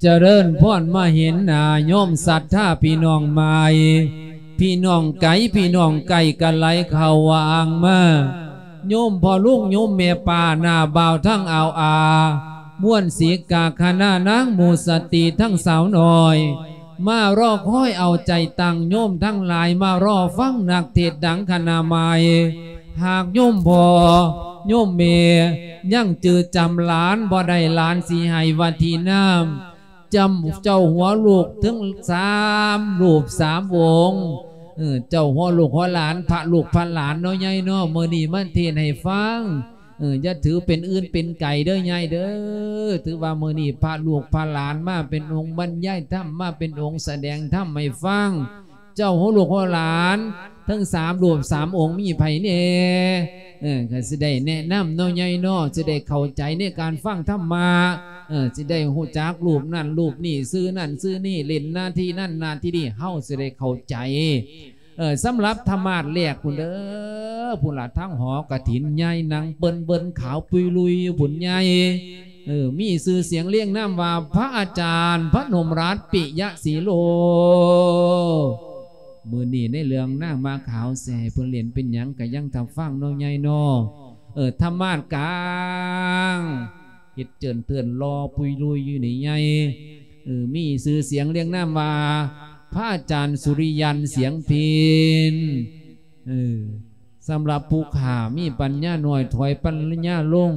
ຈະເລີນພອນມາເຫັນໜ້າໂຍມສັດທາພີ່ນ້ອງໃໝ່ ພີ່ນ້ອງໄກ ພີ່ນ້ອງໃກ້ກະໄຫຼເຂົ້າວ່າອ່າງມາ ໂຍມພໍ່ລຸງໂຍມແມ່ປ້າ ນ້າບ່າວທັງອາວອາ ມ່ວນສີກາຄະນະນາງໝູ່ສະຕີທັງສາວນ້ອຍ ມາລໍຄອຍເອົາໃຈຕັ້ງໂຍມທັງຫຼາຍ ມາລໍຟັງນັກເທດດັງຄະນະໃໝ່. ຫາກໂຍມພໍ່ໂຍມແມ່ຍັງຈື່ຈຳຫຼານບໍ່ໄດ້ ຫຼານຊິໃຫ້ວັດທີນາມ ຈຳເຈົ້າຫົວລູກເຖິງສາມຮູບສາມອົງ ເອີ ເຈົ້າຫົວລູກຫົວຫຼານ ພະລູກພະຫຼານເນາະ ໃຫຍ່ເນາະ ມື້ນີ້ມາເທດໃຫ້ຟັງ ເອີ ຢ່າຖືເປັນອື່ນເປັນໄກເດີໃຫຍ່ເດີ ຖືວ່າມື້ນີ້ພະລູກພະຫຼານມາເປັນອົງບັນຍາຍທຳ ມາເປັນອົງສະແດງທຳໃຫ້ຟັງ ເຈົ້າຫົວລູກຫົວຫຼານ ທັງສາມຮູບສາມອົງມີໃຜແດ່? ເອີ ກໍຊິໄດ້ແນະນຳເນາະໃຫຍ່ເນາະ ຊິໄດ້ເຂົ້າໃຈໃນການຟັງທຳມະ ເອີ ຊິໄດ້ຮູ້ຈັກຮູບນັ້ນຮູບນີ້ ຊື່ນັ້ນຊື່ນີ້ ຫຼິ້ນໜ້າທີ່ນັ້ນໜ້າທີ່ນີ້ ເຮົາຊິໄດ້ເຂົ້າໃຈ. ເອີ ສຳລັບທະມາດແລກພຸ້ນເດີ ພຸ້ນລະ ທາງຫໍກະຖິນໃຫຍ່ ນັ່ງເບິ່ນໆຂາວປຸຍລຸຍຢູ່ພຸ້ນໃຫຍ່ ເອີ ມີຊື່ສຽງລຽງນາມວ່າ ພະອາຈານ ພະນົມລັດ ປິຍະສີໂລ. ມື້ນີ້ໃນເລື່ອງນາງໝາຂາວ ຊິໃຫ້ເພິ່ນຫຼິ້ນເປັນຫຍັງ ກະຍັງຖ້າຟັງເນາະໃຫຍ່ເນາະ. ເອີ ທະມາດກາງ ເຮັດເຈີນເຕີນຫຼໍ່ປຸຍລຸຍຢູ່ນີ້ໃຫຍ່ ເອີ ມີຊື່ສຽງລຽງນາມວ່າ ພະອາຈານສຸລິຍັນ ສຽງພິນ. ເອີ ສຳລັບຜູ້ຂ້າມີປັນຍານ້ອຍ ຖອຍປັນຍາລົງ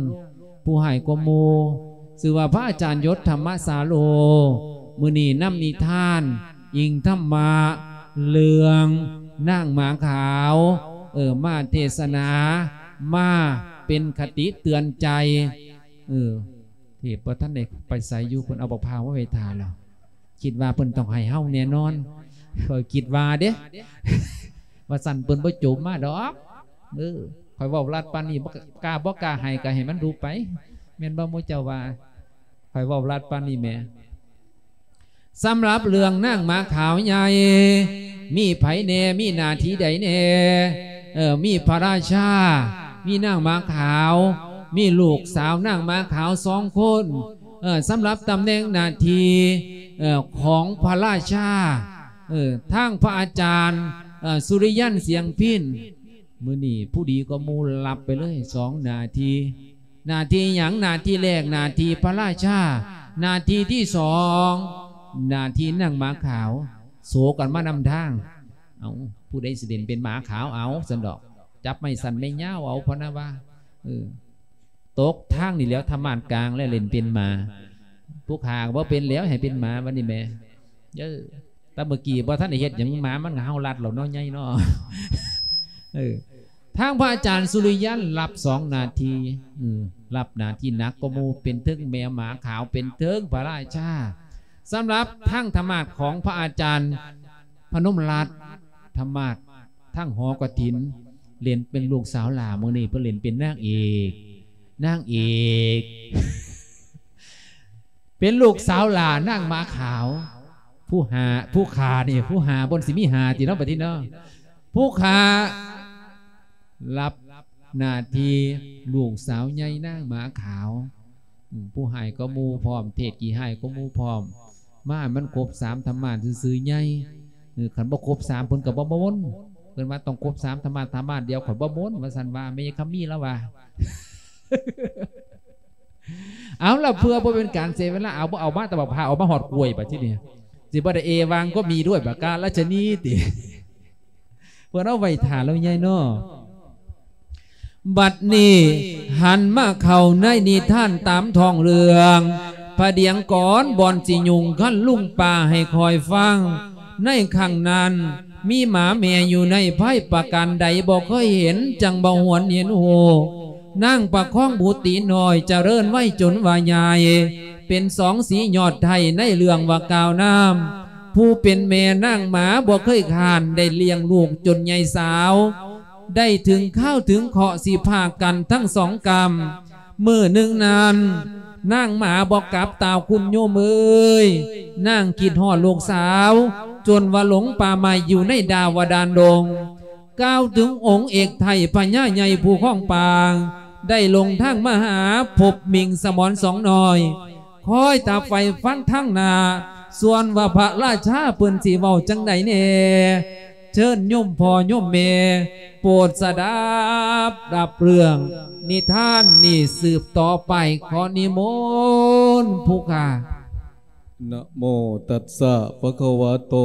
ຜູ້ຮ້າຍກວ່າໝູ່ ຊື່ວ່າພະອາຈານຍົດ ທຳມະສາໂລ. ມື້ນີ້ນຳນິທານ ອີງທຳມະ ເລື່ອງນາງໝາຂາວ ເອີ ມາເທດສະໜາ ມາເປັນຄະຕິເຕືອນໃຈ. ເອີ ເທບບໍ່ທັນໄດ້ໄປໃສຢູ່ ເພິ່ນເອົາບັກພ້າວມາໄວ້ຖ້າແລ້ວ. ຄິດວ່າເພິ່ນຕ້ອງໃຫ້ເຮົາແນ່ນອນ ຂ້ອຍຄິດວ່າເດ້ ວ່າຊັ້ນເພິ່ນບໍ່ໂຈມມາດອກ. ເອີ ຂ້ອຍເວົ້າລັດປານນີ້ ບໍ່ກ້າ ບໍ່ກ້າໃຫ້ ກໍໃຫ້ມັນດູໄປ ແມ່ນບໍ່ໝູ່ເຈົ້າວ່າ? ຂ້ອຍເວົ້າລັດປານນີ້ແໝ. ສຳລັບເລື່ອງນາງໝາຂາວໃຫຍ່ ມີໃຜແດ່ ມີໜ້າທີ່ໃດແດ່? ເອີ ມີພະລາຊາ ມີນາງໝາຂາວ ມີລູກສາວນາງໝາຂາວສອງຄົນ. ເອີ ສຳລັບຕຳແໜ່ງໜ້າທີ່ ເອີ ຂອງພະລາຊາ ເອີ ທາງພະອາຈານ ເອີ ສຸລິຍັນ ສຽງພິນ ມື້ນີ້ຜູ້ດີກວ່າໝູ່ ຮັບໄປເລີຍສອງໜ້າທີ່. ໜ້າທີ່ຫຍັງ? ໜ້າທີ່ແລກ ໜ້າທີ່ພະລາຊາ, ໜ້າທີ່ທີສອງ ໜ້າທີ່ນາງໝາຂາວ. ໂສກັນມານຳທາງ. ເອົາ ຜູ້ໃດຊິເຫຼັ້ນເປັນໝາຂາວເອົາຊັ້ນດອກ, ຈັບໄມ້ສັ້ນໄມ້ຍາວເອົາ ເພິ່ນນະວ່າ. ເອີ ຕົກທາງນີ້ແຫຼ້ວ ທຳມາດກາງແລ້ວ ເຫຼັ້ນເປັນໝາ. ຜູ້ຂ້າກໍບໍ່ເປັນແລ້ວ ໃຫ້ເປັນໝາບັດນີ້ແໝ. ເອີ ແຕ່ເມື່ອກີ້ບໍ່ທັນໄດ້ເຮັດຫຍັງ ໝາມັນກໍເຫົ່າລັດແລ້ວເນາະ ໃຫຍ່ເນາະ. ເອີ ທາງພະອາຈານສຸລິຍັນ ຮັບສອງໜ້າທີ່. ເອີ ຮັບໜ້າທີ່ໜັກກວ່າໝູ່ ເປັນເທິງແມ່ໝາຂາວ ເປັນເທິງພະລາຊາ. ສຳລັບທາງທຳມາດຂອງພະອາຈານພະນົມລັດ ທຳມາດທາງຫໍກະຖິນ ເຫຼັ້ນເປັນລູກສາວຫຼ້າ. ມື້ນີ້ເພິ່ນເຫຼັ້ນເປັນນາງເອກ ນາງເອກ ເປັນລູກສາວຫຼ້ານາງໝາຂາວ. ຜູ້ຫ້າ ຜູ້ຂ້ານີ້ ຜູ້ຫ້າ ບໍ່ຊິມີຫ້າຕິເນາະ ບັດນີ້ເນາະ. ຜູ້ຂ້າ ຮັບໜ້າທີ່ລູກສາວໃຫຍ່ນາງໝາຂາວ. ອືມ ຜູ້ຮ້າຍກວ່າໝູ່ພ້ອມ ເທດຂີ້ຮ້າຍກວ່າໝູ່ພ້ອມ. ມາໃຫ້ມັນຄົບສາມທຳມາດຊື່ໆ ໃຫຍ່. ເອີ ຄັນບໍ່ຄົບສາມ ເພິ່ນກໍບໍ່ມົນ. ເພິ່ນວ່າຕ້ອງຄົບສາມທຳມາດ ທຳມາດດຽວຂ້ອຍບໍ່ມົນ ວ່າຊັ້ນວ່າ ແມ່ຍາຍຄຳມີລາວວ່າ. ເອົາລະ ເພື່ອບໍ່ເປັນການເສຍເວລາ ເອົາ ບໍ່ເອົາມາແຕ່ບັກພ້າວ ເອົາມາຮອດກ້ວຍ ບັດທີນີ້ ຊິບໍ່ໄດ້ເອວັງກໍມີດ້ວຍປະການລາຊະນີຕິ. ເພິ່ນເອົາໄວ້ຖ້າແລ້ວໃຫຍ່ເນາະ. ບັດນີ້ຫັນມາເຂົ້າໃນນິທານຕາມທ້ອງເລື່ອງ ພະດຽງກ່ອນບ່ອນຊິຍຸງຄັນລຸງປ້າໃຫ້ຂ້ອຍຟັງ. ໃນຄັ້ງນັ້ນ ມີໝາແມ່ຢູ່ໃນໄພປະການໃດບໍ່ເຄີຍເຫັນ ຈັ່ງບໍ່ຫວນເຫັນຮູ້. ນາງປະຄອງບຸດຕີນ້ອຍຈະເລີນໄວຈົນວ່າໃຫຍ່ ເປັນສອງສີຍອດໄທໃນເລື່ອງວ່າກ່າວນາມ. ຜູ້ເປັນແມ່ນາງໝາບໍ່ເຄີຍຄ້ານ ໄດ້ລ້ຽງລູກຈົນໃຫຍ່ສາວ ໄດ້ເຖິງຄາວເຖິງເຄາະຊິພາກກັນທັງສອງກຳ. ມື້ໜຶ່ງນັ້ນ ນາງໝາບໍ່ກັບຕາຄຸນໂຍມເອີຍ ນາງຄິດຮອດລູກສາວ ຈົນວ່າຫຼົງປ່າໄມ້ຢູ່ໃນດາວະດານດົງ. ກ່າວເຖິງອົງເອກໄທພະຍາໃຫຍ່ຜູ້ຄອງປ່າ ໄດ້ລົງທາງມາຫາພົບມິງສະໝອນສອງນ້ອຍ ຄອຍຕາໄຟຟັງທາງໜ້າ ສ່ວນວ່າພະລາຊາເພິ່ນຊິເວົ້າຈັ່ງໃດແດ່ ເຊີນໂຍມພໍ່ໂຍມແມ່ ໂປດສະດັບ ດາບເລື່ອງນິທານນີ້ສືບຕໍ່ໄປ. ຂໍນິມົນຜູ້ຂ້າ. ນະໂມຕັດສະ ພະຄະວະໂຕ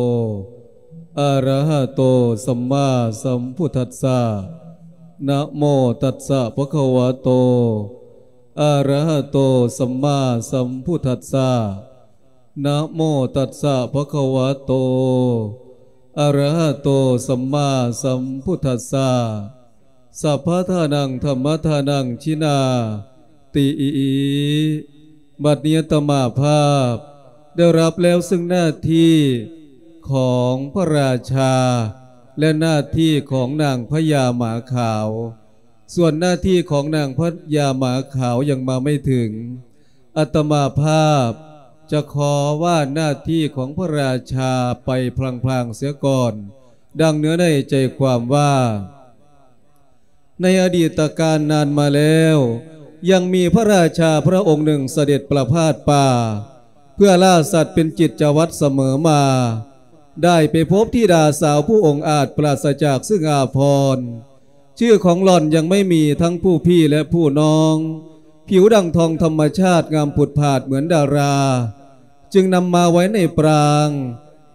ອະຣະຫະໂຕ ສຳມາສຳພຸດທັດສະ. ນະໂມຕັດສະ ພະຄະວະໂຕ ອະຣະຫະໂຕ ສຳມາສຳພຸດທັດສະ. ນະໂມຕັດສະ ພະຄະວະໂຕ ອະຣະຫະໂຕ ສຳມາສຳພຸດທັດສະ. ສັບພະທານັງ ທຳມະທານັງ ຈິນາຕິ. ບັດນີ້ອາດຕະມາພາບໄດ້ຮັບແລ້ວເຊິ່ງໜ້າທີ່ຂອງພະລາຊາ ແລະ ໜ້າທີ່ຂອງນາງພະຍາໝາຂາວ. ສ່ວນໜ້າທີ່ຂອງນາງພະຍາໝາຂາວຍັງມາໄມ່ເຖິງ. ອາດຕະມາພາບຈະຂໍວ່ານໜ້າທີ່ຂອງພະລາຊາໄປພລາງໆເສຍກ່ອນ, ດັ່ງເນື້ອໃນໃຈຄວາມວ່າ ໃນອະດີດຕະການນານມາແລ້ວ, ຍັງມີພະລາຊາພະອົງໜຶ່ງສະເດັດປະພາດປ່າ ເພື່ອລ່າສັດເປັນກິດຈະວັດສະເໝີມາ, ໄດ້ໄປພົບທິດາສາວຜູ້ອົງອາດປາສະຈາກເຄື່ອງອາພອນ. ຊື່ຂອງຫຼ່ອນຍັງໄມ່ມີທັງຜູ້ພີ່ ແລະ ຜູ້ນ້ອງ, ຜິວດັ່ງທອງທຳມະຊາດງາມຜຸດຜາດເໝືອນດາລາ, ຈຶ່ງນຳມາໄວ້ໃນປາງ.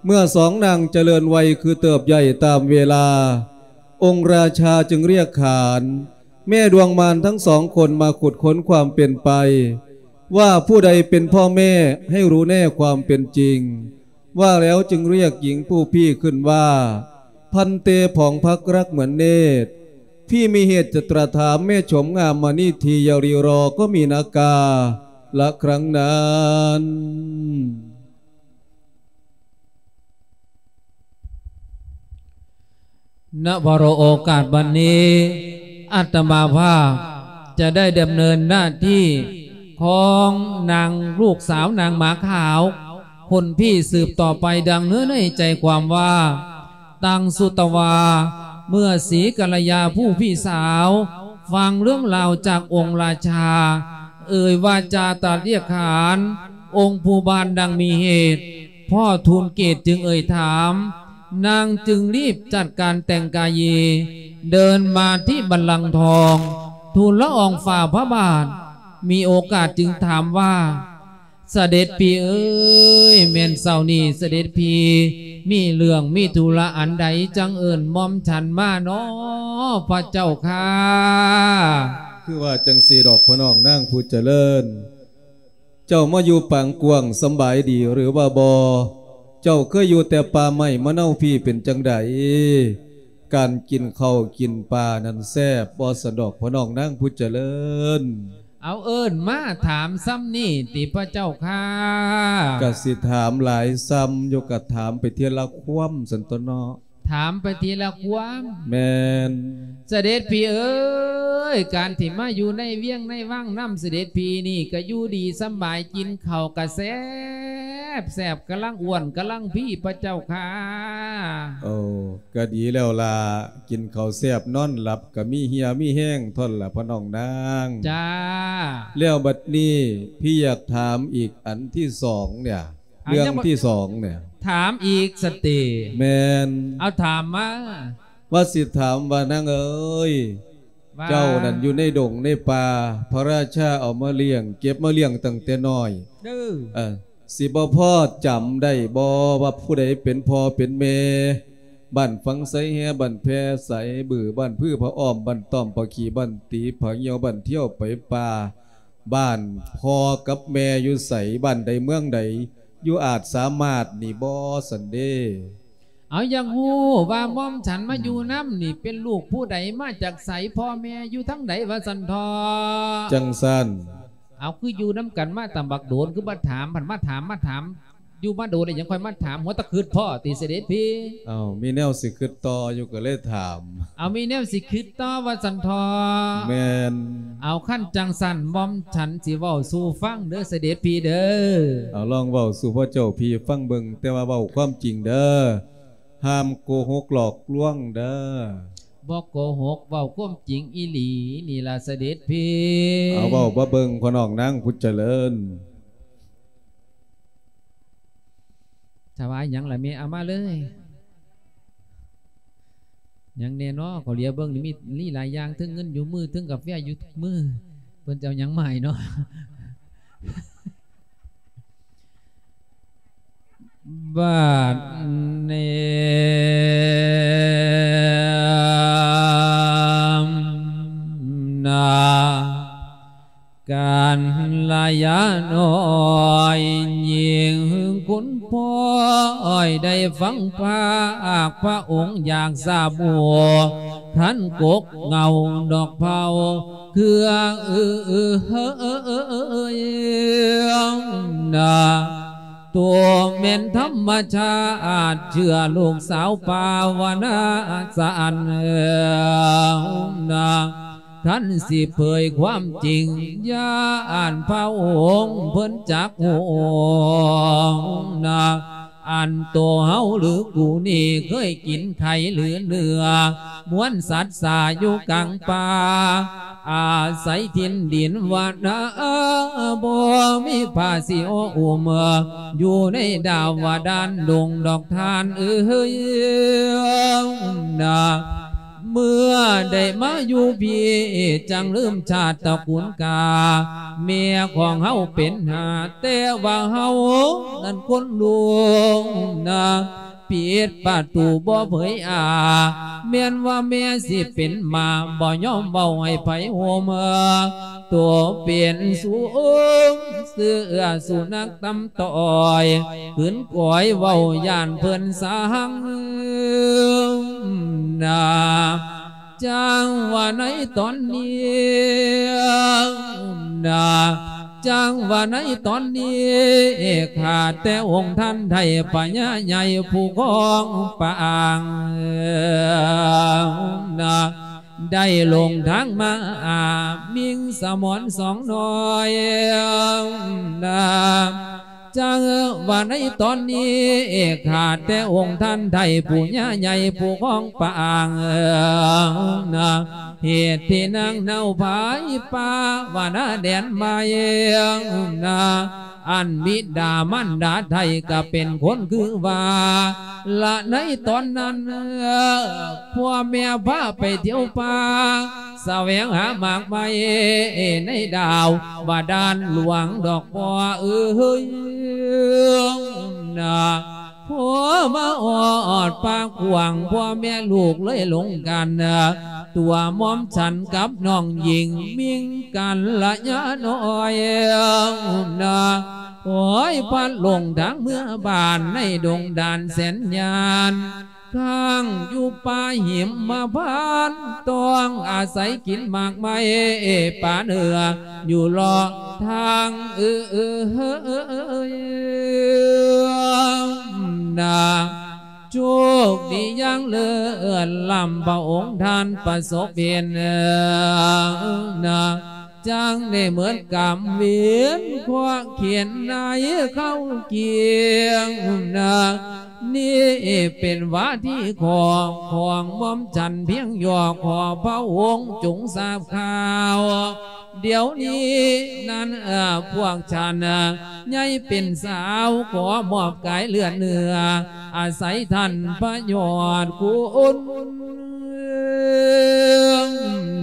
ເມື່ອສອງນາງຈະເລີນໄວຄືເຕີບໃຫຍ່ຕາມເວລາ, ອົງລາຊາຈຶ່ງລຽກຂານແມ່ດວງມານທັງສອງຄົນມາຂຸດຄົ້ນຄວາມເປັນໄປ ວ່າຜູ້ໃດເປັນພໍ່ແມ່ໃຫ້ຮູ້ແນ່ຄວາມເປັນຈິງ. ວ່າແລ້ວຈຶ່ງລຽກຍິງຜູ້ພີ່ຂຶ້ນວ່າ ພັນເຕ ຜອງພັກລັກເໝືອນເນດ, ພີ່ມີເຫດຈະຕຣາຖາມແມ່ຊົມງາມມະນີທີ່ຢ່າລີລໍກໍມີນາກາລະຄັ້ງນັ້ນ. ນະວາລະໂອກາດບັດນີ້ ອາດຕະມາພາບຈະໄດ້ດຳເນີນໜ້າທີ່ຂອງນາງລູກສາວນາງໝາຂາວຄົນພີ່ສືບຕໍ່ໄປ ດັ່ງເນື້ອໃນໃຈຄວາມວ່າ ຕັງສຸຕະວາ ເມື່ອສີກັນລະຍາຜູ້ພີ່ສາວຟັງເລື່ອງລາວຈາກອົງລາຊາ ເອີ່ຍວາຈາຕັດລຽກຂານອົງຜູ້ບ້ານດັ່ງມີເຫດ ພໍ່ທູນເກດຈຶ່ງເອີ່ຍຖາມ, ນາງຈຶ່ງລີບຈັດການແຕ່ງກາຍ ເດີນມາທີ່ບັນລັງທອງ ທູນລະອອງຝ່າພະບາດ, ມີໂອກາດຈຶ່ງຖາມວ່າ ສະເດັດພີ່ເອີຍ, ແມ່ນເຊົ້ານີ້ສະເດັດພີ່ມີເລື່ອງມີທຸລະອັນໃດ ຈັ່ງເອີ້ນໝ່ອມສັນມານໍ ພະເຈົ້າຂ້າ? ຄືວ່າຈັ່ງຊີ້ດອກ ພໍ່ນ້ອງນາງຜູ້ຈະເລີນ. ເຈົ້າມາຢູ່ປາງກວ້າງສຳບາຍດີຫຼືວ່າບໍ່? ເຈົ້າເຄີຍຢູ່ແຕ່ປ່າໄມ້ມະເນົາພີ້ເປັນຈັ່ງໃດ? ການກິນເຂົ້າກິນປານັ້ນແຊບບໍ່ຊັ້ນດອກ ພໍ່ນ້ອງນາງຜູ້ຈະເລີນ? ເອົາເອີ້ນມາຖາມສ່ຳນີ້ຕິພະເຈົ້າຂ້າ? ກະຊິຖາມຫຼາຍສ່ຳຢູ່ ກະຖາມໄປເທື່ອລະຄວາມຊັ້ນຕົວະເນາະ. ຖາມໄປທີລະຄວາມ. ແມ່ນ. ສະເດັດພີ່ເອີຍ, ການທີ່ມາຢູ່ໃນວຽງໃນວັງນຳສະເດັດພີ່ນີ້ ກະຢູ່ດີສຳບາຍ, ກິນເຂົ້າກະແຊບແຊບ, ກຳລັງອ້ວນກຳລັງພີພະເຈົ້າຂ້າ. ໂອ້, ກະດີແລ້ວລະ, ກິນເຂົ້າແຊບນອນຫຼັບ ກະມີເຫຍມີແຮງທົ່ນລະ ພໍ່ນ້ອງນາງ. ຈ້າ. ແລ້ວບັດນີ້ ພີ່ຢາກຖາມອີກອັນທີສອງເນຍ. ເລື່ອງທີສອງເນຍ. ຖາມອີກສະຕິ? ແມ່ນ. ເອົາຖາມມາ. ວ່າຊິຖາມວ່າ ນາງເອີຍ, ວ່າ ເຈົ້ານັ້ນຢູ່ໃນດົງໃນປ່າ, ພະລາຊາເອົາມາລ້ຽງ, ເກັບມາລ້ຽງຕັ້ງແຕ່ນ້ອຍ. ເອີ. ເອີ, ຊິບໍ່ພໍຈຳໄດ້ບໍ່ວ່າຜູ້ໃດເປັນພໍ່ເປັນແມ່? ບ້ານຝັ່ງໄຊແຮ, ບ້ານແພໄຊບື, ບ້ານຜືຜະອ້ອມ, ບ້ານຕ້ອມຜະຂີ, ບ້ານຕີຜະຍ່ຽວ, ບ້ານທ່ຽວໄປປ່າ. ບ້ານພໍ່ກັບແມ່ຢູ່ໃສ? ບ້ານໃດເມືອງໃດ? ຢູ່ອາດສາມາດນີ້ບໍ່? ຊັ້ນເດ. ເອົາ ຢາກຮູ້ວ່າໝ່ອມສັນມາຢູ່ນຳນີ້ ເປັນລູກຜູ້ໃດ? ມາຈາກໃສ? ພໍ່ແມ່ຢູ່ທາງໃດ? ວ່າຊັ້ນເຖາະ. ຈັ່ງຊັ້ນ. ເອົາ ຄືຢູ່ນຳກັນມາຕັ້ງບັກໂດນ ຄືບໍ່ຖາມ? ພັດມາຖາມ ມາຖາມ ຢູ່ມາໂດນແລ້ວ ຍັງຄ່ອຍມາຖາມ, ຫົວແຕ່ຄຶດພໍ້ຕິ ສະເດັດພີ່? ເອົ້າ, ມີແນວຊິຄຶດຕໍ່ຢູ່ ກໍເລີຍຖາມ. ເອົາ, ມີແນວຊິຄຶດຕໍ່ວ່າຊັ້ນເຖາະ. ແມ່ນ. ເອົາ, ຄັນຈັ່ງຊັ້ນ ໝ່ອມສັນຊິເວົ້າສູ່ຟັງເດີ ສະເດັດພີ່ເດີ. ເອົາ, ລອງເວົ້າສູ່ພະເຈົ້າພີ່ຟັງເບິ່ງ, ແຕ່ວ່າເວົ້າຄວາມຈິງເດີ, ຫ້າມໂກຫົກຫຼອກລວງເດີ. ບໍ່ໂກຫົກ, ເວົ້າຄວາມຈິງອີ່ຫຼີນີ້ລະ ສະເດັດພີ່. ເອົາ, ເວົ້າມາເບິ່ງ ພໍ່ນ້ອງນາງຜູ້ຈະເລີນ. ຖວາຍຫຍັງລະແມ່ ເອົາມາເລີຍ. ຫຍັງແດ່ເນາະ ເຂົາຫຼຽວເບິ່ງນີ້ມີ ມີຫຼາຍຢ່າງ ເທິງເງິນຢູ່ມື ເທິງກາແຟຢູ່ມື ເພິ່ນຈະເອົາຫຍັງມາໃຫ້ເນາະ. ບາດນີ້ນາ ກັນລະຍານ້ອຍ ຍິ່ງຄຸນພໍ່ອ້ອຍ ໄດ້ຟັງພາກພະອົງ ຢາກຊາບຮູ້ ຄັນກົກເງົາດອກເຜົ່າ ເຄືອ ນາ ໂຕແມ່ນທຳມະຊາດ ເຊື່ອລູກສາວປາວະນາສະອັນນາ ຄັນຊິເຜີຍຄວາມຈິງ ຢ້ານພະອົງເພິ່ນຈັກຮູ້ນາ ອັນໂຕເຮົາຫຼືກູນີ້ ເຄີຍກິນໄຂ່ຫຼືເນື້ອ ມວນສັດຊາຢູ່ກາງປ່າ ອາໄສຖິ່ນດິນວັນນາ ບໍ່ມີຜ້າສີໂອອຸມ ຢູ່ໃນດາວະດານດົງດອກທ່ານເອີຍນາ. ເມື່ອໄດ້ມາຢູ່ພີ້ ຈັ່ງລືມຊາດຕະກູນກາ ແມ່ຂອງເຮົາເປັນຫາ ແຕ່ວ່າເຮົານັ້ນຄົນລຸງນາ ປິດປະຕູບໍ່ເຜີຍອາ ແມ່ນວ່າແມ່ຊິເປັນໝາ ບໍ່ຍອມເວົ້າໃຫ້ໃຜຮູ້ເມືອ ຕົວເປັນສູງ ເສື້ອສຸນັກຕຳຕ້ອຍ ຂືນກອຍເວົ້າຢ້ານເພິ່ນສັງນາ ຈັ່ງວ່າໃນຕອນນີ້ນາ ຈັ່ງວ່າໃນຕອນນີ້ ຂ້າແຕ່ອົງທ່ານໄດ້ພະຍາໃຫຍ່ຜູ້ຄອງປາງນາ ໄດ້ລົງທາງມາອາບມິງສະໝອນສອງນ້ອຍນາ ຈັ່ງວ່າໃນຕອນນີ້ ຂ້າແຕ່ອົງທ່ານໄດ້ຜູ້ຍາໃຫຍ່ຜູ້ຄອງປາງນາ ເຫດທີ່ນາງເນົ່າພາຍປາວະນາແດນໃໝ່ນາ ອັນບິດາມານດາໄທກະເປັນຄົນຄືວ່າ ລະໃນຕອນນັ້ນ ພໍ່ແມ່ພາໄປທ່ຽວປ່າ ສະແຫວງຫາໝາກໄມ້ໃນດາວບາດານຫຼວງດອກພໍ່ເອີຍນາ ພໍມາຮອດປ່າກວ້າງ ພໍ່ແມ່ລູກເລີຍຫຼົງກັນ ຕົວໝອມສັນກັບນ້ອງຍິງມິງກັນລະຍານ້ອຍນາ ໂອຍ ພັດຫຼົງທາງເມືອບ້ານໃນດົງດານແສນຍານ ຄ້າງຢູ່ປ່າຫິມມະພານ ຕ້ອງອາໄສກິນໝາກໄມ້ປາເໜືອ ຢູ່ເລາະທາງເອີຍນາ ໂຊກດີຢ່າງເລີດລ້ຳ ພະອົງທ່ານປະສົບເຫັນນາ ຈັ່ງໄດ້ເໝິດກຳເວັນ ເພາະເຂດໃນເຂົ້າກຽງນາ ນີ້ເປັນວາທີຂໍຂອງໝ່ອມສັນພຽງຫຍໍ້ ຂໍພະອົງຈົ່ງຊາບຂ່າວ ດຽວນີ້ນັ້ນ ເອີ ພວກສັນໃຫຍ່ເປັນສາວ ຂໍມອບກາຍເລືອດເນື້ອ ອາໄສທ່ານພະຍອດຄຸນ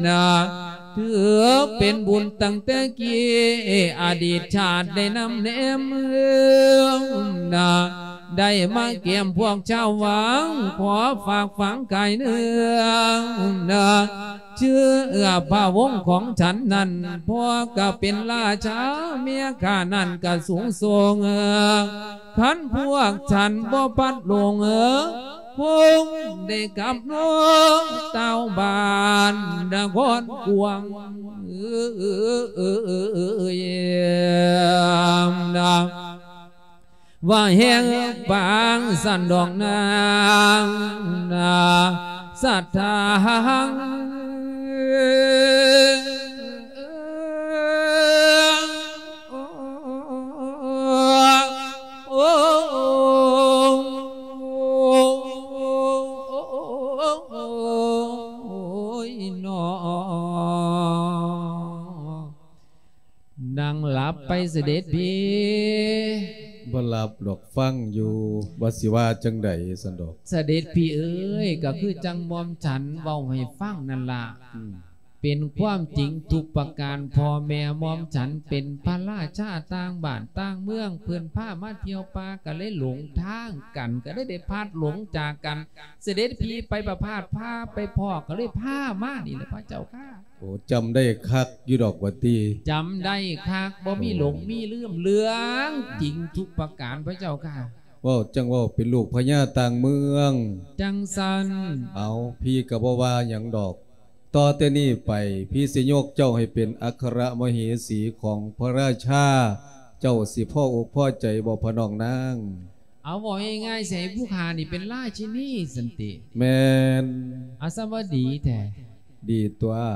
ນາ ຖືເປັນບຸນຕັ້ງແຕ່ກີ້ ອະດີດຊາດໄດ້ນຳແນມນາ ໄດ້ມາແກ້ມພວກຊາວວັງ ຂໍຝາກຝັງກາຍເນື້ອນາ ເຊື້ອພະວົງຂອງສັນນັ້ນ ພໍ່ກະເປັນລາຊາ ເມຍຂ້ານັ້ນກະສູງສົ່ງ ຄັນພວກສັນບໍ່ພັດຫຼົງ ຄົງໄດ້ກັບນອນຕາວບ້ານນະຄອນກວາງ ນາ ວ່າແຫ່ງປາງສັນດອກນາງນາ ສັດທາ ໂອ້ຍ ນອ ນັ່ງຫຼັບໄປສະເດັດພີ້ ຮັບດອກ ຟັງຢູ່ ວ່າຊິວ່າຈັ່ງໃດຊັ້ນດອກ. ສະເດັດພີ່ເອີຍ ກໍຄືຈັ່ງໝ່ອມສັນເວົ້າໃຫ້ຟັງນັ້ນລະ. ອືມ. ເປັນຄວາມຈິງທຸກປະການ, ພໍ່ແມ່ໝ່ອມສັນເປັນພະລາຊາຕ່າງບ້ານຕ່າງເມືອງ, ເພິ່ນພາມາທ່ຽວປ່າ ກໍເລີຍຫຼົງທາງກັນ, ກໍເລີຍໄດ້ພລັດຫຼົງຈາກກັນ. ສະເດັດພີ່ໄປປະພາດ ພາໄປພໍ້ ກໍເລີຍພາມານີ້ແຫຼະພະເຈົ້າຂ້າ. ໂອ້ ຈຳໄດ້ຄັກຢູ່ດອກວ່າຕິ. ຈຳໄດ້ຄັກ ບໍ່ມີຫຼົງມີລືມ ເລື່ອງຈິງທຸກປະການພະເຈົ້າຂ້າ. ເວົ້າ ຈັ່ງເວົ້າເປັນລູກພະຍາຕ່າງເມືອງ. ຈັ່ງຊັ້ນ. ເອົາ ພີ່ກໍບໍ່ວ່າຫຍັງດອກ. ຕໍ່ແຕ່ນີ້ໄປ ພີ່ຊິຍົກເຈົ້າໃຫ້ເປັນອັກຄະລະມະເຫສີຂອງພະລາຊາ, ເຈົ້າຊິພໍອົກພໍໃຈບໍ່ພະນ້ອງນາງ? ເອົາ ເວົ້າງ່າຍໆ ຊິໃຫ້ຜູ້ຂ້ານີ້ເປັນລາຊິນີຊັ້ນຕິ? ແມ່ນ. ອາ ສະຫວັດດີແທ້. ດີຕົວະ.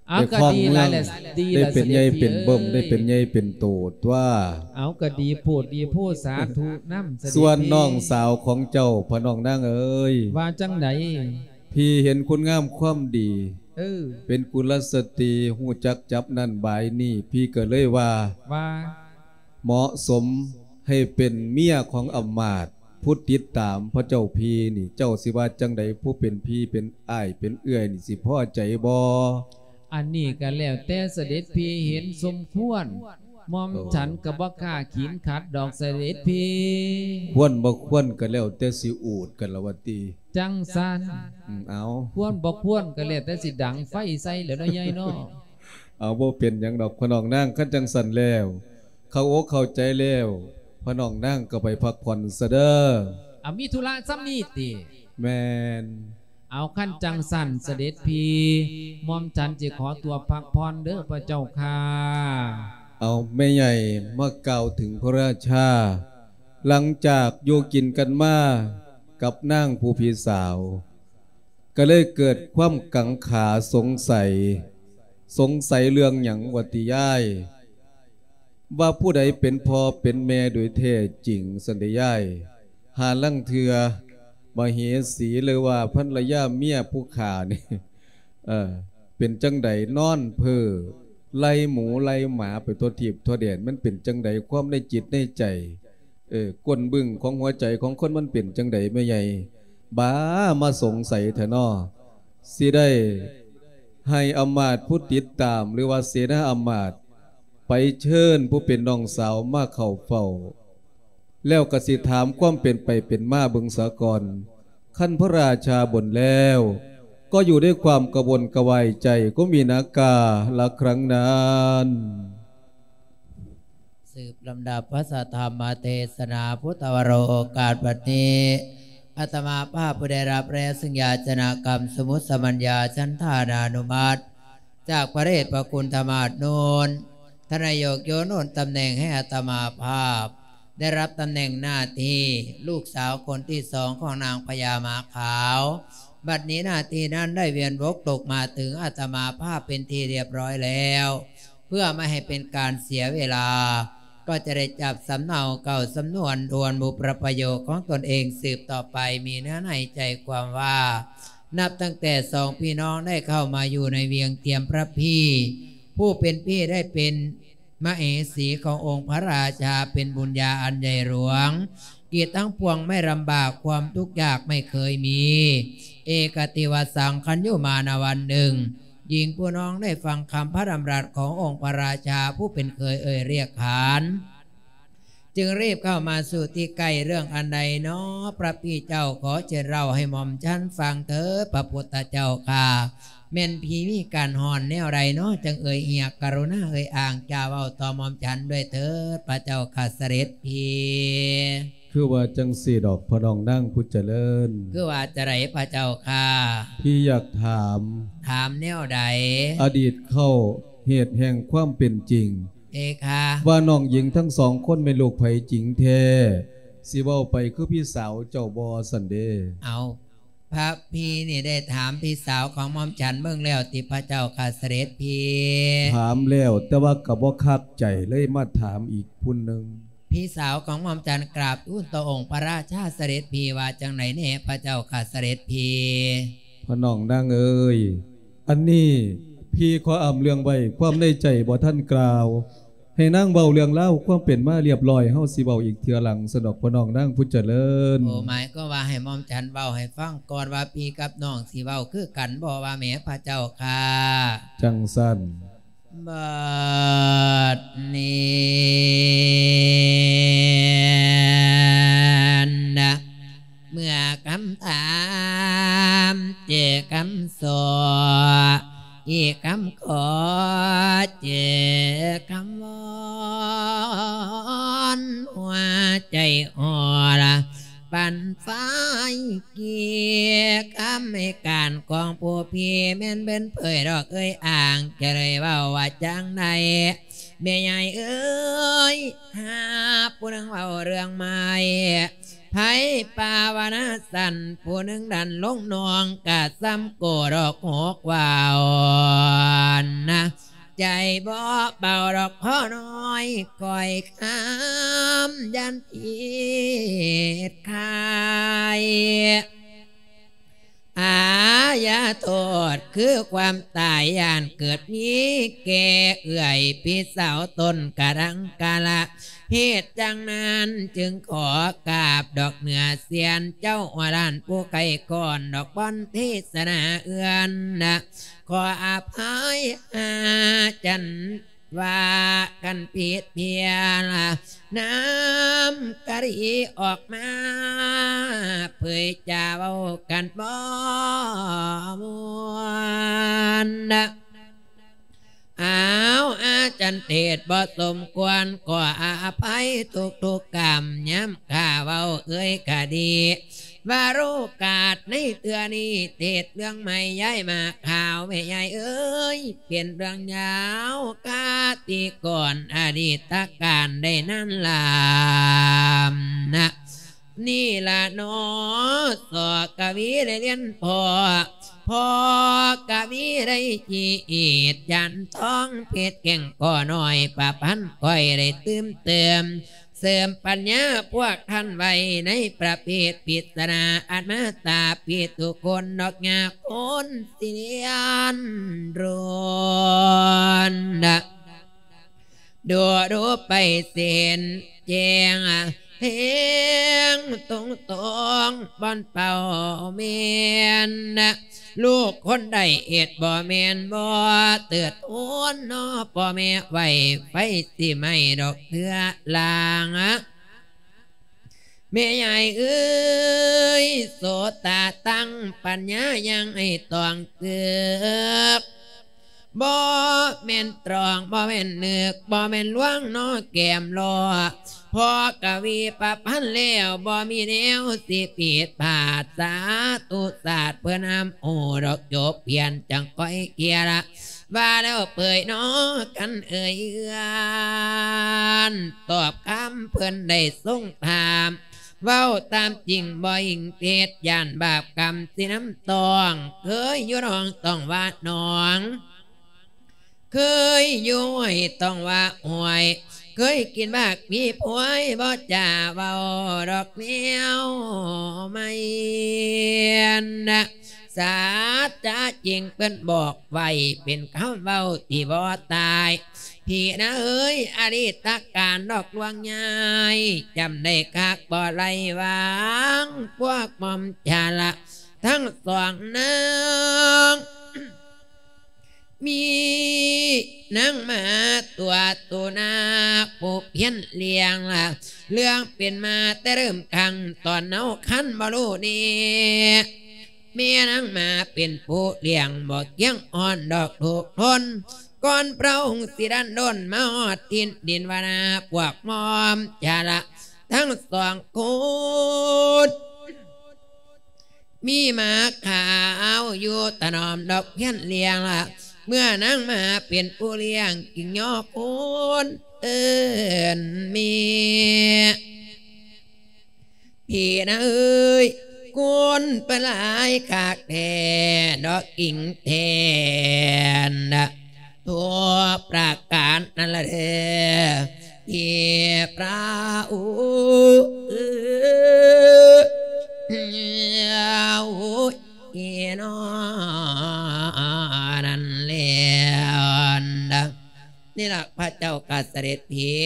ເອົາ ໄດ້ຄອງເມືອງ ກໍດີຫຼາຍແຫຼະ ດີຫຼາຍ ໄດ້ເປັນໃຫຍ່ເປັນເບິ່ມ ເສດຖີເອີຍ ໄດ້ເປັນໃຫຍ່ເປັນໂຕຕົວະ. ເອົາ ກໍດີໂພດດີໂພດ ສາທຸນຳ ສະເດັດພີ່. ສ່ວນນ້ອງສາວຂອງເຈົ້າ ພະນ້ອງນາງເອີຍ. ວ່າຈັ່ງໃດ? ພີ່ເຫັນຄຸນງາມຄວາມດີ ເອີ ເປັນກຸລະສະຕີ ຮູ້ຈັກຈັບນັ້ນບາຍນີ້ ພີ່ກໍເລີຍວ່າ ວ່າ ເໝາະສົມໃຫ້ເປັນເມຍຂອງອຳມາດ ຜູ້ຕິດຕາມພະເຈົ້າພີ່ນີ້ ເຈົ້າຊິວ່າຈັ່ງໃດ? ຜູ້ເປັນພີ່ເປັນອ້າຍເປັນເອື້ອຍນີ້ ຊິພໍໃຈບໍ່? ອັນນີ້ກໍແລ້ວແຕ່ສະເດັດພີ່ເຫັນສົມຄວນ. ໝ່ອມ ໂອ້ ສັນກໍບໍ່ກ້າຂີນຂັດດອກສະເດັດພີ່. ຄວນບໍ່ຄວນກໍແລ້ວແຕ່ຊິອູດກັນລະວ່າຕິ. ຈັ່ງຊັ້ນ. ອືມ ເອົາ ຄວນບໍ່ຄວນກໍແລ້ວແຕ່ຊິດັງໄຟໃສ່ແຫຼະເນາະ ຍາຍເນາະ. ເອົາ ບໍ່ເປັນຫຍັງດອກພະນ້ອງນາງ. ຄັນຈັ່ງຊັ້ນແລ້ວ ເຂົ້າອົກເຂົ້າໃຈແລ້ວ ພະນ້ອງນາງກໍໄປພັກຜ່ອນຊະເດີ. ອາ ມີທຸລະສ່ຳນີ້ຕິ? ແມ່ນ. ເອົາ ຄັນຈັ່ງຊັ້ນສະເດັດພີ່ ໝ່ອມສັນຊິຂໍຕົວພັກຜ່ອນເດີພະເຈົ້າຂ້າ. ເອົາ ແມ່ໃຫຍ່ມາກ່າວເຖິງພະລາຊາ ຫຼັງຈາກຢູ່ກິນກັນມາກັບນາງຜູ້ພີ່ສາວ ກໍເລີຍເກີດຄວາມກັງຂາສົງໄສ. ສົງໄສເລື່ອງຫຍັງວ່າຕິຍາຍ? ວ່າຜູ້ໃດເປັນພໍ່ເປັນແມ່ໂດຍແທ້ຈິງຊັ້ນເດຍາຍ? ຫາລາງເທື່ອມະເຫສີ ຫຼືວ່າພັນລະຍາເມຍຜູ້ຂ້ານີ້ ເອີ ເປັນຈັ່ງໃດ? ນອນເພີ້ໄລ່ໝູໄລ່ໝາໄປທົ່ວທີບທົ່ວແດນ ມັນເປັນຈັ່ງໃດ? ຄວາມໃນຈິດໃນໃຈ ເອີ ກົ້ນບຶ້ງຂອງຫົວໃຈຂອງຄົນມັນເປັນຈັ່ງໃດແມ່ໃຫຍ່? ບາ ມາສົງໄສແທ້ນໍ. ຊິໄດ້ໃຫ້ອຳມາດຜູ້ຕິດຕາມ ຫຼືວ່າເສນາອຳມາດ ໄປເຊີນຜູ້ເປັນນ້ອງສາວມາເຂົ້າເຝົ້າ ແລ້ວກໍຊິຖາມຄວາມເປັນໄປເປັນມາເບິ່ງສາກ່ອນ. ຄັນພະລາຊາບົນແລ້ວ ກໍຢູ່ດ້ວຍຄວາມກະວົນກະວາຍໃຈ ກໍມີນາກາລະຄັ້ງນັ້ນ. ສືບລຳດັບພະສະທຳມະເທດສະໜາພຸດທະວະໂລ ໂອກາດບັດນີ້ ອາດຕະມາພາບຜູ້ໄດ້ຮັບແລ້ວ ຊຶ່ງຢາຈະນະກຳ ສົມມຸດສະມັນຍາ ສັນທານານຸມັດ ຈາກພະເດດດພະຄຸນທະມາດໂນນ ທ່ານນາຍົກໂຍໂນນຕຳແໜ່ງໃຫ້ອາດຕະມາພາບ ໄດ້ຮັບຕຳແໜ່ງໜ້າທີ່ລູກສາວຄົນທີສອງຂອງນາງພະຍາມ້າຂາວ. ບັດນີ້ໜ້າທີ່ນັ້ນໄດ້ວຽນວົກຕົກມາເຖິງອາດຕະມາພາບເປັນທີ່ລຽບຮ້ອຍແລ້ວ. ເພື່ອບໍ່ໃຫ້ເປັນການເສຍເວລາ ກໍຈະໄດ້ຈັບສຳເນົາເກົ່າສຳນວນດ່ວນບຸບປະໂຫຍກຂອງຕົນເອງສືບຕໍ່ໄປ ມີເນື້ອໃນໃຈຄວາມວ່າ ນັບຕັ້ງແຕ່ສອງພີ່ນ້ອງໄດ້ເຂົ້າມາຢູ່ໃນວຽງທຽມພະພີ ຜູ້ເປັນພີ່ໄດ້ເປັນມະເຫສີຂອງອົງພະລາຊາ ເປັນບຸນຍາອັນໃຫຍ່ຫຼວງ ກີດທັງປວງໄມ່ລຳບາກ ຄວາມທຸກຍາກໄມ່ເຄີຍມີ ເອກະຕິວະສັງ ຄັນຢູ່ມານະວັນໜຶ່ງ ຍິງຜູ້ນ້ອງໄດ້ຟັງຄຳພະດຳລັດຂອງອົງພະລາຊາ ຜູ້ເປັນເຂີຍເອີ່ຍຮຽກຂານ ຈຶ່ງຣີບເຂົ້າມາສູ່ທີ່ໃກ້. ເລື່ອງອັນໃດນໍ ພະພີ່ເຈົ້າ? ຂໍເຊີນເລົ່າໃຫ້ໝ່ອມສັນຟັງເຖີດ ພະພຸດທະເຈົ້າຂ້າ. ແມ່ນພີ່ມີການຮ້ອນແນວໃດນໍ ຈຶ່ງເອີ່ຍຮຽກ? ກະລຸນາເອີ່ຍອ້າງຈາເວົ້າຕໍ່ໝ່ອມສັນດ້ວຍເຖີດ ພະເຈົ້າຂ້າສະເດັດພີ່. ຄືວ່າຈັ່ງຊີ້ດອກ ພະນ້ອງນາງຜູ້ຈະເລີນ. ຄືວ່າຈະໃດພະເຈົ້າຂ້າ? ພີ່ຢາກຖາມ. ຖາມແນວໃດ? ອະດີດເຄົ້າ ເຫດແຫ່ງຄວາມເປັນຈິງ ເອຄະ ວ່ານ້ອງຍິງທັງສອງຄົນແມ່ນລູກໃຜຈິງແທ້? ຊິເວົ້າໄປຄືພີ່ສາວເຈົ້າບໍ່ຊັ້ນເດ? ເອົາ ພະພີ່ນີ້ໄດ້ຖາມພີ່ສາວຂອງໝ່ອມສັນເບິ່ງແລ້ວຕິ ພະເຈົ້າຂ້າສະເດັດພີ່? ຖາມແລ້ວ ແຕ່ວ່າກໍບໍ່ຄັກໃຈ ເລີຍມາຖາມອີກຜູ້ໜຶ່ງ. ພີ່ສາວຂອງໝ່ອມສັນກາບທູນຕໍ່ອົງພະລາຊາສະເດັດພີ່ວ່າຈັ່ງໃດແດ່ ພະເຈົ້າຂ້າສະເດັດພີ່? ພະນ້ອງນາງເອີຍ ອັນນີ້ພີ່ຂໍອຳເລື່ອງໄວ້ ຄວາມໃນໃຈບໍ່ທັນກ່າວ. ໃຫ້ນາງເວົ້າເລື່ອງລາວຄວາມເປັນມາລຽບລ້ອຍ ເຮົາຊິເວົ້າອີກເທື່ອຫຼັງຊັ້ນດອກ ພໍ່ນ້ອງນາງຜູ້ຈະເລີນ. ໂອ້ ໝາຍຄວາມວ່າໃຫ້ໝ່ອມສັນເວົ້າໃຫ້ຟັງກ່ອນວ່າ ພີ່ກັບນ້ອງຊິເວົ້າຄືກັນບໍ່ວ່າແມ່ພະເຈົ້າຂ້າ? ຈັ່ງຊັ້ນ. ບັດນີ້ນະ ເມື່ອຄຳຖາມເຈີຄຳຂໍ ອີກຄຳຂໍເຈີຄຳວອນ ຫົວໃຈອ່ອນ ປັ່ນໄຟ ເກຍຄຳໃຫ້ການຂອງຜູ້ພີ່ແມ່ນເບິ່ນເຜີຍດອກເອີຍອ່າງ ຈະໄດ້ເວົ້າວ່າຈັ່ງໃດ ແມ່ໃຫຍ່ເອີຍ ຫາຜູ້ໜຶ່ງເວົ້າເລື່ອງໃໝ່ ໃຜປາວະນາສັ້ນ ຜູ້ໜຶ່ງດັນລົງໜອງ ກະສ່ຳໂກດອກຫົກວາວນະ ໃຈບໍ່ເບົາດອກພໍນ້ອຍ ຂ້ອຍຄາມຢ້ານຜິດຂາຍ ອາຍາໂທດຄືຄວາມຕາຍ ຢ້ານເກີດມີແກ່ເອື້ອຍພີ່ສາວຕົນກະດັງກະລະ ເຫດຈັ່ງນັ້ນຈຶ່ງຂໍກາບດອກເໜືອສຽນເຈົ້າຫົວລ້ານຜູ້ໄກກ່ອນ ດອກບ່ອນເທສະໜາເອື້ອນນະ ຂໍອະໄພຫາຈັນ ວ່າກັນຜິດພຽງ ນ້ຳກະດີອອກມາ ເຜີຍຈາເວົ້າກັນບໍ່ມ່ວນ ອ້າວ ອາຈານເທດບໍ່ສົມຄວນ ຂໍອະໄພທຸກໆກຳ ຍາມຂ້າເວົ້າເອີຍກະດີ ວ່າໂອກາດໃນເທື່ອນີ້ ເທດເລື່ອງໃໝ່ຍ້າຍມາຂ່າວ ແມ່ໃຫຍ່ເອີຍ ເປັນເລື່ອງຍາວ ຄາຕິກອນອະດີດຕະການໄດ້ນານລານະ ນີ້ລະເນາະ ສອກະວີໄດ້ລຽນພໍ່ ພໍ່ກະວີໄດ້ຈີດ ຈານທອງເພັດແກ້ງກໍນ້ອຍ ປະພັນຂ້ອຍໄດ້ຕື່ມເຕີມ ເສີມປັນຍາພວກທ່ານໄວ້ ໃນປະເພດປິດສະໜາ ອັນມາຕາປີທຸຄົນ ດອກຍາຄົນຊິລຽນໂດນ ດູດູໄປເສັ້ນແຈ້ງ ແຮງຕົງໆ ບ່ອນເປົ້າແມ່ນ ລູກຄົນໃດເຮັດບໍ່ແມ່ນບໍ່ ເຕີດໂອນເນາະ ພໍ່ແມ່ໄວ້ໄຟຊິໄໝ້ດອກເທື່ອລາງ ແມ່ຍາຍເອີຍ ໂສຕາຕັ້ງ ປັນຍາຍັງໃຫ້ຕ້ອງເກືອກ ບໍ່ແມ່ນຕຣອງ ບໍ່ແມ່ນນຶກ ບໍ່ແມ່ນລວງເນາະ ແກ້ມລໍ້ ພໍກະວີປະພັນແລ້ວ ບໍ່ມີແນວຊິຜິດພາດ ສາທຸສາດເພິ່ນຫ້າມໂອດອກ ຈົບພຽນຈັ່ງຄ່ອຍເຄຍລະ ວ່າແລ້ວເປີຍເນາະ ກັນເອີຍເອື້ອນ ຕອບຄຳເພິ່ນໄດ້ຊົງຖາມ ເວົ້າຕາມຈິງບໍ່ອີງເທັດ ຢ້ານບາບກຳຊິນຳຕ້ອງ ເຄີຍຢູ່ໜອງຕ້ອງວ່າໜອງ ເຄີຍຢູ່ຫ້ວຍຕ້ອງວ່າຫ້ວຍ ເຄີຍກິນໝາກມີພວຍ ບໍ່ຈາເວົ້າດອກແນວໃໝ່ນະ ສາດຈາຈິງເພິ່ນບອກໄວ້ ເປັນຄຳເວົ້າທີ່ບໍ່ຕາຍ ພີ່ນາເອີຍ ອະດີດຕະການດອກລວງຍາຍ ຈຳໄດ້ຄັກບໍ່ໄດ້ວາງ ພວກໝ່ອມຈາລະທັງສອງນາງ ມີນາງໝາຕົວໂຕນາກ ຜູ້ພຽນລ້ຽງລະ ເລື່ອງເປັນມາແຕ່ເລີ່ມຄັ້ງ ຕອນເນົາຄັນບໍ່ຮູ້ແນ່ ແມ່ນາງໝາເປັນຜູ້ລ້ຽງ ບໍ່ກຽງອ່ອນດອກທຸກທົນ ກ່ອນພະອົງຊິດັນດົນ ມາຮອດຖິ່ນດິນວານາ ພວກໝ່ອມຈາລະທັງສອງຄົນ ມີໝາຂາວຢູ່ຖະໜອມດອກພຽນລ້ຽງລະ ເມື່ອນາງໝາເປັນຜູ້ລ້ຽງ ຈຶ່ງຍໍຄົນເອີ້ນແມ່ ພີ່ນາເອີຍ ຄົນເພິ່ນຫຼາຍຄັກແທ້ ດອກອີງແທນ ທຸກປະການນັ້ນລະເດີ ທີ່ພະອົງເອີຍ ນອ ນັ້ນແລ້ວ ນີ້ລະ ພະເຈົ້າກະ ດັດພີ້.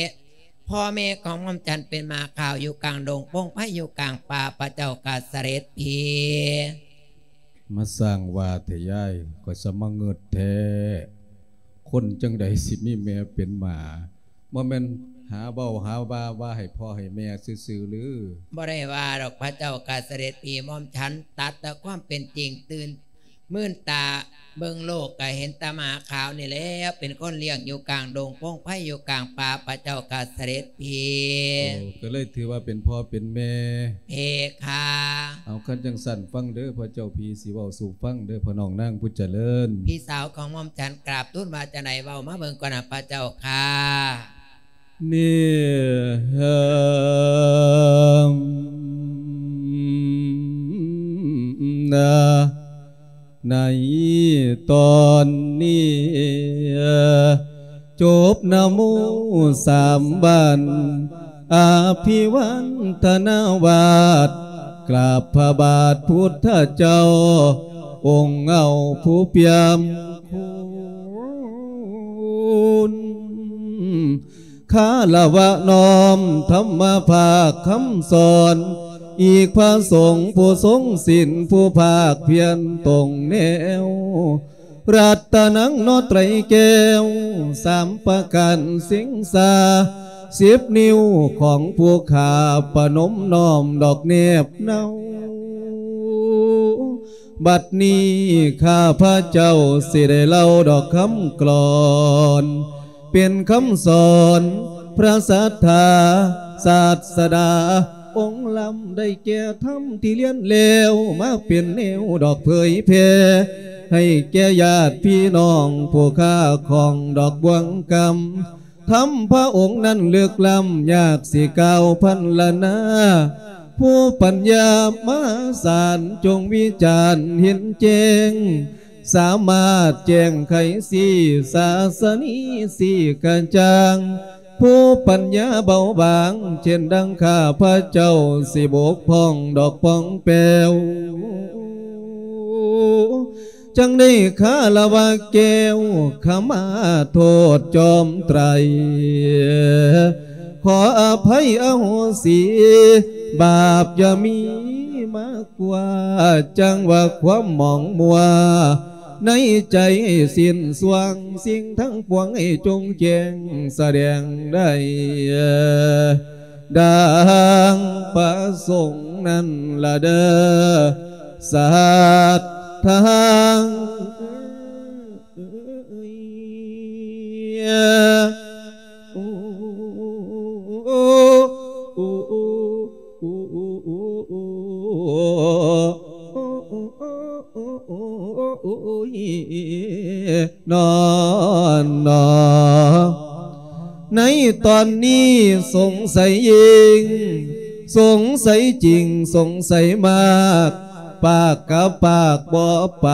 ພໍ່ແມ່ຂອງໝ່ອມສັນເປັນໝາຂາວຢູ່ກາງດົງ ປົງໄພຢູ່ກາງປ່າ ພະເຈົ້າຂ້າສະເດັດພີ້. ມາສ້າງວ່າແທ້ຍາຍ ຂ້ອຍສະມາງຶດແທ້ ຄົນຈັ່ງໃດຊິມີແມ່ເປັນໝາ ບໍ່ແມ່ນຫາເວົ້າຫາວ່າ ວ່າໃຫ້ພໍ່ໃຫ້ແມ່ຊື່ໆຫຼື? ບໍ່ໄດ້ວ່າດອກພະເຈົ້າຂ້າສະເດັດພີ້ ໝ່ອມສັນຕັດແຕ່ຄວາມເປັນຈິງ ຕື່ນ ມື່ນຕາເບິ່ງໂລກກະເຫັນແຕ່ໝາຂາວນີ້ແຫຼະ ເປັນຄົນລ້ຽງຢູ່ກາງດົງ ປົງໄພຢູ່ກາງປ່າ ພະເຈົ້າຂ້າສະເດັດພີ້. ໂອ້ ກໍເລີຍຖືວ່າເປັນພໍ່ເປັນແມ່ ເພຄາ. ເອົາ ຄັນຈັ່ງຊັ້ນຟັງເດີ ພະເຈົ້າພີ້ຊິເວົ້າສູ່ຟັງເດີ ພໍ່ນ້ອງນາງຜູ້ຈະເລີນ. ພີ່ສາວຂອງໝ່ອມສັນກາບທູນວ່າຈັ່ງໃດ ເວົ້າມາເບິ່ງກ່ອນນະ ພະເຈົ້າຂ້າ. ນີ້ ໃນຕອນນີ້ ຈົບນະໂມສາມບານ ອະພິວັນທະນາວາດ ກາບພະບາດພຸດທະເຈົ້າ ອົງເອົາຜູ້ປ່ຽມຄຸນ ຄາລະວະນ້ອມທຳມະພາກຄຳສອນ ອີກພະສົງຜູ້ຊົງສິນ ຜູ້ພາກພຽນຕົງແນວ ລັດຕະນັງເນາະໄຕແກ້ວສາມປະການ ສິງສາສິບນິ້ວຂອງຜູ້ຂ້າ ປະນົມນ້ອມດອກແນບເນົາ. ບັດນີ້ຂ້າພະເຈົ້າຊິໄດ້ເລົ່າດອກຄຳກລອນ ເປັນຄຳສອນພະສັດທາສາດສະດາອົງລຳ ໄດ້ແກ່ທຳທີ່ລຽນແລ້ວ ມາເປັນແນວດອກເຜີຍແຜ່ ໃຫ້ແກ່ຍາດພີ່ນ້ອງຜູ້ຄ້າຂອງດອກບ່ວງກຳ ທຳພະອົງນັ້ນເລິກລ້ຳ ຍາກຊິກ່າວພັນລະນາ ຜູ້ປັນຍາມະຫາສານ ຈົ່ງວິຈານເຫັນແຈ້ງ ສາມາດແຈ້ງໄຂຊີ້ສາສະນີຊີ້ກະຈ່າງ ຜູ້ປັນຍາເບົາບາງ ເຊັ່ນດັ່ງຂ້າພະເຈົ້າຊິບົກຜ່ອງດອກປ່ອງແປວ ຈັ່ງໄດ້ຄາລະວະແກ້ວ ຂະມາໂທດຈອມໄຕ ຂໍອະໄພອະໂຫສີ ບາບຢ່າມີມາກວ່າ ຈັ່ງວ່າຄວາມໝອງມົວ ໃນໃຈສິ້ນຊ່ວງ ສິ່ງທັງປວງໃຫ້ຈົ່ງແຈ້ງສະແດງໄດ້ ດັ່ງປະສົງນັ້ນລະເດີ ສັດທາ. ນອນໜໍ ໃນຕອນນີ້ສົງໄສຍິ່ງ ສົງໄສຈິງ ສົງໄສມາກ ປາກກະປາກບໍ່ໄປ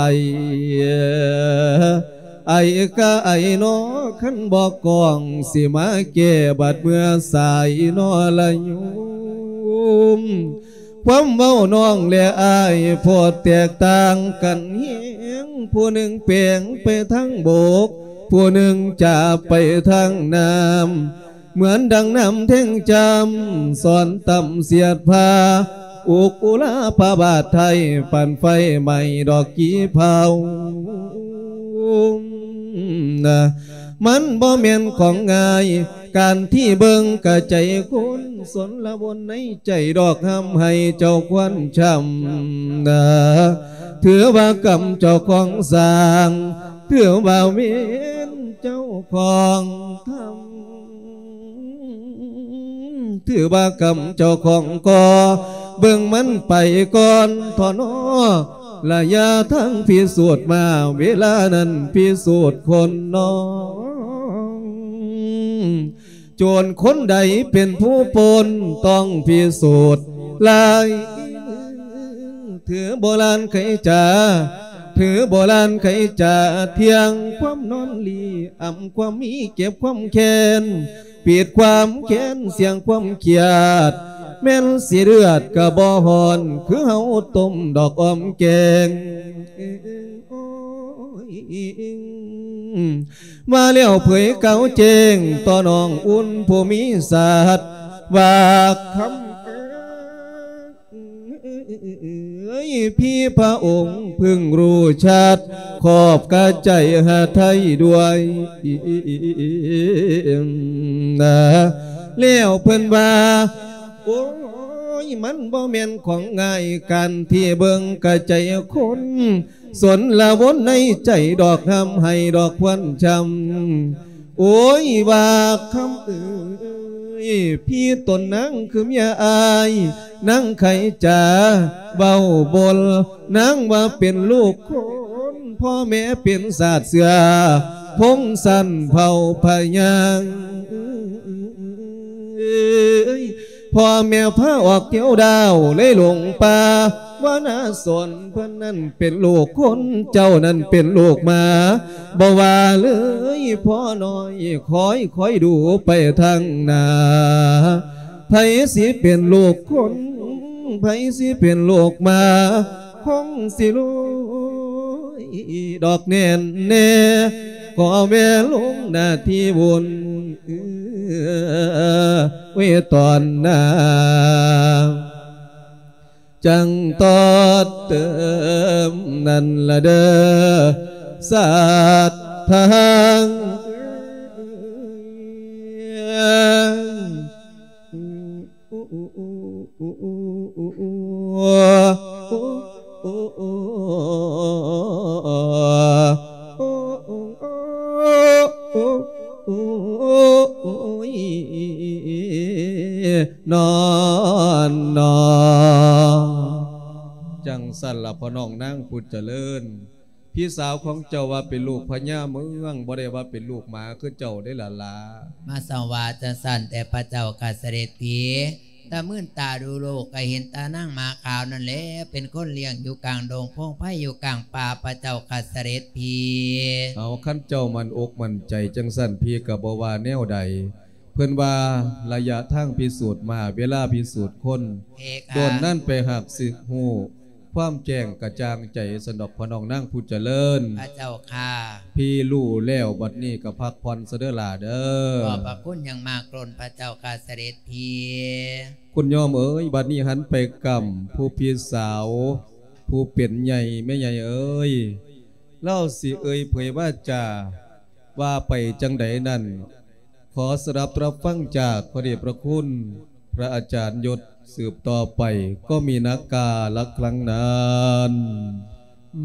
ໄອກະໄອນໍ ຄັນບໍ່ກ້ອງ ຊິມາແກ້ບາດເມື່ອສາຍນໍລະໂຍມ. ຄວາມເວົ້ານ້ອງແລະອ້າຍ ໂພດແຕກຕ່າງກັນແຮງ ຜູ້ໜຶ່ງແປງໄປທາງບົກ ຜູ້ໜຶ່ງຈາບໄປທາງນ້ຳ ເໝືອນດັ່ງນ້ຳແທງຈຳ ສອນຕ່ຳສຽດພາ ອຸກອຸລາພະບາດໄທ ປານໄຟໄໝ້ດອກກີເຜົາ. ມັນບໍ່ແມ່ນຂອງງ່າຍ ການທີ່ເບິ່ງກະໃຈຄົນ ສົນລະວົນໃນໃຈດອກ ຮ່ຳໃຫ້ເຈົ້າຄວນຊ້ຳນາ ຖືວ່າກຳເຈົ້າຂອງສ້າງ ຖືວ່າເວນເຈົ້າຂອງທຳ ຖືວ່າກຳເຈົ້າຂອງກໍ່ ເບິ່ງມັນໄປກ່ອນເຖາະນໍ ລະຢ່າທັງພິສູດມາ ເວລານັ້ນພິສູດຄົນນ້ອງ ໂຈນຄົນໃດເປັນຜູ້ປົນ ຕ້ອງພິສູດຫຼາຍ. ຖືໂບລານໄຂຈາ ຖືໂບລານໄຂຈາ ທ່ຽງຄວາມນອນຫຼີ ອຳຄວາມມີ ເກັບຄວາມແຄ້ນ ປິດຄວາມແຄ້ນ ສ່ຽງຄວາມຄຽດ ແມ່ນຊິເລືອດກະບໍ່ຮ້ອນ ຄືເຮົາຕົ້ມດອກອອມແກງ. ມາແລ້ວເຜີຍກ່າວແຈ້ງຕໍ່ນ້ອງອຸ່ນຜູ້ມີສັດ ວ່າຄຳເອີຍ ພີ່ພະອົງເພິ່ງຮູ້ຊັດ ຂອບກະໃຈຫາໄທດ້ວຍນາ. ແລ້ວເພິ່ນວ່າ ໂອ້ຍ ມັນບໍ່ແມ່ນຂອງງ່າຍ ການທີ່ເບິ່ງກະໃຈຄົນ ສົນລະວົນໃນໃຈດອກ ຫ້ຳໃຫ້ດອກຄວັນຊ້ຳ. ໂອ້ຍ ວ່າຄຳເອີຍ ພີ່ຕົນນາງຄືເມຍອ້າຍ ນາງໄຂຈາເວົ້າບົນ ນາງວ່າເປັນລູກຄົນ ພໍ່ແມ່ເປັນຊາດເຊື້ອ ພົງຊັ້ນເຜົ່າພະຍາງ ພໍ່ແມ່ພາອອກທ່ຽວດາວ ເລີຍຫຼົງປ່າ ວ່ານາສອນ ເພິ່ນນັ້ນເປັນລູກຄົນ ເຈົ້ານັ້ນເປັນລູກໝາ ບໍ່ວ່າເລີຍພໍ່ນ້ອຍ ຄອຍ ຄອຍດູໄປທາງໜ້າ ໃຜຊິເປັນລູກຄົນ ໃຜຊິເປັນລູກໝາ ຄົງຊິລວຍດອກແນ່ນແນ່ ຂໍແວ່ລົງໜ້າທີ່ວຸ່ນ ເອີ ເວຕອນໜ້າ ຈັ່ງຕໍ່ເຕີມນັ້ນລະເດີ ສາດທາງ. ຈັ່ງຊັ້ນລະພໍ່ນ້ອງນາງຜູ້ຈະເລີນ ພີ່ສາວຂອງເຈົ້າວ່າເປັນລູກພະຍາເມືອງ ບໍ່ໄດ້ວ່າເປັນລູກໝາຄືເຈົ້າເດ້ລະຫຼ້າ. ມາສະຫວາຈັ່ງຊັ້ນແຕ່ພະເຈົ້າຂ້າສະເດັດພີ ຕາມື່ນຕາດູລູກກະເຫັນແຕ່ນາງໝາຂາວນັ້ນແຫຼະ ເປັນຄົນລ້ຽງຢູ່ກາງດົງໂພງໄພ ຢູ່ກາງປ່າ ພະເຈົ້າຂ້າສະເດັດພີ. ເອົາ ຄັນເຈົ້າໝັ້ນອົກໝັ້ນໃຈຈັ່ງຊັ້ນ ພີ່ກະບໍ່ວ່າແນວໃດ. ເພິ່ນວ່າໄລຍະທາງພິສູດມາ ເວລາພິສູດຄົນ ເພຄະ ໂດນນັ້ນໄປຫາກສຶກຮູ້ ຄວາມແຈ້ງກະຈ່າງໃຈ ຊັ້ນດອກພໍ່ນ້ອງນາງຜູ້ຈະເລີນ. ພະເຈົ້າຂ້າ ພີ່ຮູ້ແລ້ວ ບັດນີ້ກະພັກຜ່ອນຊະເດີຫຼ້າເດີ. ຂອບພະຄຸນຢ່າງມາກລົ້ນພະເຈົ້າຂ້າສະເດັດພີ. ຄຸນຍອມເອີຍ ບັດນີ້ຫັນໄປກຳຜູ້ພີ່ສາວ ຜູ້ເປັນໃຫຍ່ ແມ່ໃຫຍ່ເອີຍ ລາວຊິເອີ່ຍເຜີຍວາຈາ ວ່າໄປຈັ່ງໃດນັ້ນ ຂໍສະດັບຮັບຟັງຈາກພະເດດພະຄຸນພະອາຈານຍົດ ສືບຕໍ່ໄປກໍມີນາກາລະຄັງນານ.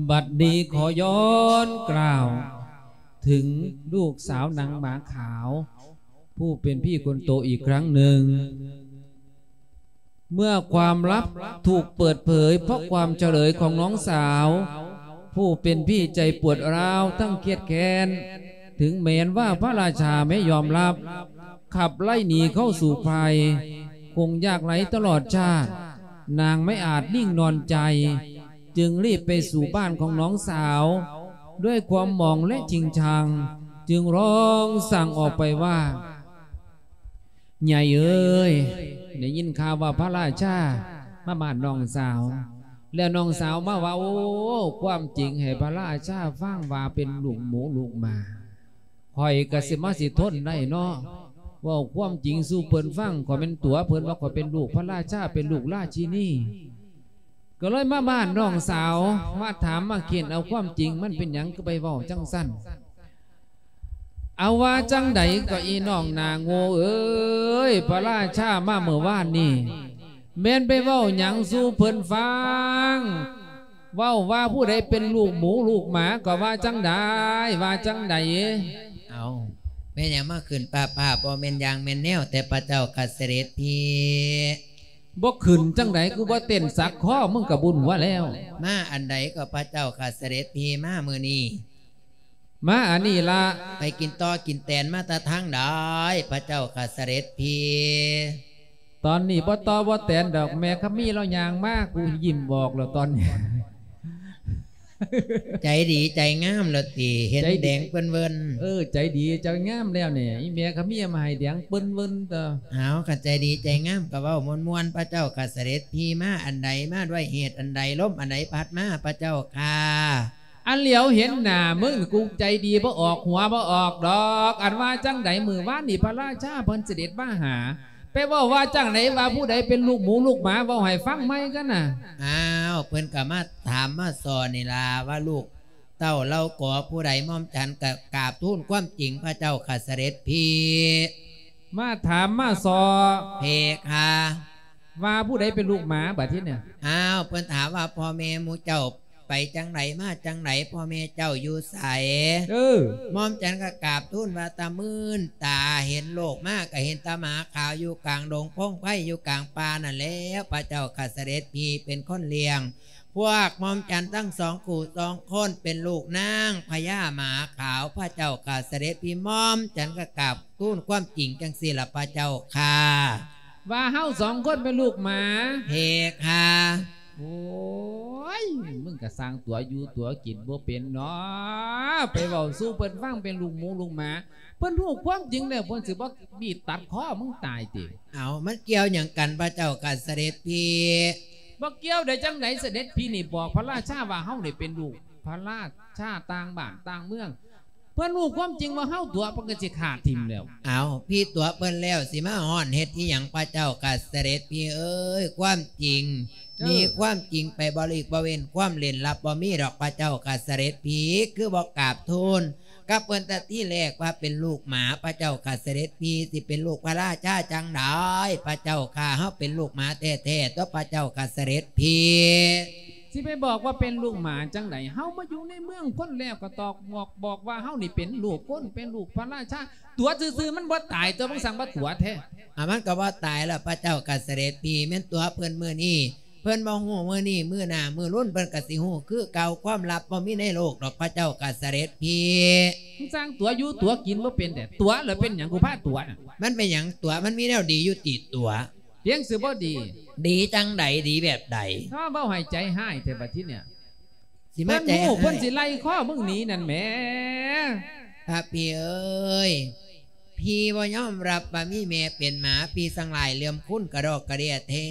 ບັດນີ້ຂໍຍ້ອນກ່າວເຖິງລູກສາວນາງໝາຂາວ ຜູ້ເປັນພີ່ຄົນໂຕອີກຄັ້ງໜຶ່ງ. ເມື່ອຄວາມລັບຖືກເປີດເຜີຍ ເພາະຄວາມຈະເລີຍຂອງນ້ອງສາວ ຜູ້ເປັນພີ່ໃຈປວດຮ້າວທັງຄຽດແຄ້ນ, ເຖິງແມ່ນວ່າພະລາຊາແມ້ຍອມຮັບ ຂັບໄລ່ໜີເຂົ້າສູ່ໄພ ຄົງຍາກໄຮ້ຕະຫຼອດຊາດ, ນາງໄມ່ອາດນິ່ງນອນໃຈ ຈຶ່ງລີບໄປສູ່ບ້ານຂອງນ້ອງສາວ ດ້ວຍຄວາມໝອງ ແລະ ຈິງຈັງ ຈຶ່ງຮ້ອງສັ່ງອອກໄປວ່າ ໃຫຍ່ເອີຍ ໄດ້ຍິນຂ່າວວ່າພະລາຊາມາບ້ານນ້ອງສາວ ແລ້ວນ້ອງສາວມາເວົ້າຄວາມຈິງໃຫ້ພະລາຊາຟັງວ່າເປັນລູກໝູລູກໝາ. ຂ້ອຍກະຊິມາຊິທົນໄດ້ເນາະ ເວົ້າຄວາມຈິງສູ່ເພິ່ນຟັງ ຂ້ອຍແມ່ນຕົວະເພິ່ນວ່າຂ້ອຍເປັນລູກພະລາຊາ ເປັນລູກລາຊິນີ. ກໍເລີຍມາບ້ານນ້ອງສາວ ມາຖາມມາເຄ້ນເອົາຄວາມຈິງ ມັນເປັນຫຍັງຄືໄປເວົ້າຈັ່ງຊັ້ນ? ເອົາວ່າຈັ່ງໃດກໍອີນ້ອງໜ້າໂງ່ເອີຍ ພະລາຊາມາເມື່ອວານນີ້ ແມ່ນໄປເວົ້າຫຍັງສູ່ເພິ່ນຟັງ? ເວົ້າວ່າຜູ້ໃດເປັນລູກໝູລູກໝາ ກໍວ່າຈັ່ງໃດ ວ່າຈັ່ງໃດ? ເອົາ ແມ່ນຫຍັງມາຂຶ້ນປ້າໆ ບໍ່ແມ່ນຢ່າງແມ່ນແນວແຕ່ພະເຈົ້າຂ້າສະເດັດພີ. ບໍ່ຂຶ້ນຈັ່ງໃດ ຄືບໍ່ເຕັ້ນສັກຄໍ ມຶງກະບຸນຫົວແລ້ວ. ມາອັນໃດກໍພະເຈົ້າຂ້າສະເດັດພີມາມື້ນີ້? ມາອັນນີ້ລະ. ໄປກິນຕໍ່ກິນແຕນມາແຕ່ທາງໃດ ພະເຈົ້າຂ້າສະເດັດພີ? ຕອນນີ້ບໍ່ຕໍ່ບໍ່ແຕນດອກ ແມ່ຄຳມີລາວຍ່າງມາ ກູຍິ້ມອອກແລ້ວຕອນນີ້. ໃຈດີໃຈງາມແລ້ວຕິ ເຫັນແດງເປິ້ນເວີ້ນ. ເອີ ໃຈດີໃຈງາມແລ້ວນີ້ ອີແມ່ຂະເມຍມາໃຫ້ແດງເປິ້ນເວີ້ນຕົວະ. ເອົາ ຄັນໃຈດີໃຈງາມກໍເວົ້າມ່ວນໆ ພະເຈົ້າຂ້າສະເດັດພີ. ມາອັນໃດ ມາດ້ວຍເຫດອັນໃດ ລົມອັນໃດພັດມາ ພະເຈົ້າຂ້າ? ອັນຫຼຽວເຫັນໜ້າມຶງ ກູໃຈດີບໍ່ອອກຫົວບໍ່ອອກດອກ. ອັນວ່າຈັ່ງໃດ ມື້ວານນີ້ພະລາຊາເພິ່ນສະເດັດມາຫາ ໄປເວົ້າວ່າຈັ່ງໃດ ວ່າຜູ້ໃດເປັນລູກໝູລູກໝາ ເວົ້າໃຫ້ຟັງໃໝ່ກັນນະ. ອ້າວ ເພິ່ນກໍມາຖາມມາສອນນີ້ລະ ວ່າລູກເຕົ້າເຫຼົ່າກໍຜູ້ໃດ. ໝ່ອມສັນກໍກາບທູນຄວາມຈິງພະເຈົ້າຂ້າສະເດັດພີ່. ມາຖາມມາສອນ ເພຄະ ວ່າຜູ້ໃດເປັນລູກໝາ ບັດທີນີ້. ອ້າວ ເພິ່ນຖາມວ່າ ພໍ່ແມ່ໝູ່ເຈົ້າ ໄປຈັ່ງໃດມາຈັ່ງໃດ ພໍ່ແມ່ເຈົ້າຢູ່ໃສ? ເອີ ໝ່ອມສັນກໍກາບທູນວ່າ ຕາມື່ນຕາເຫັນໂລກມາ ກໍເຫັນແຕ່ໝາຂາວຢູ່ກາງດົງພົງໄພ ຢູ່ກາງປ່ານັ້ນແລ້ວ ພະເຈົ້າຂ້າສະເດັດພີ່ເປັນຄົນລ້ຽງ. ພວກໝ່ອມສັນທັງສອງຄູ່ສອງຄົນ ເປັນລູກນາງພະຍາໝາຂາວ ພະເຈົ້າຂ້າສະເດັດພີ່. ໝ່ອມສັນກໍກາບທູນຄວາມຈິງຈັ່ງຊີ້ລະ ພະເຈົ້າຂ້າ. ວ່າເຮົາສອງຄົນເປັນລູກໝາ ເພຄະ. ໂອ້ຍ ມຶງກະຊ່າງຕົວຢູ່ຕົວກິນບໍ່ເປັນເນາະ ໄປເວົ້າສູ່ເພິ່ນຟັງເປັນລູກໝູລູກໝາ. ເພິ່ນຮູ້ຄວາມຈິງແລ້ວ ເພິ່ນຊິບໍ່ບີດຕັດຄໍມຶງຕາຍຕິ? ເອົາ ມັນກ່ຽວຫຍັງກັນ ພະເຈົ້າຂ້າສະເດັດພີ່? ບໍ່ກ່ຽວໄດ້ຈັ່ງໃດ ສະເດັດພີ່ນີ້ບອກພະລາຊາວ່າເຮົານີ້ເປັນລູກພະລາຊາຕ່າງບ້ານຕ່າງເມືອງ. ເພິ່ນຮູ້ຄວາມຈິງວ່າເຮົາຕົວະ ເພິ່ນກໍຊິຂ້າຖິ້ມແລ້ວ. ເອົາ ພີ່ຕົວະເພິ່ນແລ້ວ ຊິມາຮ້ອນເຮັດອີ່ຫຍັງ ພະເຈົ້າຂ້າສະເດັດພີ່ເອີຍ? ຄວາມຈິງ ເອີ ມີຄວາມຈິງໄປ ບໍ່ຫຼີກບໍ່ເວັ້ນ ຄວາມເລັ່ນລັບບໍ່ມີດອກ ພະເຈົ້າຂ້າສະເດັດພີ່. ຄືບໍ່ກາບທູນກັບເພິ່ນແຕ່ທີແລກວ່າເປັນລູກໝາ ພະເຈົ້າຂ້າສະເດັດພີ່. ຊິເປັນລູກພະລາຊາຈັ່ງໃດ ພະເຈົ້າຂ້າ? ເຮົາເປັນລູກໝາແທ້ໆຕົວະ ພະເຈົ້າຂ້າສະເດັດພີ່. ຊິໄປບອກວ່າເປັນລູກໝາຈັ່ງໃດ? ເຮົາມາຢູ່ໃນເມືອງຄົນແລ້ວກໍຕອກບອກ ບອກວ່າເຮົານີ້ເປັນລູກຄົນ ເປັນລູກພະລາຊາ. ຕົວະຊື່ໆມັນບໍ່ຕາຍຕົວະ ມຶງສັ່ງວ່າຕົວະແທ້. ອາ ມັນກໍບໍ່ຕາຍລະ ພະເຈົ້າຂ້າສະເດັດພີ່. ແມ່ນຕົວະເພິ່ນມື້ນີ້ ເພິ່ນບໍ່ຮູ້ມື້ນີ້ ມື້ໜ້າມື້ລຸນເພິ່ນກໍຊິຮູ້ຄືເກົ່າ. ຄວາມລັບບໍ່ມີໃນໂລກດອກ ພະເຈົ້າຂ້າສະເດັດພີ່. ມຶງສ້າງຕົວະຢູ່ຕົວະກິນບໍ່ເປັນແທ້. ຕົວະແລ້ວເປັນຫຍັງ ກູພາຕົວະນະ? ມັນເປັນຫຍັງຕົວະ? ມັນມີແນວດີຢູ່ຕິຕົວະ? ພຽງຊື່ບໍ່ດີ. ດີຈັ່ງໃດ? ດີແບບໃດ? ຖ້າເວົ້າໃຫ້ໃຈຮ້າຍແທ້ບັດທີເນີ້ຍ. ຊິມາໃຈຮ້າຍ ເພິ່ນຮູ້ ເພິ່ນຊິໄລ່ຄໍມຶງໜີນັ້ນແໝ. ພະພີ່ເອີຍ ພີ່ບໍ່ຍອມຮັບວ່າມີແມ່ເປັນໝາ ພີ່ສັ່ງຫຼາຍເລື່ອມຄຸນກະດອກກະເດຍແທ້.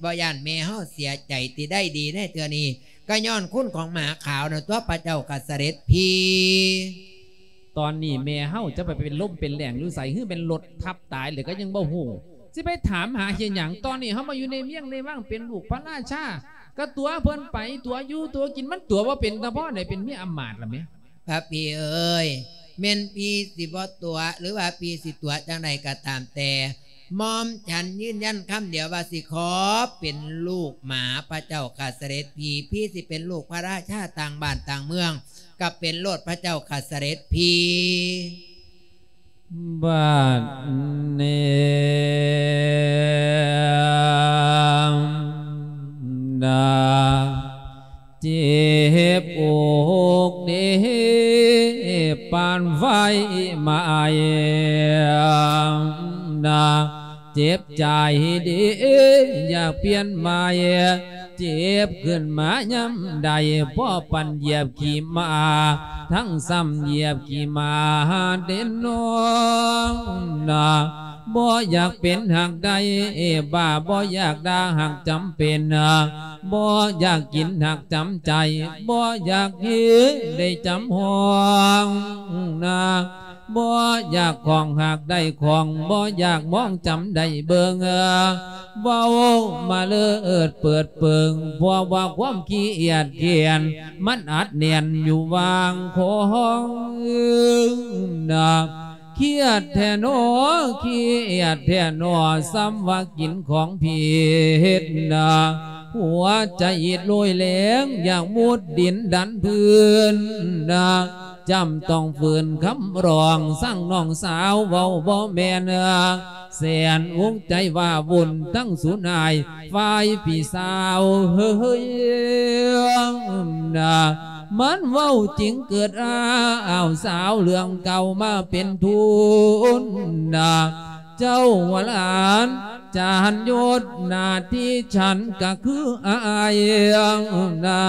ບໍ່ຢ້ານແມ່ເຮົາເສຍໃຈຕິ? ໄດ້ດີໃນເທື່ອນີ້ ກໍຍ້ອນຄຸນຂອງໝາຂາວນັ້ນຕົວະ ພະເຈົ້າຂ້າສະເດັດພີ່. ຕອນນີ້ແມ່ເຮົາຈະໄປເປັນລົມເປັນແລ້ງຢູ່ໃສ ຫຼືແມ່ນລົດທັບຕາຍແລ້ວກໍຍັງບໍ່ຮູ້ ຊິໄປຖາມຫາເຮັດຫຍັງ? ຕອນນີ້ເຮົາມາຢູ່ໃນວຽງໃນວັງ ເປັນລູກພະລາຊາ ກໍຕົວະເພິ່ນໄປ ຕົວະຢູ່ຕົວະກິນ. ມັນຕົວະບໍ່ເປັນ ຕາພໍ່ໄດ້ເປັນເມຍອຳມາດລະແມ. ພະພີ່ເອີຍ ແມ່ນພີ່ຊິບໍ່ຕົວະ ຫຼືວ່າພີ່ຊິຕົວະຈັ່ງໃດກໍຕາມແຕ່ ໝ່ອມສັນຢືນຢັນຄຳດຽວວ່າ ຊິຂໍເປັນລູກໝາ ພະເຈົ້າຂ້າສະເດັດພີ່. ພີ່ຊິເປັນລູກພະລາຊາຕ່າງບ້ານຕ່າງເມືອງ ກໍເປັນໂລດ ພະເຈົ້າຂ້າສະເດັດພີ່. ບັດນີ້ນາ ເຈັບອົກເດ ປານໄຟໄໝ້ ນາ ເຈັບໃຈເດ ຢາກປ່ຽນໃໝ່ ເຈັບຂຶ້ນມາຍາມໃດ ພໍປານຢຽບຂີ້ໝາ ທັງຊ້ຳຢຽບຂີ້ໝາເດນອ ນາ ບໍ່ຢາກເປັນຫາກໄດ້ບ້າ ບໍ່ຢາກດ່າຫາກຈຳເປັນ ບໍ່ຢາກກິນຫາກຈຳໃຈ ບໍ່ຢາກເຮັດໄດ້ຈຳຫ້ອງນາ ບໍ່ຢາກຂອງຫາກໄດ້ຂອງ ບໍ່ຢາກມອງຈຳໄດ້ເບິ່ງ ເວົ້າມາເລີດເປີດເປີງ ເພາະວ່າຄວາມຂີ້ອຽດຄ້ານ ມັນອັດແໜ້ນຢູ່ຫວ່າງຄອງນາ ຄຽດແທ້ໜໍ ຄຽດແທ້ໜໍ ສ່ຳວ່າກິນຂອງຜິດນາ ຫົວໃຈອິດໂລຍແລງ ຢາກມຸດດິນດັນພື້ນນາ ຈຳຕ້ອງຝືນຄຳຮ້ອງ ສັ່ງນ້ອງສາວເວົ້າບໍ່ແມ່ນ ແສນອຸກໃຈວ່າວຸ່ນ ທັງສູນອາຍຝ່າຍພີ່ສາວເຮີ້ຍນາ ມັນເວົ້າຈິງເກີດອ້າວສາວ ເລື່ອງເກົ່າມາເປັນທຶນນາ ເຈົ້າຫົວຫຼານຈານຍົດໜ້າທີ່ ສັນກະຄືອ້າຍນາ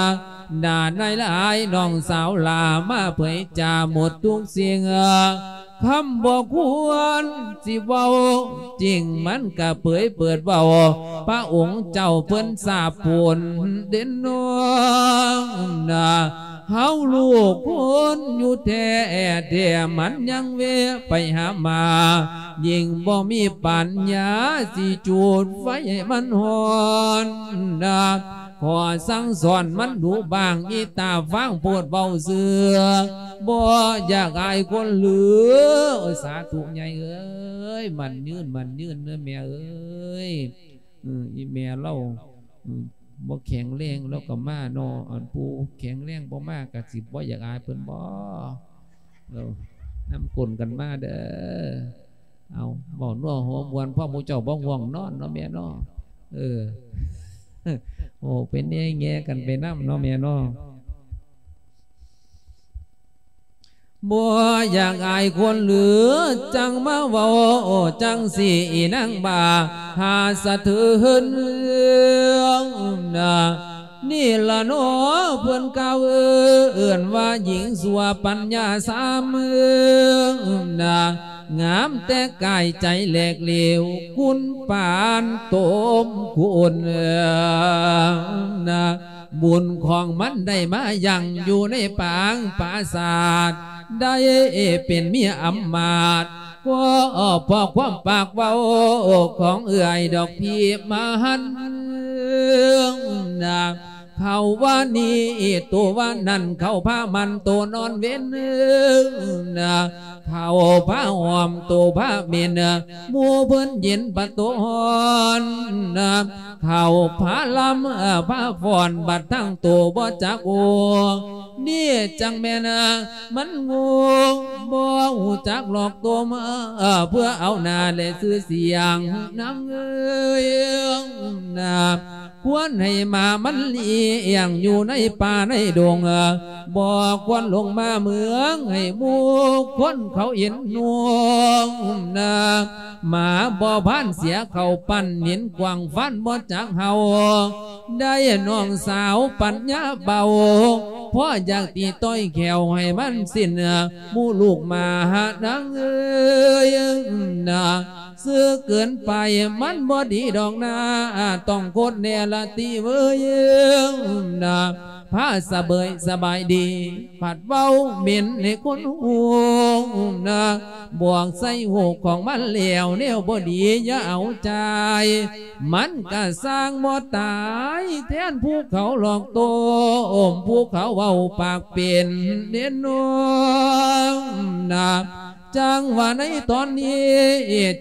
ໜ້ານາຍຫຼາຍ ນ້ອງສາວຫຼ້າມາເຜີຍຈາໝົດທຸກສິ່ງ ຄຳບໍ່ຄວນຊິເວົ້າຈິງ ມັນກະເຜີຍເປີດເວົ້າ ພະອົງເຈົ້າເພິ່ນສາບປູນເດນອນາ ເຮົາລູກຄົນຢູ່ແທ້ແທ້ ມັນຍັງແວະໄປຫາໝາ ຍິ່ງບໍ່ມີປັນຍາ ຊິຈູດໄຟໃຫ້ມັນຮ້ອນນະ. ຂໍສັ່ງສອນມັນດຸບ້າງ ອີຕາຟາງໂພດເວົ້າຊື່ ບໍ່ຢາກອາຍຄົນຫຼື. ສາທຸໃຫຍ່ເອີຍ ໝັ້ນຍືນ ໝັ້ນຍືນເດີແມ່ເອີຍ. ເອີ ອີແມ່ລາວ ອືມ ບໍ່ແຂງແຮງລາວກໍມາເນາະ ອັນຜູ້ແຂງແຮງບໍ່ມາກໍຊິບໍ່ຢາກອາຍເພິ່ນບໍ? ເອີ ນຳກົນກັນມາເດີ. ເອົາ ເວົ້ານົວຫົວມ່ວນ ພວກໝູ່ເຈົ້າບໍ່ງ່ວງນອນເນາະແມ່ເນາະ. ເອີ ໂອ້ ເປັນແງ່ໆກັນໄປນຳເນາະແມ່ເນາະ. ບໍ່ຢາກອາຍຄົນຫຼື ຈັ່ງມາເວົ້າຈັ່ງຊີ້ ອີນາງບ້າຫາສະເທີນນະ. ນີ້ລະເນາະ ເພິ່ນກ່າວເອີ້ນວ່າ ຍິງຊົ່ວປັນຍາສາມນະ ງາມແຕ່ກາຍໃຈແຫຼກເຫຼວ ຄຸນປານຕົມຄຸນນະ. ບຸນຂອງມັນໄດ້ມາຢັ້ງຢູ່ໃນປາງປາສາດ ໄດ້ເປັນເມຍອຳມາດ ກໍເພາະຄວາມປາກເວົ້າຂອງເອື້ອຍດອກພີ່ມະຫັນນະ. ເຂົາວ່ານີ້ໂຕວ່ານັ້ນ ເຂົາພາມັນໂຕນອນເວັນນະ ເຂົາພາຫອມໂຕພາເໝັນ ໝູ່ເພິ່ນເຢັນປະໂຕຮ້ອນນະ. ເຂົາພາລຳ ເອີ ພາຟ້ອນ ບັດທັງໂຕບໍ່ຈັກໂອ ນີ້ຈັ່ງແມ່ນ ມັນໂງ່ ບໍ່ຮູ້ຈັກຫຼອກຕົມ ເອີ ເພື່ອເອົາໜ້າ ແລະ ຊື່ສຽງນາງເອີຍນະ. ຄວນໃຫ້ໝາມັນລ້ຽງຢູ່ໃນປ່າໃນດົງ ບໍ່ຄວນລົງມາເມືອງໃຫ້ໝູ່ຄົນເຂົາເຫັນໜ່ວງນະ. ໝາບໍ່ພານເສຍເຂົ້າປັ້ນ ເຫັນກວ້າງຟັນບໍ່ຈັກເຫົ່າ ໄດ້ນ້ອງສາວປັນຍາເບົາ ພໍຢາກຕີຕ່ອຍແຂ້ວໃຫ້ມັນສິ້ນ ໝູ່ລູກໝານາງເອີຍນະ. ຊື່ເກີນໄປມັນບໍ່ດີດອກນາ ຕ້ອງຄົນແນ່ລະຕິເວີຍນະ. ພາສະເບີຍສະບາຍດີ ພັດເວົ້າເໝັນໃຫ້ຄົນຮູ້ນະ. ບອກໃສ່ຫູຂອງມັນແລ້ວ ແນວບໍ່ດີຢ່າເອົາໃຈ ມັນກະສ້າງບໍ່ຕາຍ ແທນຜູ້ເຂົາຫຼອກໂຕມ ຜູ້ເຂົາເວົ້າປາກເປັນເດ້ນ້ອງນະ. ຈັ່ງວ່າໃນຕອນນີ້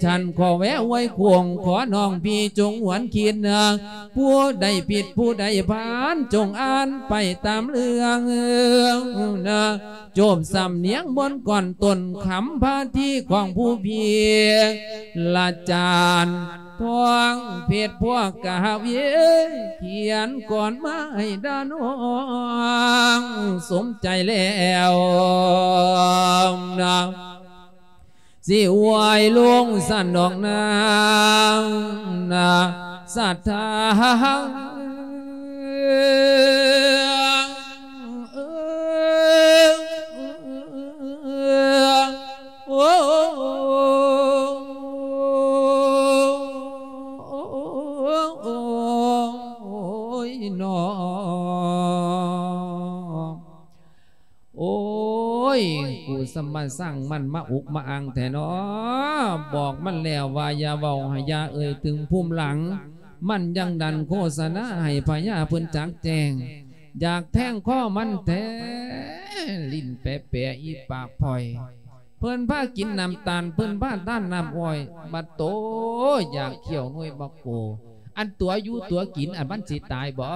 ສັນຂໍແວະໄວ້ຄວງ ຂໍນ້ອງພີ່ຈົ່ງຫວນຄິດນະ. ຜູ້ໃດຜິດຜູ້ໃດພານ ຈົ່ງອ່ານໄປຕາມເລື່ອງນະ. ໂຈບສຳນຽງບົນກ້ອນຕົ້ນຄຳພາທີຂອງຜູ້ພີ່ລະຈານ ທອງເພັດພວກກະຫາວຽ ຂຽນກ່ອນມາໃຫ້ດານ້ອງສົມໃຈແລ້ວນະ. ຊິອວຍລົງສັນດອກນາງນະ ສັດທາ ໂອ້ ໂອ້ຍ ນ້ອງ ໂອ້ຍ ກູສະມາສ້າງມັນມາອຸກມາອັ່ງແທ້ນໍ. ບອກມັນແລ້ວວ່າຢ່າເວົ້າ ໃຫ້ຢ່າເອີ່ຍເຖິງພູມຫຼັງ. ມັນຍັງດັນໂຄສະນາໃຫ້ພະຍາເພິ່ນຈັກແຈ້ງ. ຢາກແທງຄໍມັນແທ້ ຫຼິ້ນແປະໆ ອີປາກພອຍ. ເພິ່ນພາກິນນ້ຳຕານ ເພິ່ນພາທານນ້ຳອ້ອຍ ບັດໂຕຢາກຂ້ຽວໜ່ວຍບັກໂກ. ອັນຕົວຢູ່ຕົວກິນ ອັນມັນຊິຕາຍບໍ?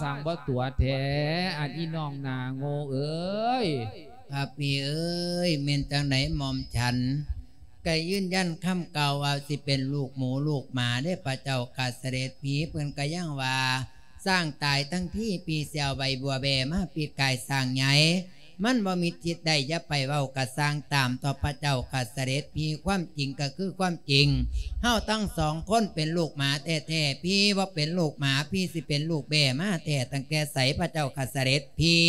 ຊ່າງບໍ່ຕົວແທ້ ອັນອີນ້ອງໜ້າໂງ່ເອີຍ. ພະພີ່ເອີຍ ແມ່ນຈັ່ງໃດໝ່ອມສັນ ກະຢືນຢັນຄຳກ່າວວ່າຊິເປັນລູກໝູລູກໝາເດ້ ພະເຈົ້າຂ້າສະເດັດພີ່. ເພິ່ນກະຍັງວ່າ ຊ້າງຕາຍທັງທີ ພີ່ຊິເອົາໃບບົວແບມາປິດກາຍຊ້າງໃຫຍ່. ມັນບໍ່ມີທິດໃດ ຢ່າໄປເວົ້າກະຊ່າງຕາມເຖາະ ພະເຈົ້າຂ້າສະເດັດພີ່. ຄວາມຈິງກະຄືຄວາມຈິງ ເຮົາທັງສອງຄົນເປັນລູກໝາແທ້ໆ ພີ່ບໍ່ເປັນລູກໝາ ພີ່ຊິເປັນລູກແບ້ມາແທ້ຕັ້ງແຕ່ໃສ ພະເຈົ້າຂ້າສະເດັດພີ່?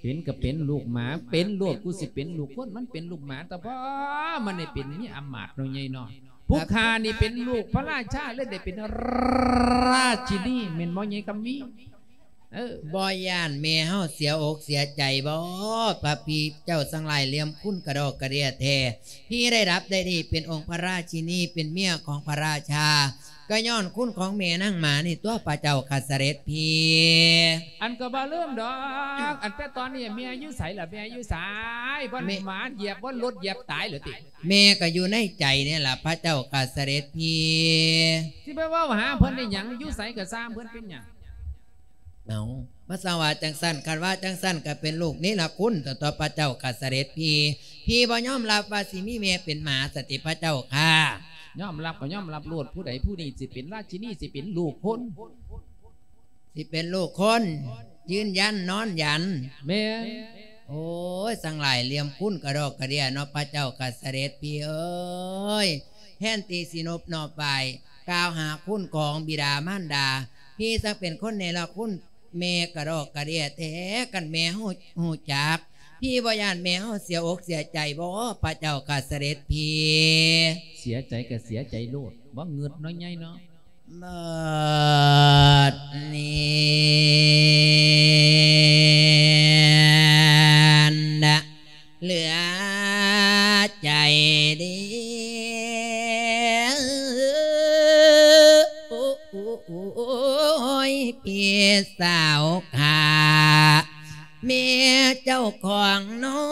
ເປັນກະເປັນລູກໝາ ເປັນໂລດ ກູຊິເປັນລູກຄົນ ມັນເປັນລູກໝາຕະພໍ ມັນໄດ້ເປັນເມຍອຳມາດເນາະໃຫຍ່ເນາະ. ຜູ້ຂ້ານີ້ເປັນລູກພະລາຊາ ເລີຍໄດ້ເປັນລາຊິນີ ແມ່ນບໍ່ໃຫຍ່ຄຳມີ? ເອີ ບໍ່ຢ້ານແມ່ເຮົາເສຍອົກເສຍໃຈບໍ? ພະພີ່ເຈົ້າຊ່າງຫຼ້າຍຫຼ່ຽມຄູນກະດອກກະເດຍແທ້. ພີ່ໄດ້ດັບໄດ້ດີເປັນອົງພະລາຊິນີ ເປັນເມຍຂອງພະລາຊາ ກໍຍ້ອນຄຸນຂອງແມ່ນາງໝານີ້ຕົວະພະເຈົ້າຂ້າສະເດັດພີ່. ອັນກໍບໍ່ລືມດອກ ອັນແຕ່ຕອນນີ້ແມ່ຢູ່ໃສລະ? ແມ່ຢູ່ໃສ? ບ່ອນ ແມ່ ໝາຢຽບ ບ່ອນລົດຢຽບຕາຍເລີຍຕິ? ແມ່ກໍຢູ່ໃນໃຈນີ້ລະພະເຈົ້າຂ້າສະເດັດພີ່. ຊິໄປເວົ້າຫາເພິ່ນໄດ້ຫຍັງ? ຢູ່ໃສກໍຊ່າງເພິ່ນ ເປັນຫຍັງ? ເອົາ ມາສະຫວາຈັ່ງຊັ້ນ ຄັນວ່າຈັ່ງຊັ້ນກໍເປັນລູກເນລະຄຸນຕົວະ ພະເຈົ້າຂ້າສະເດັດພີ່. ພີ່ບໍ່ຍອມຮັບວ່າຊິມີແມ່ເປັນໝາສະຕິພະເຈົ້າຂ້າ? ຍອມຮັບກໍຍອມຮັບໂລດ ຜູ້ໃດຜູ້ນີ້ຊິເປັນລາຊິນີ ຊິເປັນລູກຄົນ ຊິເປັນລູກຄົນ ຢືນຢັນນອນຢັນ. ແມ່ນ. ໂອ້ຍ ຊ່າງຫຼ້າຍຫຼ່ຽມຄູນກະດອກກະເດຍເນາະ ພະເຈົ້າຂ້າສະເດັດພີ່ເອີຍ. ແທນທີ່ຊິນົບນອບໄຫວ້ ກ່າວຫາຄຸນຂອງບິດາມານດາ ພີ່ຊ່າງເປັນຄົນເນລະຄຸນ ແມ່ກະດອກກະເດຍແທ້. ຄັນແມ່ຮູ້ ຮູ້ຈັກ ພີ່ບໍ່ຢ້ານແມ່ເຮົາເສຍອົກເສຍໃຈບໍ ພະເຈົ້າຂ້າສະເດັດພີ່? ເສຍໃຈກໍເສຍໃຈໂລດ ບໍ່ງຶດເນາະ ໃຫຍ່ເນາະ. ບັດນີ້ນະ ເຫຼືອໃຈເດ ໂອ້ຍ ພີ່ສາວຂ້າ ແມ່ເຈົ້າຂອງນ້ອ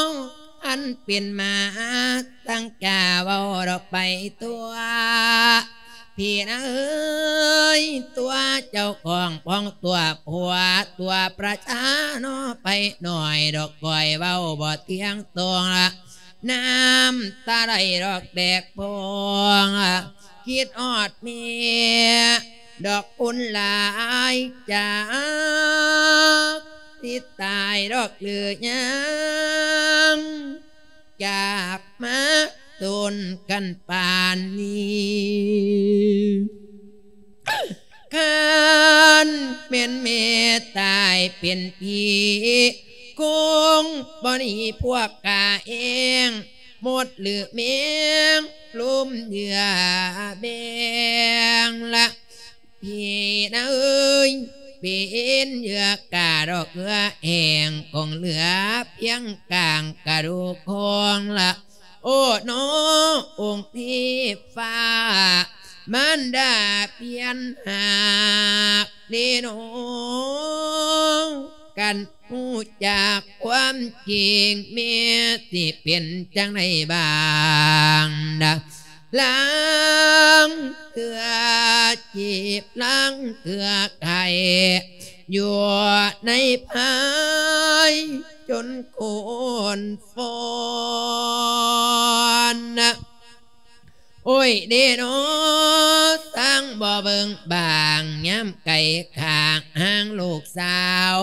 ງ ອັນເປັນມາຕັ້ງກາເວົ້າດອກໄປຕົວະ ພີ່ນາເອີຍ ຕົວະເຈົ້າຂອງພ້ອງຕົວະຜົວ ຕົວະປະຊາເນາະ ໄປໜ້ອຍດອກ ຂ້ອຍເວົ້າບໍ່ທ່ຽງຕົງລະ ນ້ຳຕາໄຫຼດອກແບກພອງ ຄິດຮອດແມ່ດອກບຸນຫຼາຍຈັກ ຊິຕາຍດອກຫຼືຍັງ ຈາກມາດົນກັນປານນີ້ ຄັນແມ່ນແມ່ຕາຍເປັນຜີ ຄົງບໍ່ໜີພວກຂ້າເອງ ມົດຫຼືແມງ ລຸມເຫຍື່ອແບງລະ ພີ່ນາເອີຍ ເປັນເຫຍື່ອກາດອກເຫື່ອແຫ້ງ ຄົງເຫຼືອພຽງກາງກະດູກຂອງລະ ໂອ້ ນ້ອງອົງເທບຟ້າ ມານດາພຽນຫາກເດນ້ອງ ຄັນຮູ້ຈັກຄວາມຈິງ ແມ່ຊິເປັນຈັ່ງໃດບາງນະ ລາງເທື່ອເຈັບ ລາງເທື່ອໄຂ້ ຢູ່ໃນພາຍຈົນໂກນຟອນນະ ໂອ້ຍເດນ້ອ ຊ່າງບໍ່ເບິ່ງບາງ ຍາມໄກຂ້າງຫ່າງລູກສາວ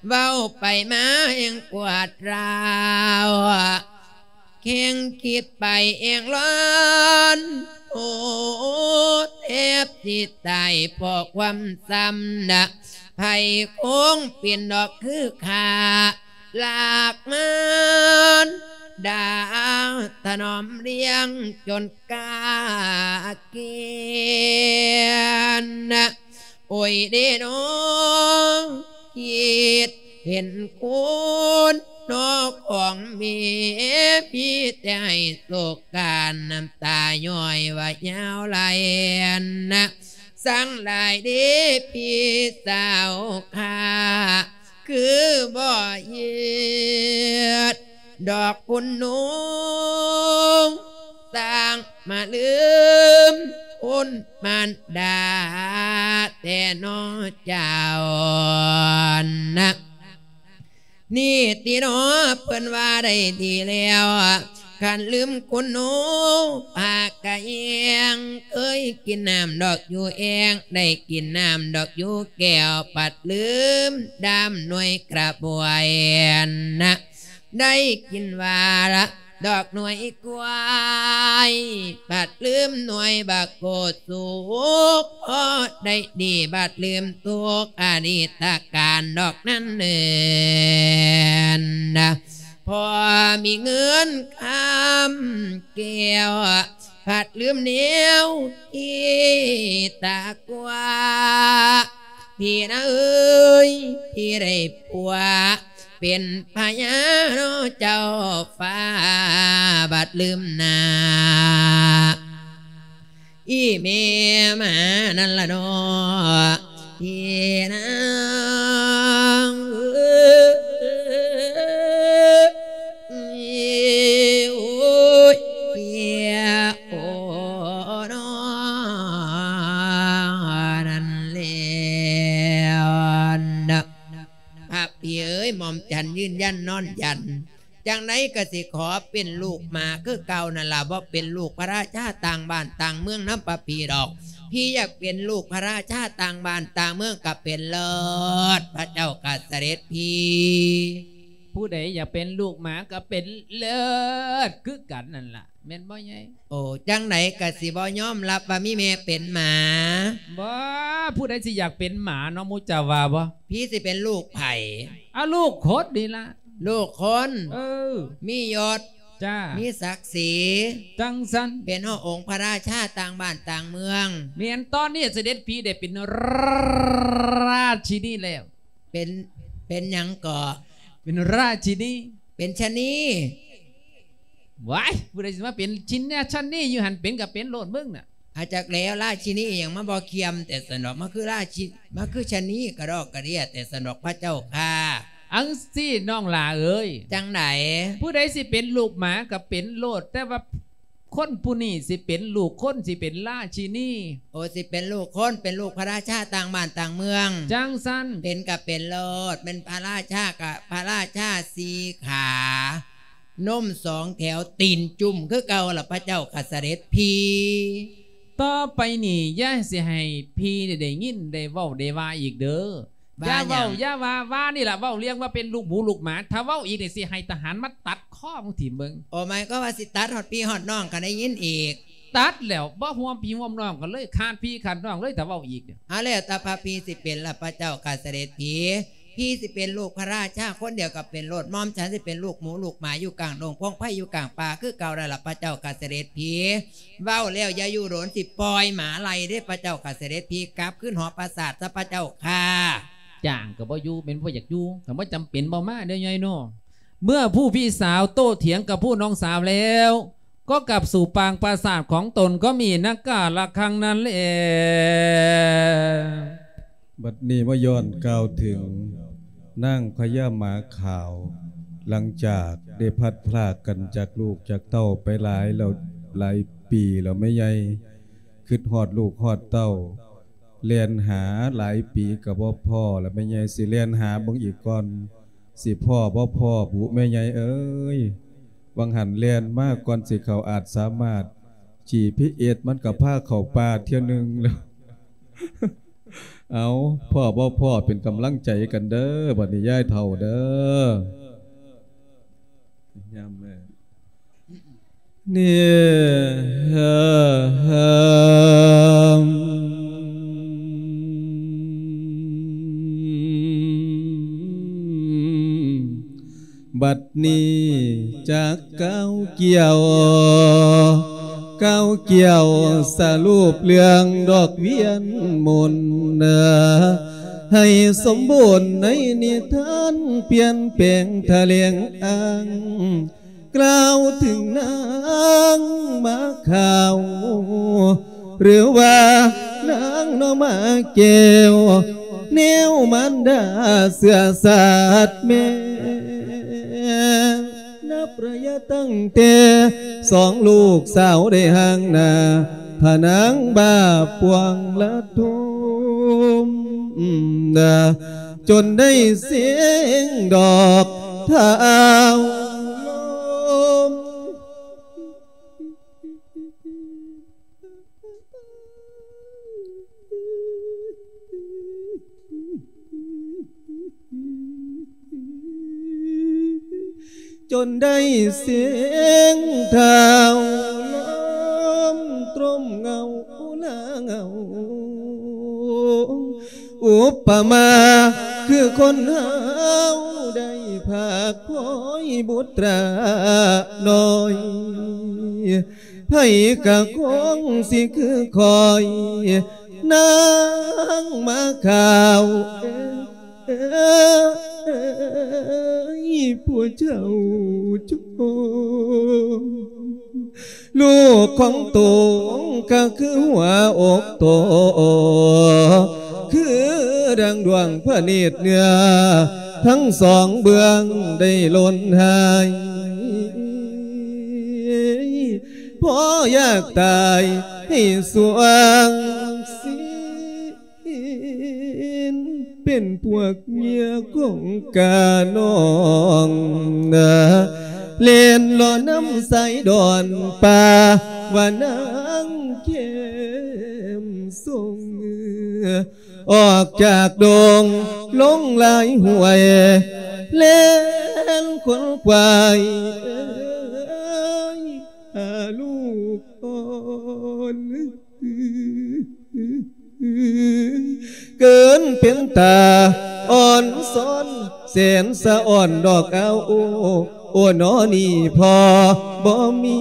ເວົ້າໄປມາແຮງປວດຮ້າວ ແຮງຄິດໄປແຮງຮ້ອນ ໂອ້ ແທບຊິຕາຍເພາະຄວາມຊ້ຳນະ ໃຜຄົງເປັນດອກຄືຂ້າ ລາກມານດາຖະໜອມລ້ຽງຈົນກາເກນນະ ໂອ້ຍເດນ້ອ ຄິດເຫັນຄຸນນອຂອງແມ່ ມີແຕ່ໃຫ້ໂສກການ ນ້ຳຕາຍ້ອຍວ່າຍາວໄຫຼນະ ຊ່າງຫຼາຍເດພີ່ສາວຂ້າ ຄືບໍ່ເຫຍື່ອດອກຄຸນໜູ ຊ່າງມາລືມຄຸນມານດາແທ້ໜໍເຈົ້ານະ ນີ້ຕິໜໍ ເພິ່ນວ່າໄດ້ດີແລ້ວ ຄັນລືມຄຸນໜູ ພາກະແຮງ ເຄີຍກິນນ້ຳດອກຢູ່ແອ່ງ ໄດ້ກິນນ້ຳດອກຢູ່ແກ້ວ ພັດລືມດາມໜ່ວຍກະບວຍນະ ໄດ້ກິນຫວ່າລະດອກໜ່ວຍກ້ວຍ ພັດລືມໜ່ວຍບັກໂກດສຸກ ພໍໄດ້ດີບັດລືມທຸກ ອະດີດຕະການດອກນັ້ນເນີນນະ ພໍມີເງິນຄຳແກ້ວ ພັດລືມແນວທີ່ຕາກວ່າ ພີ່ນະເອີຍ ພີ່ໄດ້ຜົວເປັນພະຍາເນາະ ເຈົ້າຟ້າບັດລືມໜ້າ ອີ່ແມ່ໝານັ້ນລະເນາະ ພີ່ນາງເອີຍ ໂອ້ຍ ເພຍໂອເນາະ ນັ້ນແລ້ວນະ ພະພີ່ເອີຍ ໝ່ອມຈັນຢືນຢັນນອນຢັນ ຈັ່ງໃດກໍຊິຂໍເປັນລູກໝາຄືເກົ່ານັ້ນລະ ບໍ່ເປັນລູກພະລາຊາຕ່າງບ້ານຕ່າງເມືອງນຳພະພີ່ດອກ ພີ່ຢາກເປັນລູກພະລາຊາຕ່າງບ້ານຕ່າງເມືອງກໍເປັນເລີດ ພະເຈົ້າກໍສະເດັດພີ. ຜູ້ໃດຢາກເປັນລູກໝາກໍເປັນເລີດຄືກັນນັ້ນລະ ແມ່ນບໍ່ໃຫຍ່? ໂອ້ ຈັ່ງໃດກໍຊິບໍ່ຍອມຮັບວ່າມີແມ່ເປັນໝາ. ບໍ່ ຜູ້ໃດຊິຢາກເປັນໝາເນາະ ໝູ່ເຈົ້າວ່າບໍ່? ພີ່ຊິເປັນລູກໃຜ? ອາ ລູກຄົນນີ້ລະ. ລູກຄົນ? ເອີ ມີຍົດ? ຈ້າ ມີສັກສີ? ຈັ່ງຊັ້ນ. ເປັນຮອດອົງພະລາຊາຕ່າງບ້ານຕ່າງເມືອງ? ແມ່ນ ຕອນນີ້ສະເດັດພີໄດ້ເປັນລາຊິນີແລ້ວ. ເປັນ ເປັນຫຍັງເກາະ? ເປັນລາຊິນີ. ເປັນຊະນີ? ວ້າຍ ຜູ້ໃດຊິມາເປັນຊິນນະຊະນີຢູ່ຫັ້ນ ເປັນກໍເປັນໂລດເບິ່ງນະ. ອາ ຈັກແລ້ວ ລາຊິນີອີ່ຫຍັງມາບໍ່ຄຽມແຕ່ຊັ້ນດອກ ມາຄືລາຊິ ມາຄືຊະນີກະດອກກະເດຍແຕ່ຊັ້ນດອກ ພະເຈົ້າຂ້າ. ອັງຊີ້ນ້ອງຫຼ້າເອີຍ. ຈັ່ງໃດ? ຜູ້ໃດຊິເປັນລູກໝາກໍເປັນໂລດ ແຕ່ວ່າ ຄົນຜູ້ນີ້ຊິເປັນລູກຄົນ ຊິເປັນລາຊິນີ. ໂອ ຊິເປັນລູກຄົນ ເປັນລູກພະລາຊາຕ່າງບ້ານຕ່າງເມືອງ. ຈັ່ງຊັ້ນ. ເປັນກະເປັນໂລດ ແມ່ນພະລາຊາກະພະລາຊາສີ່ຂາ ນົມສອງແຖວ ຕີນຈຸ້ມຄືເກົ່າລະ ພະເຈົ້າຂ້າສະເດັດພີ. ຕໍ່ໄປນີ້ຢ່າຊິໃຫ້ພີ່ໄດ້ຍິນໄດ້ເວົ້າໄດ້ວ່າອີກເດີ. ວ່າ ຢ່າເວົ້າ ຫຍັງ? ຢ່າວ່າ ວ່ານີ້ລະ ເວົ້າເລື່ອງວ່າເປັນລູກໝູລູກໝາ ຖ້າເວົ້າອີກນີ້ ຊິໃຫ້ທະຫານມາຕັດຄໍມຶງຖິ້ມເບິ່ງ. ໂອ ໝາຍຄວາມວ່າຊິຕັດຮອດພີ່ຮອດນ້ອງກໍໄດ້ຍິນອີກ? ຕັດແລ້ວ ບໍ່ຮ່ວມພີ່ຮ່ວມນ້ອງກັນເລີຍ ຂາດພີ່ຂາດນ້ອງເລີຍ ຖ້າເວົ້າອີກ. ເອົາ ແລ້ວແຕ່ພະພີ່ຊິເປັນລະ ພະເຈົ້າຂ້າສະເດັດພີ. ພີ່ຊິເປັນລູກພະລາຊາຄົນດຽວກໍເປັນໂລດ ໝ່ອມສັນຊິເປັນລູກໝູລູກໝາຢູ່ກາງດົງ ພວງໄພຢູ່ກາງປ່າຄືເກົ່ານັ້ນລະ ພະເຈົ້າຂ້າສະເດັດພີ. ເວົ້າແລ້ວຢ່າຢູ່ດົນ ຊິປ່ອຍໝາໄລ່ເດ້ ພະເຈົ້າຂ້າສະເດັດພີ ກັບຄືນຫໍປາສາດຊະ ພະເຈົ້າຂ້າ. ຈ້າງກໍບໍ່ຢູ່ ແມ່ນບໍ່ຢາກຢູ່ ກໍບໍ່ຈຳເປັນ ບໍ່ມາເດີ້ຍາຍເນາະ. ເມື່ອຜູ້ພີ່ສາວໂຕ້ຖຽງກັບຜູ້ນ້ອງສາວແລ້ວ ກໍກັບສູ່ປາງປາສາດຂອງຕົນ ກໍມີນັກກາລະຄັງນັ້ນແລ. ບັດນີ້ມາຍ້ອນກ່າວເຖິງນາງພະຍາໝາຂາວ ຫຼັງຈາກໄດ້ພັດພລາກກັນຈາກລູກຈາກເຕົ້າໄປຫຼາຍແລ້ວ ຫຼາຍປີແລ້ວແມ່ໃຫຍ່ ຄິດຮອດລູກຮອດເຕົ້າ ແລ່ນຫາຫຼາຍປີກໍບໍ່ພໍລະ ແມ່ໃຫຍ່ຊິແລ່ນຫາເບິ່ງອີກກ່ອນ ຊິພໍ້ບໍ່ພໍ້ບຸ ແມ່ໃຫຍ່ເອີຍ. ຫວ່າງຫັ້ນແລ່ນມາກ່ອນຊິເຂົ້າອາດສາມາດ ຈີພີເອສ ມັນກໍພາເຂົ້າປ່າເທື່ອໜຶ່ງແລ້ວ. ເອົາ ພໍ້ບໍ່ພໍ້ເປັນກຳລັງໃຈກັນເດີ້ ບັດນີ້ຍາຍເຖົ້າເດີ້ ຍາມແລງ. ນີ້ ບັດນີ້ຈາກກ່າວກ່ຽວ ກ່າວກ່ຽວສະຫຼຸບເລື່ອງດອກວຽນມົນ ໃຫ້ສົມບູນໃນນິທານ ປ່ຽນແປງຖະແຫຼງອ້າງ ກ່າວເຖິງນາງໝາຂາວ ຫຼືວ່ານາງໜໍ່ໝາແກ້ວ ແນວມານດາເຊື້ອຊາດແມ່ ນັບໄລຍະຕັ້ງແຕ່ສອງລູກສາວໄດ້ຮ່າງໜ້າ ພະນາງບາບປວງລະທຸມ ຈົນໄດ້ເສັງດອກທ້າວລົມ ຈົນໄດ້ເສັງທ້າວລົມ ຕົມເງົາລາເຫງົາ ອຸປະມາຄືຄົນເຮົາໄດ້ພາກພອຍບຸດຕານ້ອຍ ໃຜກະຄົງຊິຄືຂ້ອຍນາ ງມາຂ່າວເອີຍ ຜູ້ເຈົ້າຈົງ ລູກຂອງໂຕກໍຄືຫົວອົກໂຕ ຄືດັ່ງດວງພະເນດເນື້ອ ທັງສອງເບື້ອງໄດ້ຫຼົ່ນຫາຍ ພໍຢາກຕາຍໃຫ້ສວງສີ ເປັນພວກເມຍຂອງການ້ອງນາ ແລ່ນເລາະນຳສາຍດອນປ່າ ວ່ານາງແຄມຊົງ ອອກຈາກດົງລົງຫຼາຍຫ້ວຍ ແລ່ນຂົນຂວາຍເອີຍ ຫາລູກອ່ອນ ເກີນເປັນຕາອ່ອນຊອນ ແສນສະອອນດອກອາວໂອ ໂອນອນີ້ພໍ່ບໍ່ມີ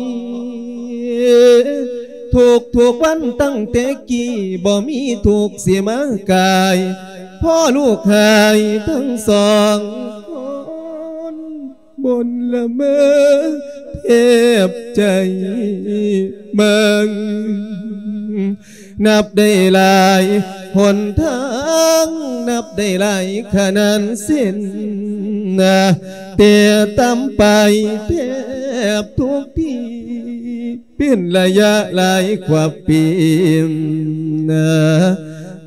ທຸກໆວັນຕັ້ງແຕ່ກີ້ ບໍ່ມີທຸກຊິມາກາຍ ພໍລູກຫາຍທັງສອງຄົນ ບົນລະເມີແທບໃຈເບິ່ງ ນັບໄດ້ຫຼາຍຫົນທາງ ນັບໄດ້ຫຼາຍຂະໜານເສັ້ນ ແຕ່ຕ່ຳໄປແທບທຸກທີ ເປັນໄລຍະຫຼາຍກວ່າປີ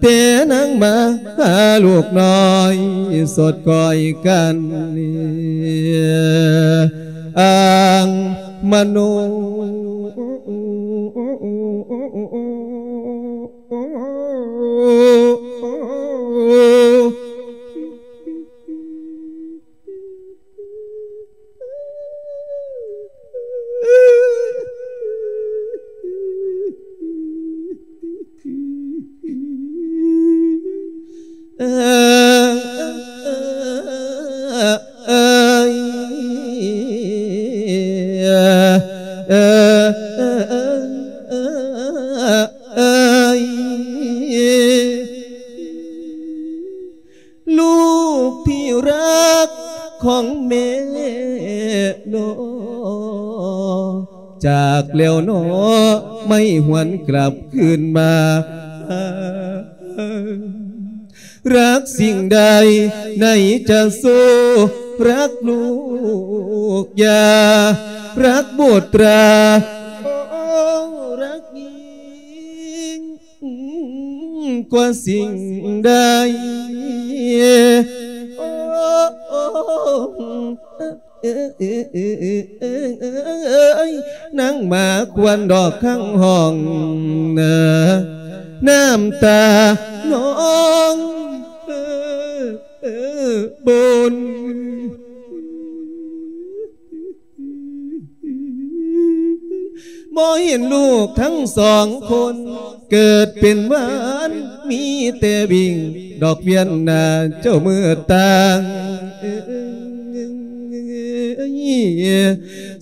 ແຕ່ນາງມາຫາລູກນ້ອຍ ສົດກ້ອຍກັນອ້າງມະໂນ. ລູກທີ່รักของแม่น้อง จากแล้วน้อไม่หวนกลับคืนมา รักสิ่งใดไหนจะสู้รักลูกยา รักบุตรา โอ้ รักยิ่ง กว่าสิ่งใด โอ้ นางหมาควรดอกข้างห้อง น้ำตาน้อง บน บ่เห็นลูกทั้งสองคน เกิดเป็นหวาน มีแต่วิ่งดอกเวียนหน้าเจ้ามือต่าง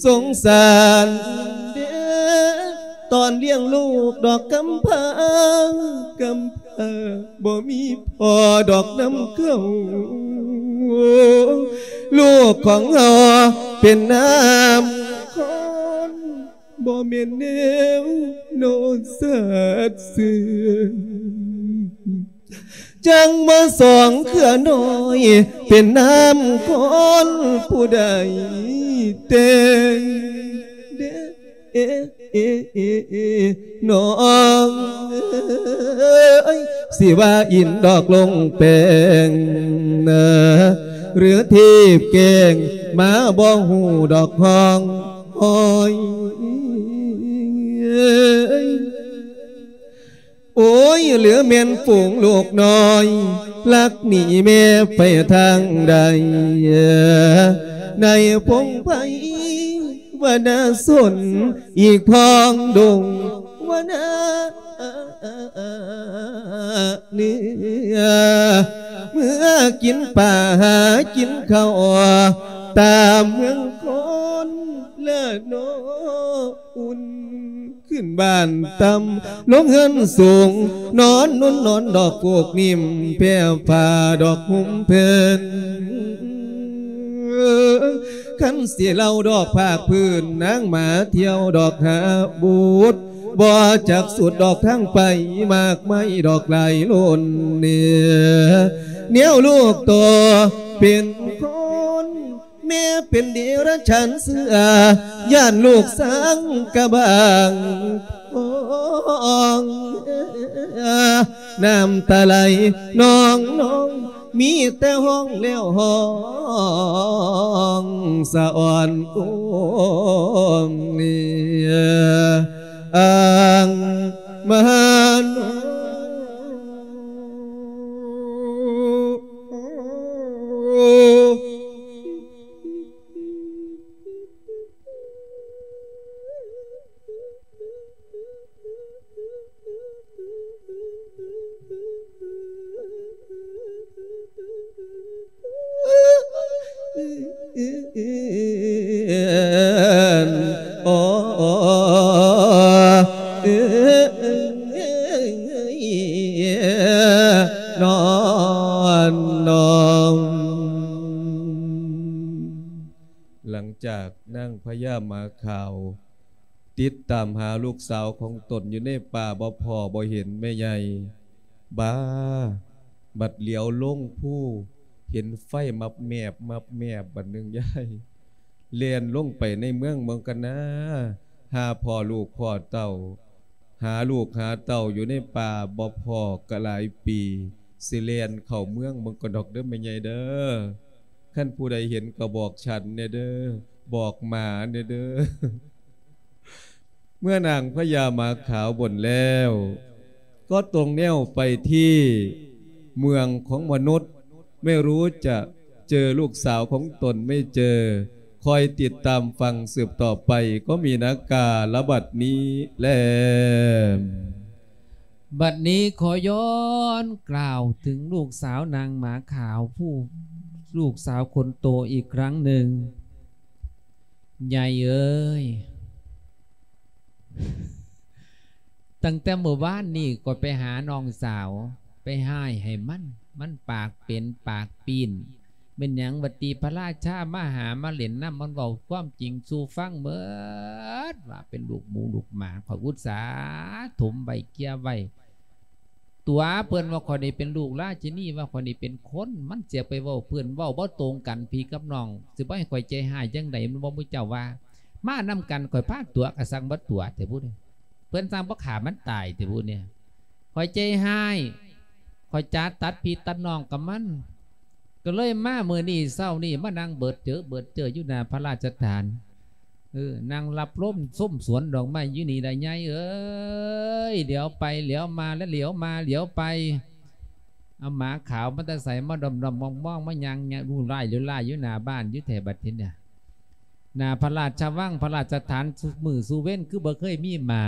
สงสารเด้อ ตอนเลี้ยงลูกดอกกำพร้า กำพร้า บ่มีพ่อดอกนำเขา ลูกของเฮาเป็นน้ำคน บ่แม่นแนวโนสัตว์ซื่อ จั่งมาสองเครือน้อย เป็นน้ำคนผู้ใดแต่งเด้อ เอ เอ เอ เอ น้องเอ้ย สิว่าอินดอกลงแปงนะ หรือเทพแกล้ง มาบ่ฮู้ดอกห้องห้อย โอ้ย เหลือแม่นฝูงลูกน้อย ลักหนีแม่ไปทางใด ในพงไพรวนาสน อีกพ้องดงวนาเนื้อ เมื่อกินป่าหากินเขา ตามเมืองคนละนออุ่น ຂຶ້ນບ້ານຕ່ຳ ລົງເຮືອນສູງ ນອນນຸ່ນນອນດອກໂກກນິ້ມ ແຜ່ຜ້າດອກຫຸ້ມເພິ່ນ ຄັນຊິເລົ່າດອກພາກພື້ນ ນາງມາທ່ຽວດອກຫາບຸດ ບໍ່ຈັກສຸດດອກທາງໄປ ໝາກໄມ້ດອກຫຼາຍລົ້ນເນ ແນວລູກຕໍ່ເປັນຄົນ ແມ່ເປັນເດຍລະຈານເສືອ ຢ້ານລູກສັງກະບາງ ນ້ຳຕາໄຫຼນອງໆ ມີແຕ່ຮ້ອງແລ້ວຮ້ອງສະອອນ ໂອ້ ອັງມາໂນ. ຫຼັງຈາກນາງພະຍາໝາຂາວ ຕິດຕາມຫາລູກສາວຂອງຕົນຢູ່ໃນປ່າ ບໍ່ພໍ້ບໍ່ເຫັນແມ່ໃຫຍ່ ບາ ບັດຫຼຽວລົງພູ ເຫັນໄຟມັບແມບ ມັບແມບ ບັດໜຶ່ງຍາຍ ແລ່ນລົງໄປໃນເມືອງເບິ່ງກັນນາ ຫາພໍ່ລູກພໍ່ເຕົ້າ ຫາລູກຫາເຕົ້າຢູ່ໃນປ່າ ບໍ່ພໍ້ກະຫຼາຍປີ ຊິແລ່ນເຂົ້າເມືອງເບິ່ງກ່ອນດອກເດີແມ່ໃຫຍ່ເດີ ຄັນຜູ້ໃດເຫັນກໍບອກສັນແດ່ເດີ ບອກໝາແດ່ເດີ. ເມື່ອນາງພະຍາໝາຂາວບົ່ນແລ້ວ ກໍຕົງແນວໄປທີ່ເມືອງຂອງມະນຸດ ໄມ່ຮູ້ຈະເຈີລູກສາວຂອງຕົນໄມ່ເຈີ ຄອຍຕິດຕາມຟັງສືບຕໍ່ໄປ ກໍມີນາກາລະບັດນີ້ແລ. ບັດນີ້ຂໍຍ້ອນກ່າວເຖິງລູກສາວນາງໝາຂາວ ຜູ້ ລູກສາວຄົນໂຕອີກຄັ້ງໜຶ່ງ. ໃຫຍ່ເອີຍ ຕັ້ງແຕ່ມື້ວານນີ້ຂ້ອຍໄປຫານ້ອງສາວ ໄປຮ້າຍໃຫ້ມັນ ມັນປາກເປັນປາກປີ້ນ ແມ່ນຫຍັງຫວັດດີ ພະລາຊາມາຫາມາຫຼິ້ນນຳ ມັນເວົ້າຄວາມຈິງສູ່ຟັງໝົດ ວ່າເປັນລູກໝູລູກໝາ ຂ້ອຍອຸດສາຖົມໄວ້ເກ່ຍໄວ້ ຕົວະເພິ່ນວ່າຂ້ອຍນີ້ເປັນລູກລາຊິນີ ວ່າຂ້ອຍນີ້ເປັນຄົນ ມັນຊິໄປເວົ້າເພິ່ນ ເວົ້າບໍ່ຕົງກັນພີ່ກັບນ້ອງ ຊິບໍ່ໃຫ້ຂ້ອຍໃຈຮ້າຍຈັ່ງໃດ ມັນບໍ່ມີເຈົ້າວ່າ ມານຳກັນຂ້ອຍພາຕົວະ ກະສັງບໍ່ຕົວະແທ້ພຸ້ນ ເພິ່ນສັງບໍ່ຂ້າມັນຕາຍແທ້ພຸ້ນເນຍ ຂ້ອຍໃຈຮ້າຍ ຂ້ອຍຈະຕັດພີ່ຕັດນ້ອງກັບມັນ ກໍເລີຍມາມື້ນີ້ເຊົ້ານີ້ ມານັ່ງເບີດເຈີເບີດເຈີຢູ່ໜ້າພະລາຊະຖານ ເອີ ນັ່ງລັບລົມຊົມສວນດອກໄມ້ຢູ່ນີ້ລະຍາຍເອີຍ ຫຼຽວໄປຫຼຽວມາ ລະຫຼຽວມາຫຼຽວໄປ ເອົາໝາຂາວມາແຕ່ໃສ ມາດອມໆມອງໆ ມາຍ່າງເລວລາຍເລວລາຍຢູ່ໜ້າບ້ານຢູ່ແທ້ບັດທີນີ້ ໜ້າພະລາຊະວັງ ພະລາຊະຖານ ຊຸມື້ຊູເວັນ ຄືບໍ່ເຄີຍມີໝາ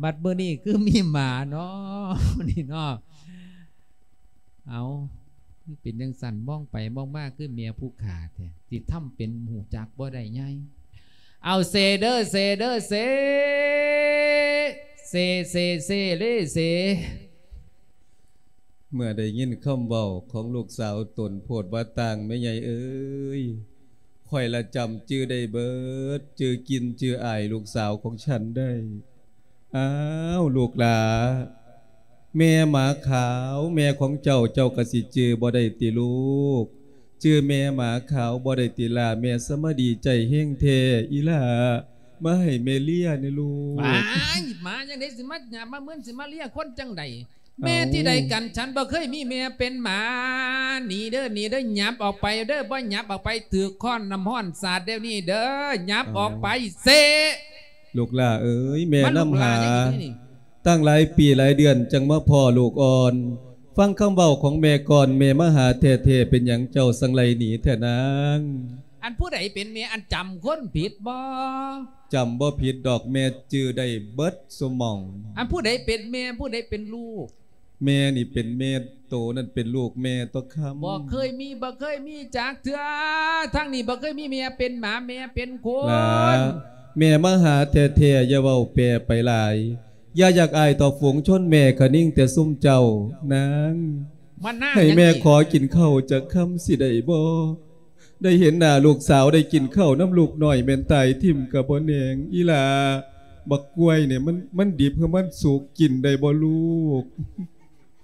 ບັດມື້ນີ້ຄືມີໝາເນາະ ນີ້ເນາະ ເອົາ ຄືເປັນຈັ່ງຊັ້ນ ມອງໄປມອງມາຄືເມຍຜູ້ຂ້າແທ້ ຊິທຳເປັນຮູ້ຈັກບໍ່ໄດ້ໃຫຍ່ ເອົາເຊເດີ ເຊເດີ ເຊ ເຊ ເຊ ເຊ ເລ ເຊ. ເມື່ອໄດ້ຍິນຄຳເວົ້າຂອງລູກສາວຕົນໂພດວ່າຕ່າງ ແມ່ໃຫຍ່ເອີຍ ຂ້ອຍລະຈຳຈື່ໄດ້ເບີດ ຈື່ກິ່ນຈື່ອາຍລູກສາວຂອງສັນໄດ້. ອ້າວ ລູກຫຼ້າ ແມ່ໝາຂາວ ແມ່ຂອງເຈົ້າ ເຈົ້າກະຊິຈື່ບໍ່ໄດ້ຕິລູກ? ຈື່ແມ່ໝາຂາວບໍ່ໄດ້ຕິຫຼ້າ? ແມ່ສະມາດີໃຈແຮງແທ້ ອີຫຼ້າ ມາໃຫ້ແມ່ເລຍແດ່ລູກ. ວ້າຍ ໝາຈັ່ງໃດຊິມາຫຍາບມາເມີນ ຊິມາເລຍຄົນຈັ່ງໃດ? ແມ່ ເອົ້າ ທີ່ໃດກັນ? ສັນບໍ່ເຄີຍມີແມ່ເປັນໝາ. ໜີເດີ ໜີເດີ ຫຍັບອອກໄປເດີ ບໍ່ຫຍັບອອກໄປຖືກຄ້ອນນ້ຳຮ້ອນສາດດຽວນີ້ເດີ ຫຍັບອອກໄປ ເຊ. ລູກຫຼ້າເອີຍ ແມ່ນຳຫາ ມາລູກຫຼ້ານີ້ ຕັ້ງຫຼາຍປີຫຼາຍເດືອນຈັ່ງມາພໍ້ລູກອ່ອນ. ຟັງຄຳເວົ້າຂອງແມ່ກ່ອນ ແມ່ມາຫາແທ້ໆ ເປັນຫຍັງເຈົ້າຈັ່ງໄລ່ໜີແທ້ນາງ? ອັນຜູ້ໃດເປັນແມ່ ອັນຈຳຄົນຜິດບໍ່? ຈຳບໍ່ຜິດດອກ ແມ່ຈື່ໄດ້ເບິດຊຸໝ່ອງ. ອັນຜູ້ໃດເປັນແມ່ ຜູ້ໃດເປັນລູກ? ແມ່ນີ້ເປັນແມ່ ໂຕນັ້ນເປັນລູກແມ່ຕົວະຄຳ. ບໍ່ເຄີຍມີ ບໍ່ເຄີຍມີຈັກເທື່ອ ທາງນີ້ບໍ່ເຄີຍມີແມ່ເປັນໝາ ແມ່ເປັນຄົນ. ຫຼ້າ ແມ່ມາຫາແທ້ໆ ຢ່າເວົ້າແປໄປຫຼາຍ ຢ່າຢາກອາຍຕໍ່ຝູງຊົນແມ່ຄະນິງແຕ່ຊຸມເຈົ້ານາງ. ໃຫ້ແມ່ຂໍກິນເຂົ້າຈັກຄຳຊິໄດ້ບໍ່? ໄດ້ເຫັນໜ້າລູກສາວ ໄດ້ກິນເຂົ້ານຳລູກນ້ອຍ ແມ່ນຕາຍຖິ້ມກະບໍ່ແໜງ. ອີ່ຫຼ້າ ບັກກ້ວຍນີ້ ມັນ ມັນດິບ ຫຼື ມັນສຸກ ກິນໄດ້ບໍ່ລູກ?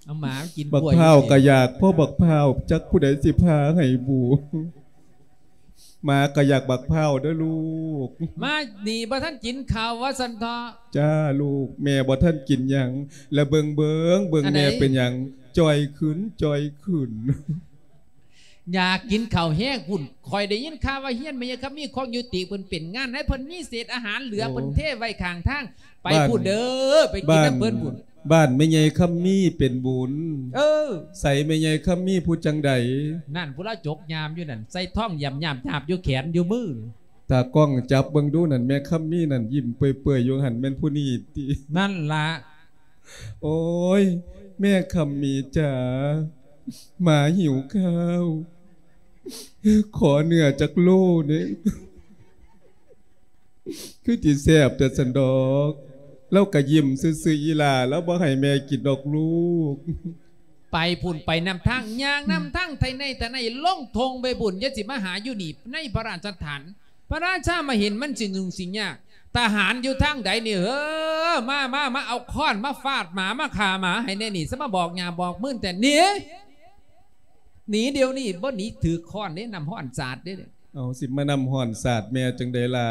ເອົາໝາກິນກ້ວຍ ບັກພ້າວກະຢາກພໍບັກພ້າວ ຈັກຜູ້ໃດຊິຜ່າໃຫ້ບູ. ໝາກະຢາກບັກພ້າວເດີລູກ. ມານີ້ບໍ່ທັນກິນເຂົ້າວ່າຊັ້ນເຖາະ. ຈ້າລູກ ແມ່ບໍ່ທັນກິນຫຍັງ ລະເບິ່ງໆ ເບິ່ງແມ່ເປັນຫຍັງ ຈ່ອຍຂຶ້ນ ຈ່ອຍຂຶ້ນ. ຢາກກິນເຂົ້າແຮງພຸ້ນ. ຂ້ອຍໄດ້ຍິນຂ່າວວ່າເຮືອນແມ່ໃຫຍ່ຄຳມີຂອງຢູ່ຕິເພິ່ນເປັນງານໃຫ້ເພິ່ນມີເສດອາຫານເຫຼືອ ໂອ້ ເພິ່ນເທໄວ້ຂ້າງທາງ. ໄປພຸ້ນເດີ ໄປກິນນຳເພິ່ນພຸ້ນ. ບ້ານແມ່ໃຫຍ່ຄຳມີເປັນບຸນ. ເອີ ໃສແມ່ໃຫຍ່ຄຳມີຜູ້ຈັ່ງໃດ? ນັ້ນ ຜູ້ລາວຈົກຍາມຢູ່ນັ້ນ ໃສ່ທອງຢາບຍາບຍາບຢູ່ແຂນຢູ່ມື. ຕາກ້ອງຈັບເບິ່ງດູນັ້ນ ແມ່ຄຳມີນັ້ນ ຍິ້ມເປື່ອຍໆຢູ່ຫັ້ນ ແມ່ນຜູ້ນີ້ຕິ? ນັ້ນລະ. ໂອ້ຍ ແມ່ຄຳມີຈ໋າ ໝາຫິວຂ້າວ ຂໍເນື້ອຈັກໂລແດ່. ຄືຊິແຊບແຕ່ຊັ້ນດອກ. ລາວກະຍິ້ມຊື່ໆ ອີ່ຫຼ້າ ລາວບໍ່ໃຫ້ແມ່ກິນດອກລູກ. ໄປພຸ້ນ ໄປນຳທາງ ຍ່າງນຳທາງໄຖໄຮ່ໄຖນາ ລົງທົ່ງໄປພຸ້ນ ຢ່າຊິມາຫາຢູ່ນີ້ໃນພະລາຊະຖານ. ພະລາຊາມາເຫັນມັນຊິຫຍຸ້ງຊິຍາກ. ທະຫານຢູ່ທາງໃດນີ້ເອີ ມາ ມາ ມາເອົາຄ້ອນມາຟາດໝາ ມາຂ້າໝາໃຫ້ແດ່ນີ້ ສະມາບອກຫຍ້າບອກມືນແຕ່ ໜີ ໜີດຽວນີ້ ບໍ່ໜີຖືກຄ້ອນເດ້ ນ້ຳຮ້ອນສາດເດ້. ເອົາ ຊິມານ້ຳຮ້ອນສາດແມ່ຈັ່ງໃດລະ?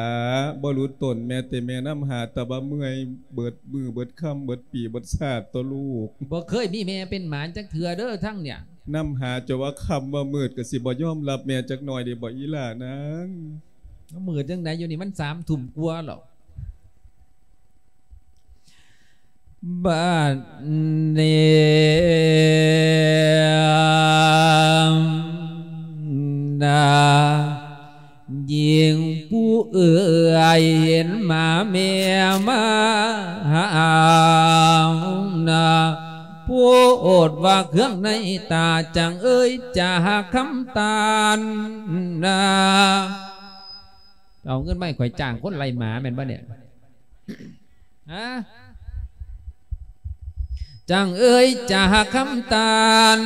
ບໍ່ຫຼຸດຕົນແມ່ເຕ ແມ່ນຳຫາແຕ່ວ່າເມື່ອຍ ເບິດມື້ເບິດຄ່ຳເບິດປີເບິດຊາດຕົວະລູກ. ບໍ່ເຄີຍມີແມ່ເປັນໝານຈັກເທື່ອເດີທາງເນີ້ຍ. ນຳຫາຈົນວ່າຄ່ຳວ່າມືດ ກະຊິບໍ່ຍອມຮັບແມ່ຈັກໜ້ອຍເດບໍ່ອີ່ຫຼ້ານາງ? ມືດຈັ່ງໃດ ຢູ່ນີ້ມັນສາມທຸ່ມກວ່າແລ້ວ. ບາດນີ້ນາ ຍິງຜູ້ເອື້ອຍເຫັນມາແມ່ມາຫານາ ໂພດວ່າເຄື່ອງໃນຕາ ຈັ່ງເອີຍຈາຄຳຕານນາ. ເອົາເງິນມາໃຫ້ຂ້ອຍຈ້າງຄົນໄລ່ໝາແມ່ນບໍ່ນີ້? ຮະ? ຈັ່ງເອີຍຈາຄຳຕານ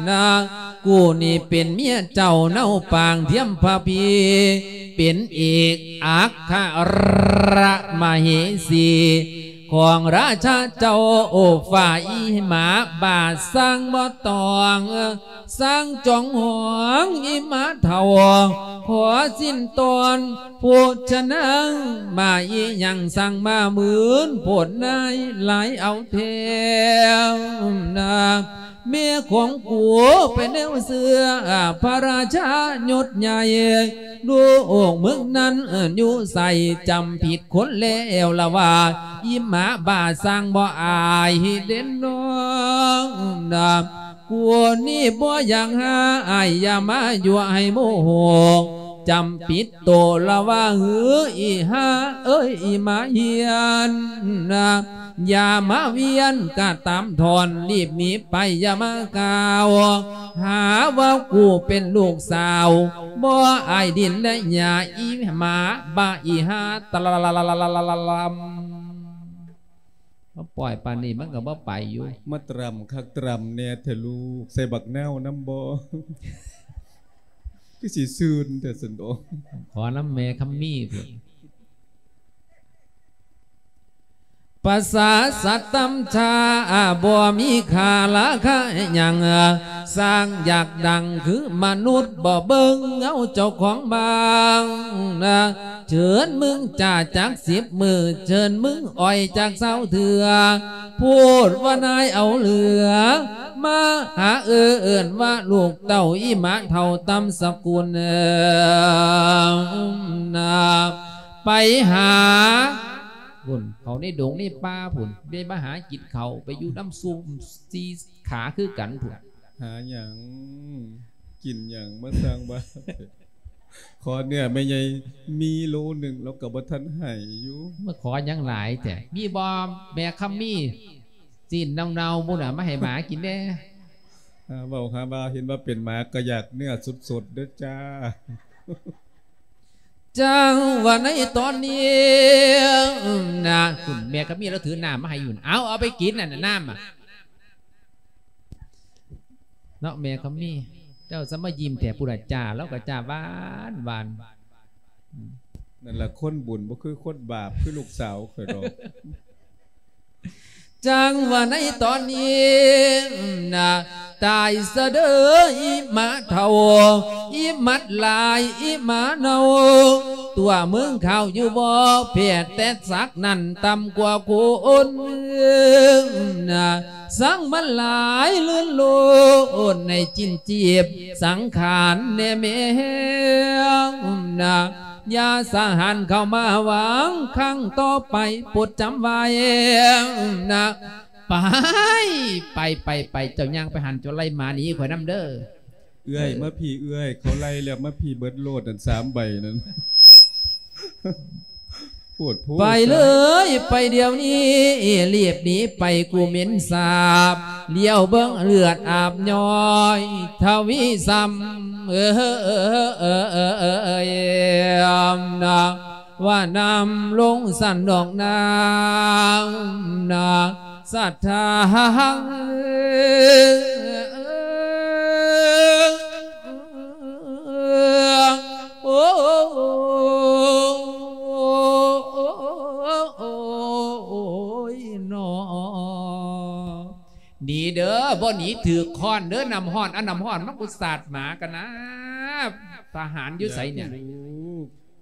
ນາ ກູນີ້ເປັນເມຍເຈົ້າເນົາປາງທຽມພະພີ ເປັນເອກອັກຄະຣະມະເຫສີ ຂອງລາຊາເຈົ້າໂອຟາ ອີ່ໝາບ້າຊ່າງບໍ່ຕ້ອງ ຊ່າງຈອງຫອງ ອີ່ໝາເຖົ້າ ຂໍສິ້ນຕອນ ໂພຊະນາງ ໝາອີ່ຫຍັງຊ່າງມາໝືນ ໂພດນາຍຫຼາຍເອົາແທ້ນາ. ແມ່ຂອງກູເປັນແນວເຊື່ອ ພະລາຊາຍົດໃຫຍ່ ລູກເມືອງນັ້ນຢູ່ໃສ ຈຳຜິດຄົນແລ້ວລະວ່າ ອີ່ໝາບ້າຊ່າງບໍ່ອາຍເດັ່ນນ້ອງນາ ກູນີ້ບໍ່ຢາກຫາອາຍ ຢ່າມາຍົວໃຫ້ໂມໂຫ ຈຳຜິດໂຕລະວ່າ ຫື ອີ່ຫ່າເອີຍ ອີ່ໝາເຫືອນນາ ຢ່າມາວຽນກະຕາມທ່ອນ ລີບໜີໄປ ຢ່າມາກ່າວຫາວ່າກູເປັນລູກສາວ ບໍ່ອາຍດິນແລະຫຍ້າ ອີ່ໝາບ້າ ອີ່ຫ່າ ຕະລະລະລະລະລະລະລະລະລຳ. ມາປ່ອຍປານນີ້ມັນກໍບໍ່ໄປຢູ່. ມາຕຣຳຄັກຕຣຳແດ່ແທ້ລູກ ໃສ່ບັກນາວນຳບໍ່? ຄືຊິຊືນແທ້ຊັ້ນດອກ. ຂໍນຳແມ່ຄຳມີພຸ້ນ. ປະສາດສັດຕຳຊາ ບໍ່ມີຄ່າລາຄາຫຍັງ ສ້າງຢາກດັງຄືມະນຸດ ບໍ່ເບິ່ງເອົາເຈົ້າຂອງບ້ານນາ. ເຊີນມຶງຈ້າຈັກສິບມື້ ເຊີນມຶງອ່ອຍຈັກຊາວເທື່ອ ໂພດວ່ານາຍເອົາເຫຼືອ ມາຫາເອີ້ນວ່າລູກເຕົ້າ ອີ່ໝາເຖົ້າຕຳສະກຸນນາ ໄປຫາພຸ້ນ ເຂົ້າໃນດົງໃນປ່າພຸ້ນ ໄດ້ມາຫາກິນເຂົ້າ ໄປຢູ່ນຳຊຸ່ມສີ່ຂາຄືກັນພຸ້ນ. ຫາຫຍັງ? ກິນຫຍັງ? ມາສ້າງບ້າ. ຂໍເນື້ອແມ່ໃຫຍ່ມີໂລໜຶ່ງ ລາວກໍບໍ່ທັນໃຫ້ຢູ່. ມາຂໍຫຍັງຫຼາຍແທ້? ມີບໍ່ແມ່ຄຳມີ? ຊີ້ນເນົ່າໆ ພຸ້ນນະ ມາໃຫ້ໝາກິນແດ່. ຫາເວົ້າຫາວ່າ ເຫັນວ່າເປັນໝາກໍຢາກເນື້ອສົດໆເດີຈ້າ. ຈັ່ງວ່າໃນຕອນນີ້ນະ ຄຸນແມ່ຄຳມີລາວຖືນ້ຳມາໃຫ້ຢູ່ ເອົາ ເອົາໄປກິນນັ້ນນະ ນ້ຳອະ ເນາະ ແມ່ຄຳມີ ເຈົ້າສະມາຍິ້ມແທ້ ຜູ້ລະຈ້າ ລາວກໍຈ້າຫວານໆ ອືມ ນັ້ນລະຄົນບຸນ ບໍ່ຄືຄົນບາບ ຄືລູກສາວຂ້ອຍດອກ. ຈັ່ງວ່າໃນຕອນນີ້ນະ ຕາຍສະເດີອີໝາເຖົ້າ ອີໝັດຫຼາຍ ອີໝາເນົ່າ ຕົວະມຶງຂາວຢູ່ບໍ່ ແພດແຕ່ສັກນັ້ນຕ່ຳກວ່າຄົນນະ ສັງມັນຫຼາຍລື່ນໂລດ ໃນຈິ້ນຈີບສັງຂານແດ່ແມ່ນະ ຢ່າສະຫານເຂົ້າມາຫວັງຄັ້ງຕໍ່ໄປ ໂປດຈຳໄວ້ນະ ໄປ ໄປ ໄປ ໄປ ເຈົ້າຍ່າງໄປຫັ້ນ ເຈົ້າໄລ່ໝາໜີຂ້ອຍນຳເດີ. ເອື້ອຍ ເອີ ມາພີ້ເອື້ອຍ ເຂົາໄລ່ແລ້ວ ມາພີ້ເບິດໂລດນັ້ນ ສາມໃບນັ້ນ ໂພດໂພ ໄປເລີຍ ໄປດຽວນີ້ ລີບໜີໄປ ກູເໝັນສາບ ຫຼຽວເບິ່ງເລືອດອາບຍ້ອຍ ທະວີຊ້ຳ ເອີ ນະ ວ່ານ້ຳລົງສັນດອກນ້ຳນະ ສະຖານ ໂອ້ຍ ໜີເດີ ບໍ່ໜີຖືກຄ້ອນເດີ ນ້ຳຮ້ອນ ເອົານ້ຳຮ້ອນມາກູສາດໝາກັນນະ ທະຫານຢູ່ໃສເນຍ?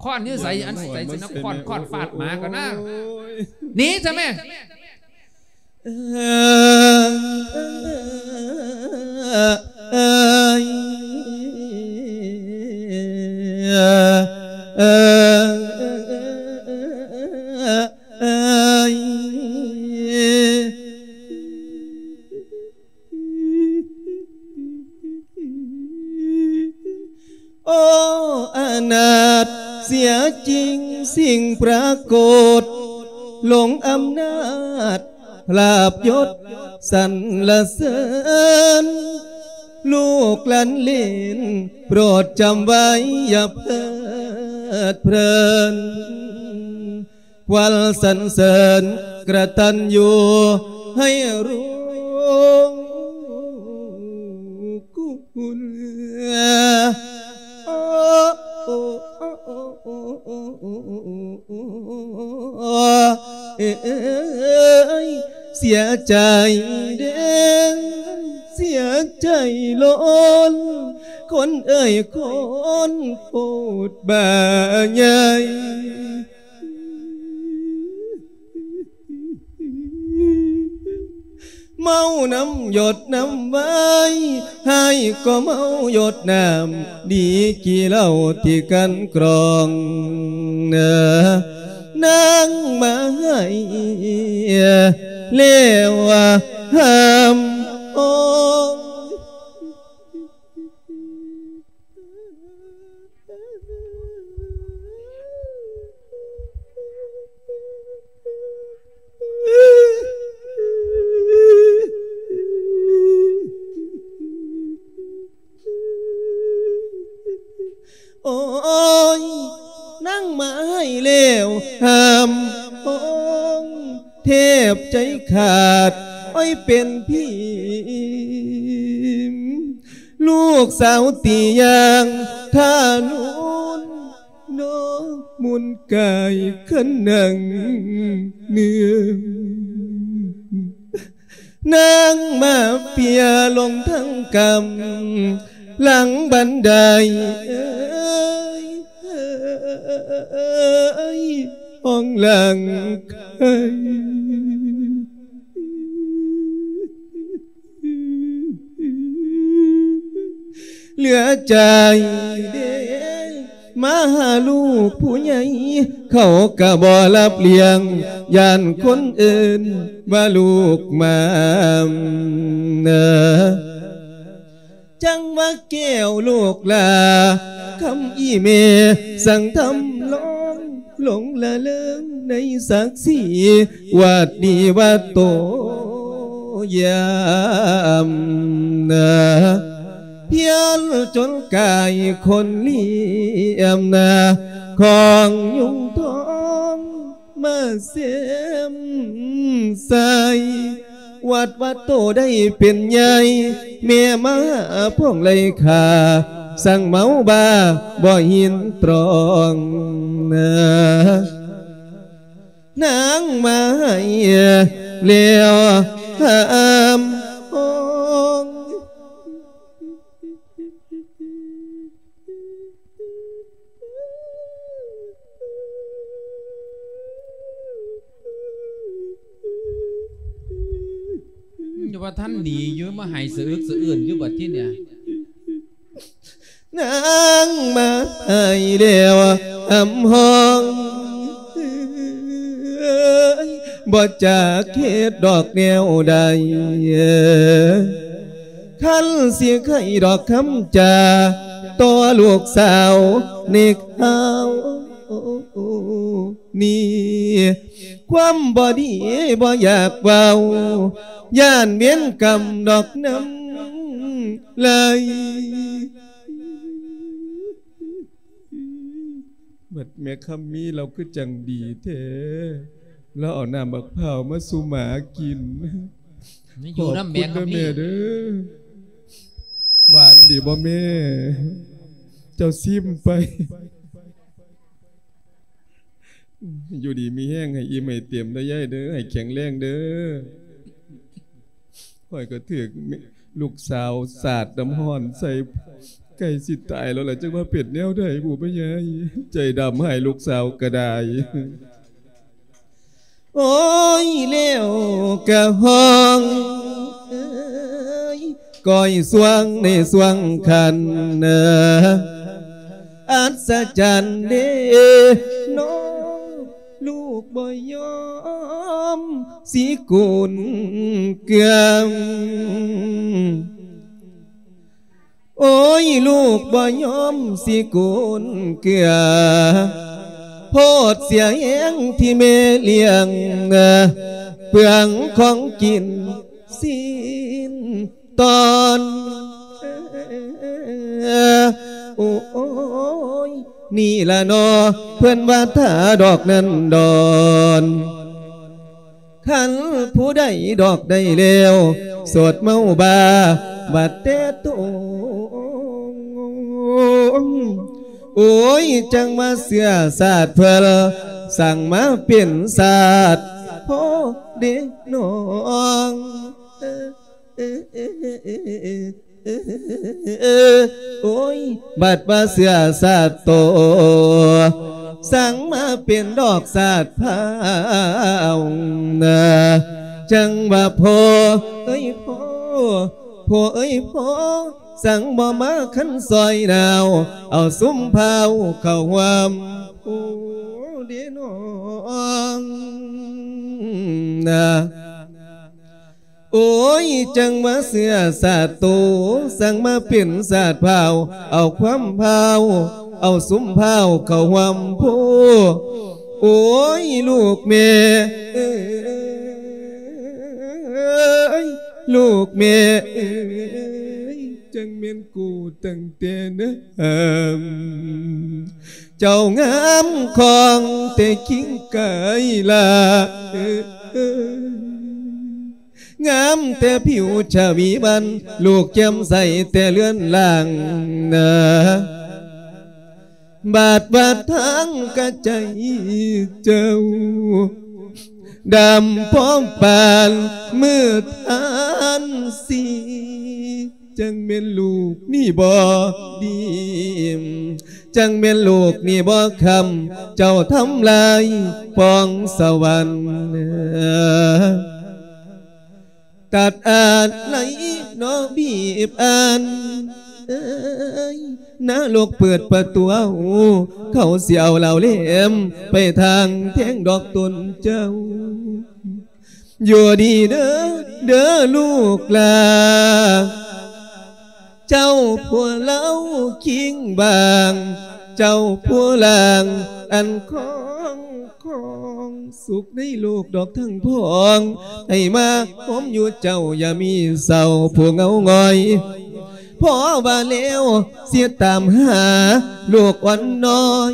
ຄ້ອນຢູ່ໃສ? ອັນໃສຊິນຳຄ້ອນ ຄ້ອນຟາດໝາກັນນະ. ໂອ້ຍ ໜີຊະແມ່. ໂອ້ ອະນາດເສຍຈິງ ສິ່ງປາກົດຫຼົງອຳນາດ ລາບຍົດສັນລະເສີນ ລູກຫຼານເລນໂປດຈຳໄວ້ ຢ່າເພີດເພີນ ຄວັນສັນເສີນກະຕັນຍູໃຫ້ຮູ້ຄຸນ. ເອີຍ ເສຍໃຈເດ້ ເສຍໃຈລ້ນ ຄົນເອີຍຄົນໂພດບາໃຫຍ່. ເມົານ້ຳຢົດນ້ຳວາຍ ຮ້າຍກໍເມົາຢົດນ້ຳ ດີກີເຫຼົ້າທີ່ກັ່ນກຣອງ ນາງມາໃຫ້ແລ້ວຫ້າມໂອຍ. ໂອ້ຍ ນາງມາໃຫ້ແລ້ວຫ້າມໂອຍ ແທບໃຈຂາດ ໂອ້ຍ ເປັນພິມ ລູກສາວຕີຢ່າງທານຸນ ນ້ອງມຸນກາຍຄັນນັ່ງເໜືອ ນາງມາເປຍລົງທັງກຳ ຫຼັງບັນໄດ ເອີຍ ຫ້ອງຫຼັງໄຄ ເຫຼືອໃຈເດ້ ມາຫາລູກຜູ້ໃຫຍ່ ເຂົາກະບໍ່ຮັບລ້ຽງ ຢ້ານຄົນເອີ້ນວ່າລູກໝາມນາ. ຈັ່ງວ່າແກ້ວລູກຫຼ້າ ຄຳອີ່ແມ່ສັ່ງທຳລອງ ຫຼົງລະເລີງໃນສັກສີ ວັດດີວັດໂຕຍາມນາ ພຽນຈົນກາຍຄົນລຽມນາ ຂອງຍຸງທອງມາເສມໃສ່ ວັດວ່າໂຕໄດ້ເປັນໃຫຍ່ ແມ່ມາພວງໄລ່ຂ້າ ສັ່ງເມົາບ້າບໍ່ຍິນຕຣອງນາ ນາງມາໃຫ້ແລ້ວຫ້າມຫ້ອງ. ຍັງວ່າທັນໜີຢູ່ ມາໄຫ້ສະອຶກສະອື້ນຢູ່ບັດທີເນີ້ຍ. ນາງມາໃຫ້ແລ້ວຫ້າມຫ້ອງ ບໍ່ຈັກເຮັດດອກແນວໃດ ຄັນຊິໄຂດອກຄຳຈາຕໍ່ລູກສາວໃນຄາວນີ້ ຄວາມບໍ່ດີບໍ່ຢາກເວົ້າ ຢ້ານເວນກຳດອກນ້ຳລາຍ. ບັດແມ່ຄຳມີລາວຄືຈັ່ງດີແທ້ ລາວເອົານ້ຳບັກພ້າວມາສູ່ໝາກິນ. ຢູ່ນຳແມ່ຄຳມີ ຂອບຄຸນເດີແມ່ເດີ. ຫວານດີບໍ່ແມ່? ເຈົ້າຊີມໄປ. ຢູ່ດີມີແຮງ ໃຫ້ອີ່ມໃຫ້ເຕັມເດີຍາຍເດີ ໃຫ້ແຂງແຮງເດີ. ຂ້ອຍກໍຖືກລູກສາວສາດນ້ຳຮ້ອນໃສ່ ໃກ້ຊິຕາຍແລ້ວລະ ຈັກວ່າເປັນແນວໃດບຸ ແມ່ຍາຍ. ໃຈດຳໃຫ້ລູກສາວກໍໄດ້. ໂອ້ຍ ແລ້ວກະຮ້ອງເອີຍ ກ້ອຍຊ່ວງໃນຊ່ວງຄັນ ອັດສະຈັນເດເນາະ ລູກບໍ່ຍອມຊິກຸນເກືອງ. ໂອ້ຍ ລູກບໍ່ຍອມຊິກຸນເກືອ ໂພດເສຍແຮງທີ່ແມ່ລ້ຽງ ເປືອງຂອງກິນຊີ້ນຕອນ. ໂອ້ຍ ນີ້ລະເນາະ ເພິ່ນວ່າຖ້າດອກນັ້ນດອນ. ຄັນຜູ້ໃດດອກໄດ້ແລ້ວ ໂສດເມົາບ້າບັດແຕ່ໂຕ. ໂອ້ຍ ຈັ່ງວ່າເຊື້ອຊາດເພິ່ນ ສັ່ງມາເປັນຊາດພໍ່ເດ້ນ້ອງ. ໂອ້ຍ ບັດວ່າເຊື້ອຊາດໂຕ ສັ່ງມາເປັນດອກຊາດພ້າວນາ. ຈັ່ງວ່າພໍ່ເອີຍພໍ່ ພໍ່ເອີຍພໍ່ ສັ່ງບໍ່ມາຄັນຊ່ອຍນາວ ເອົາຊຸມພ້າວເຂົ້າຮ່ວມຜູ້ເດນ້ອງນາ. ໂອ້ຍ ຈັ່ງວ່າເຊື້ອຊາດໂຕ ສັ່ງມາເປັນຊາດພ້າວ ເອົາຄວາມພ້າວ ເອົາຊຸມພ້າວເຂົ້າຮ່ວມໂພ. ໂອ້ຍ ລູກແມ່ເອີຍ ລູກແມ່ເອີຍ ຈັ່ງແມ່ນກູຕັ້ງແຕ່ເນີ່ນ ເຈົ້າງາມຂອງແຕ່ຄິງໄກລາເອີຍ. ງາມແຕ່ຜິວຊະວີວັນ ລູກແຈ່ມໃສແຕ່ເລືອນລ່າງນາ. ບາດວ່າທາງກະໃຈເຈົ້າ ດຳພ້ອມປານມືດທານສີ. ຈັ່ງແມ່ນລູກນີ້ບໍ່ດີ ຈັ່ງແມ່ນລູກນີ້ບໍ່ຄຳ ເຈົ້າທຳລາຍປອງສະຫວັນ. ຕັດອາໄລເນາະ ບີບອັນເອີຍ ນະລົກເປີດປະຕູເອົາ ເຂົາຊິເອົາເຫຼົ່າແຫຼມ ໄປທາງແທງດອກຕົນເຈົ້າ. ຢູ່ດີເດີ ເດີລູກຫຼາ ເຈົ້າຜູ້ເລົ່າຄິງບາງ ເຈົ້າຜູ້ລ່າງອັນຄອງ ຄອງສຸກໃນໂລກດອກທັງພອງ ໃຫ້ມາໂຮມຢູ່ເຈົ້າຢ່າມີເສົ້າຜູ້ເຫງົາຫງອຍ ພໍວ່າແລ້ວຊິຕາມຫາລູກອ່ອນນ້ອຍ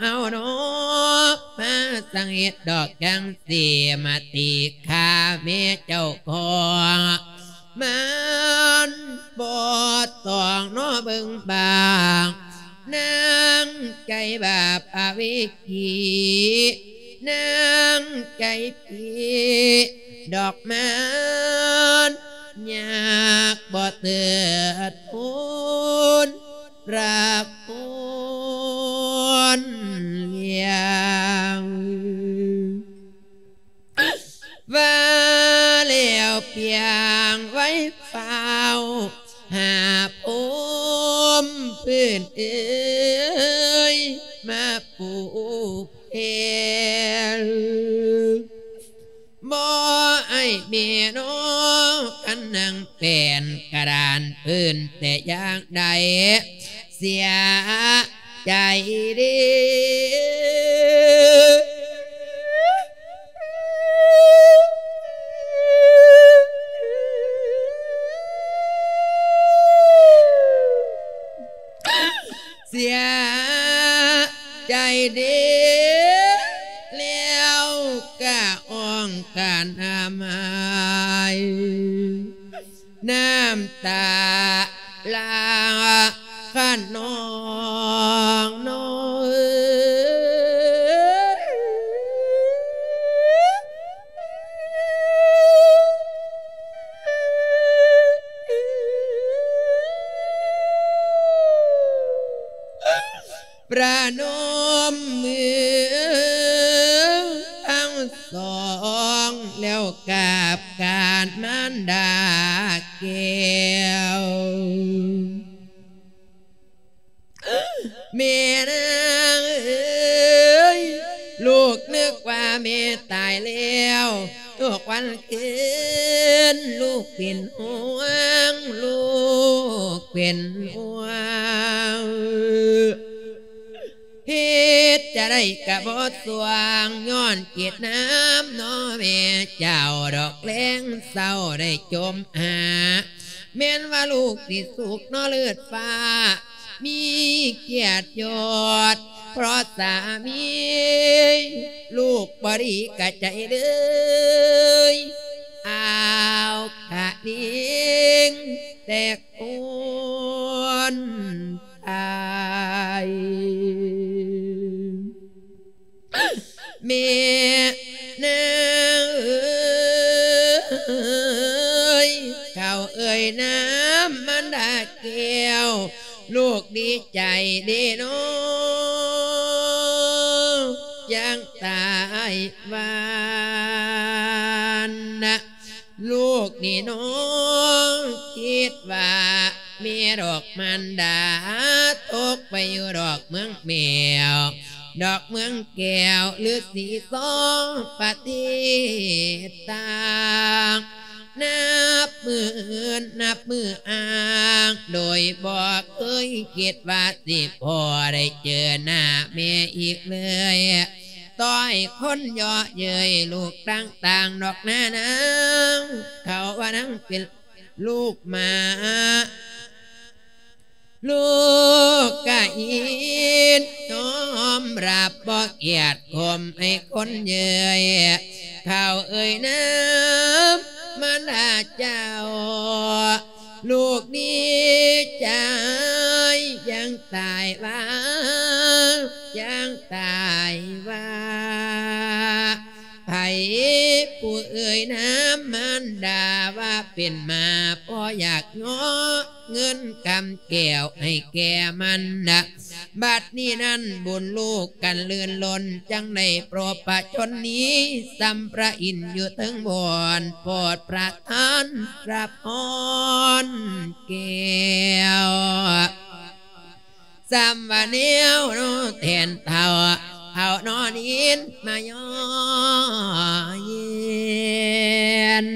ເອົາເນາະ ມາສັງເຫດດອກຈັ່ງຊີ້ ມາຕີຂ້າແມ່ເຈົ້າຂອງ ມັນບໍ່ຕ້ອງເນາະເບິ່ງບາງ ນາງໃຈບາບອະເວກີ ນາງໃຈຜີ ດອກມັນຍາກບໍ່ເຕີດໂພນ ລັກໂພນລ້ຽງ ວ່າແລ້ວປຽງໄວຟ້າວ ຫາພົມພື້ນເອີຍ ມາປູແຜ່ນ ບໍ່ອ້າຍແມ່ນ້ອງ ຄັນນາງແປ້ນກະດານພື້ນແຕ່ຢ່າງໃດ ເສຍໃຈເດ້ ເສຍໃຈເດ້ ແລ້ວກະອ່ອງກະນຳໄຫ້ ນ້ຳຕາຫຼາກຂະນອງນ້ອງເອີຍ ປະນົມມືທັງສອງ ແລ້ວກາບການມານດາແກ້ວ ແມ່ນາງເອີຍ ລູກນຶກວ່າແມ່ຕາຍແລ້ວ ທຸກວັນຄືນລູກເປັນຫ່ວງ ລູກເປັນຫ່ວງ ເຮັດຈະໄດ້ກະບໍ່ສ່ວງ ຍ້ອນເກດນ້ຳເນາະແມ່ເຈົ້າ ດອກແລງເຊົ້າໄດ້ຈົ່ມຫາ ແມ່ນວ່າລູກຊິສຸກເນາະເລີດຟ້າ ມີກຽດຍົດ ເພາະສາມີ ລູກບໍ່ດີກະໃຈເລີຍ ອ້າວ ຂະນິງແຕກໂພນຕາຍ ແມ່ນາງເອີຍ ເຂົາເອີຍນາມມານດາແກ້ວ ລູກດີໃຈເດ້ນ້ອ ຈັ່ງຕາຍຫວານນະ ລູກນີ້ນ້ອງຄິດວ່າແມ່ດອກມານດາ ຕົກໄປຢູ່ດອກເມືອງແມວ ດອກເມືອງແກ້ວ ຫຼືສີສອງປະເທດຕ່າງ ນັບມື້ອືນນັບມື້ອ່າງ ໂດຍບໍ່ເຄີຍຄິດວ່າຊິພໍໄດ້ເຈີໜ້າແມ່ອີກເລີຍ. ຕໍ່ໃຫ້ຄົນເຍາະເຍີ້ຍລູກຕ່າງໆ ດອກນານາງ ເຂົາວ່ານາງເປັນລູກໝາ ລູກກະອີດຍອມຮັບ ບໍ່ກຽດຂົ່ມໃຫ້ຄົນເຍີ້ຍ ເຂົາເອີຍນາມມານດາເຈົ້າ ລູກດີໃຈ ຈັ່ງຕາຍວ່າ ຈັ່ງຕາຍວ່າ ໃຜຜູ້ເອີຍນາມມານດາວ່າເປັນໝາ ບໍ່ຢາກເງາະເງິນຄຳແກ້ວໃຫ້ແກ່ມັນນະ. ບັດນີ້ນັ້ນບຸນລູກກັນລື່ນລົ້ນ ຈັ່ງໄດ້ພົບພະຊົນນີ້ ສ່ຳພະອິນຢູ່ເທິງບ່ອນ ໂປດປະທານພະພອນແກ້ວ. ສ່ຳວ່າແນວໂນແທນເຖົ້າ ເອົານອນຫີນມາຍໍເຢັນ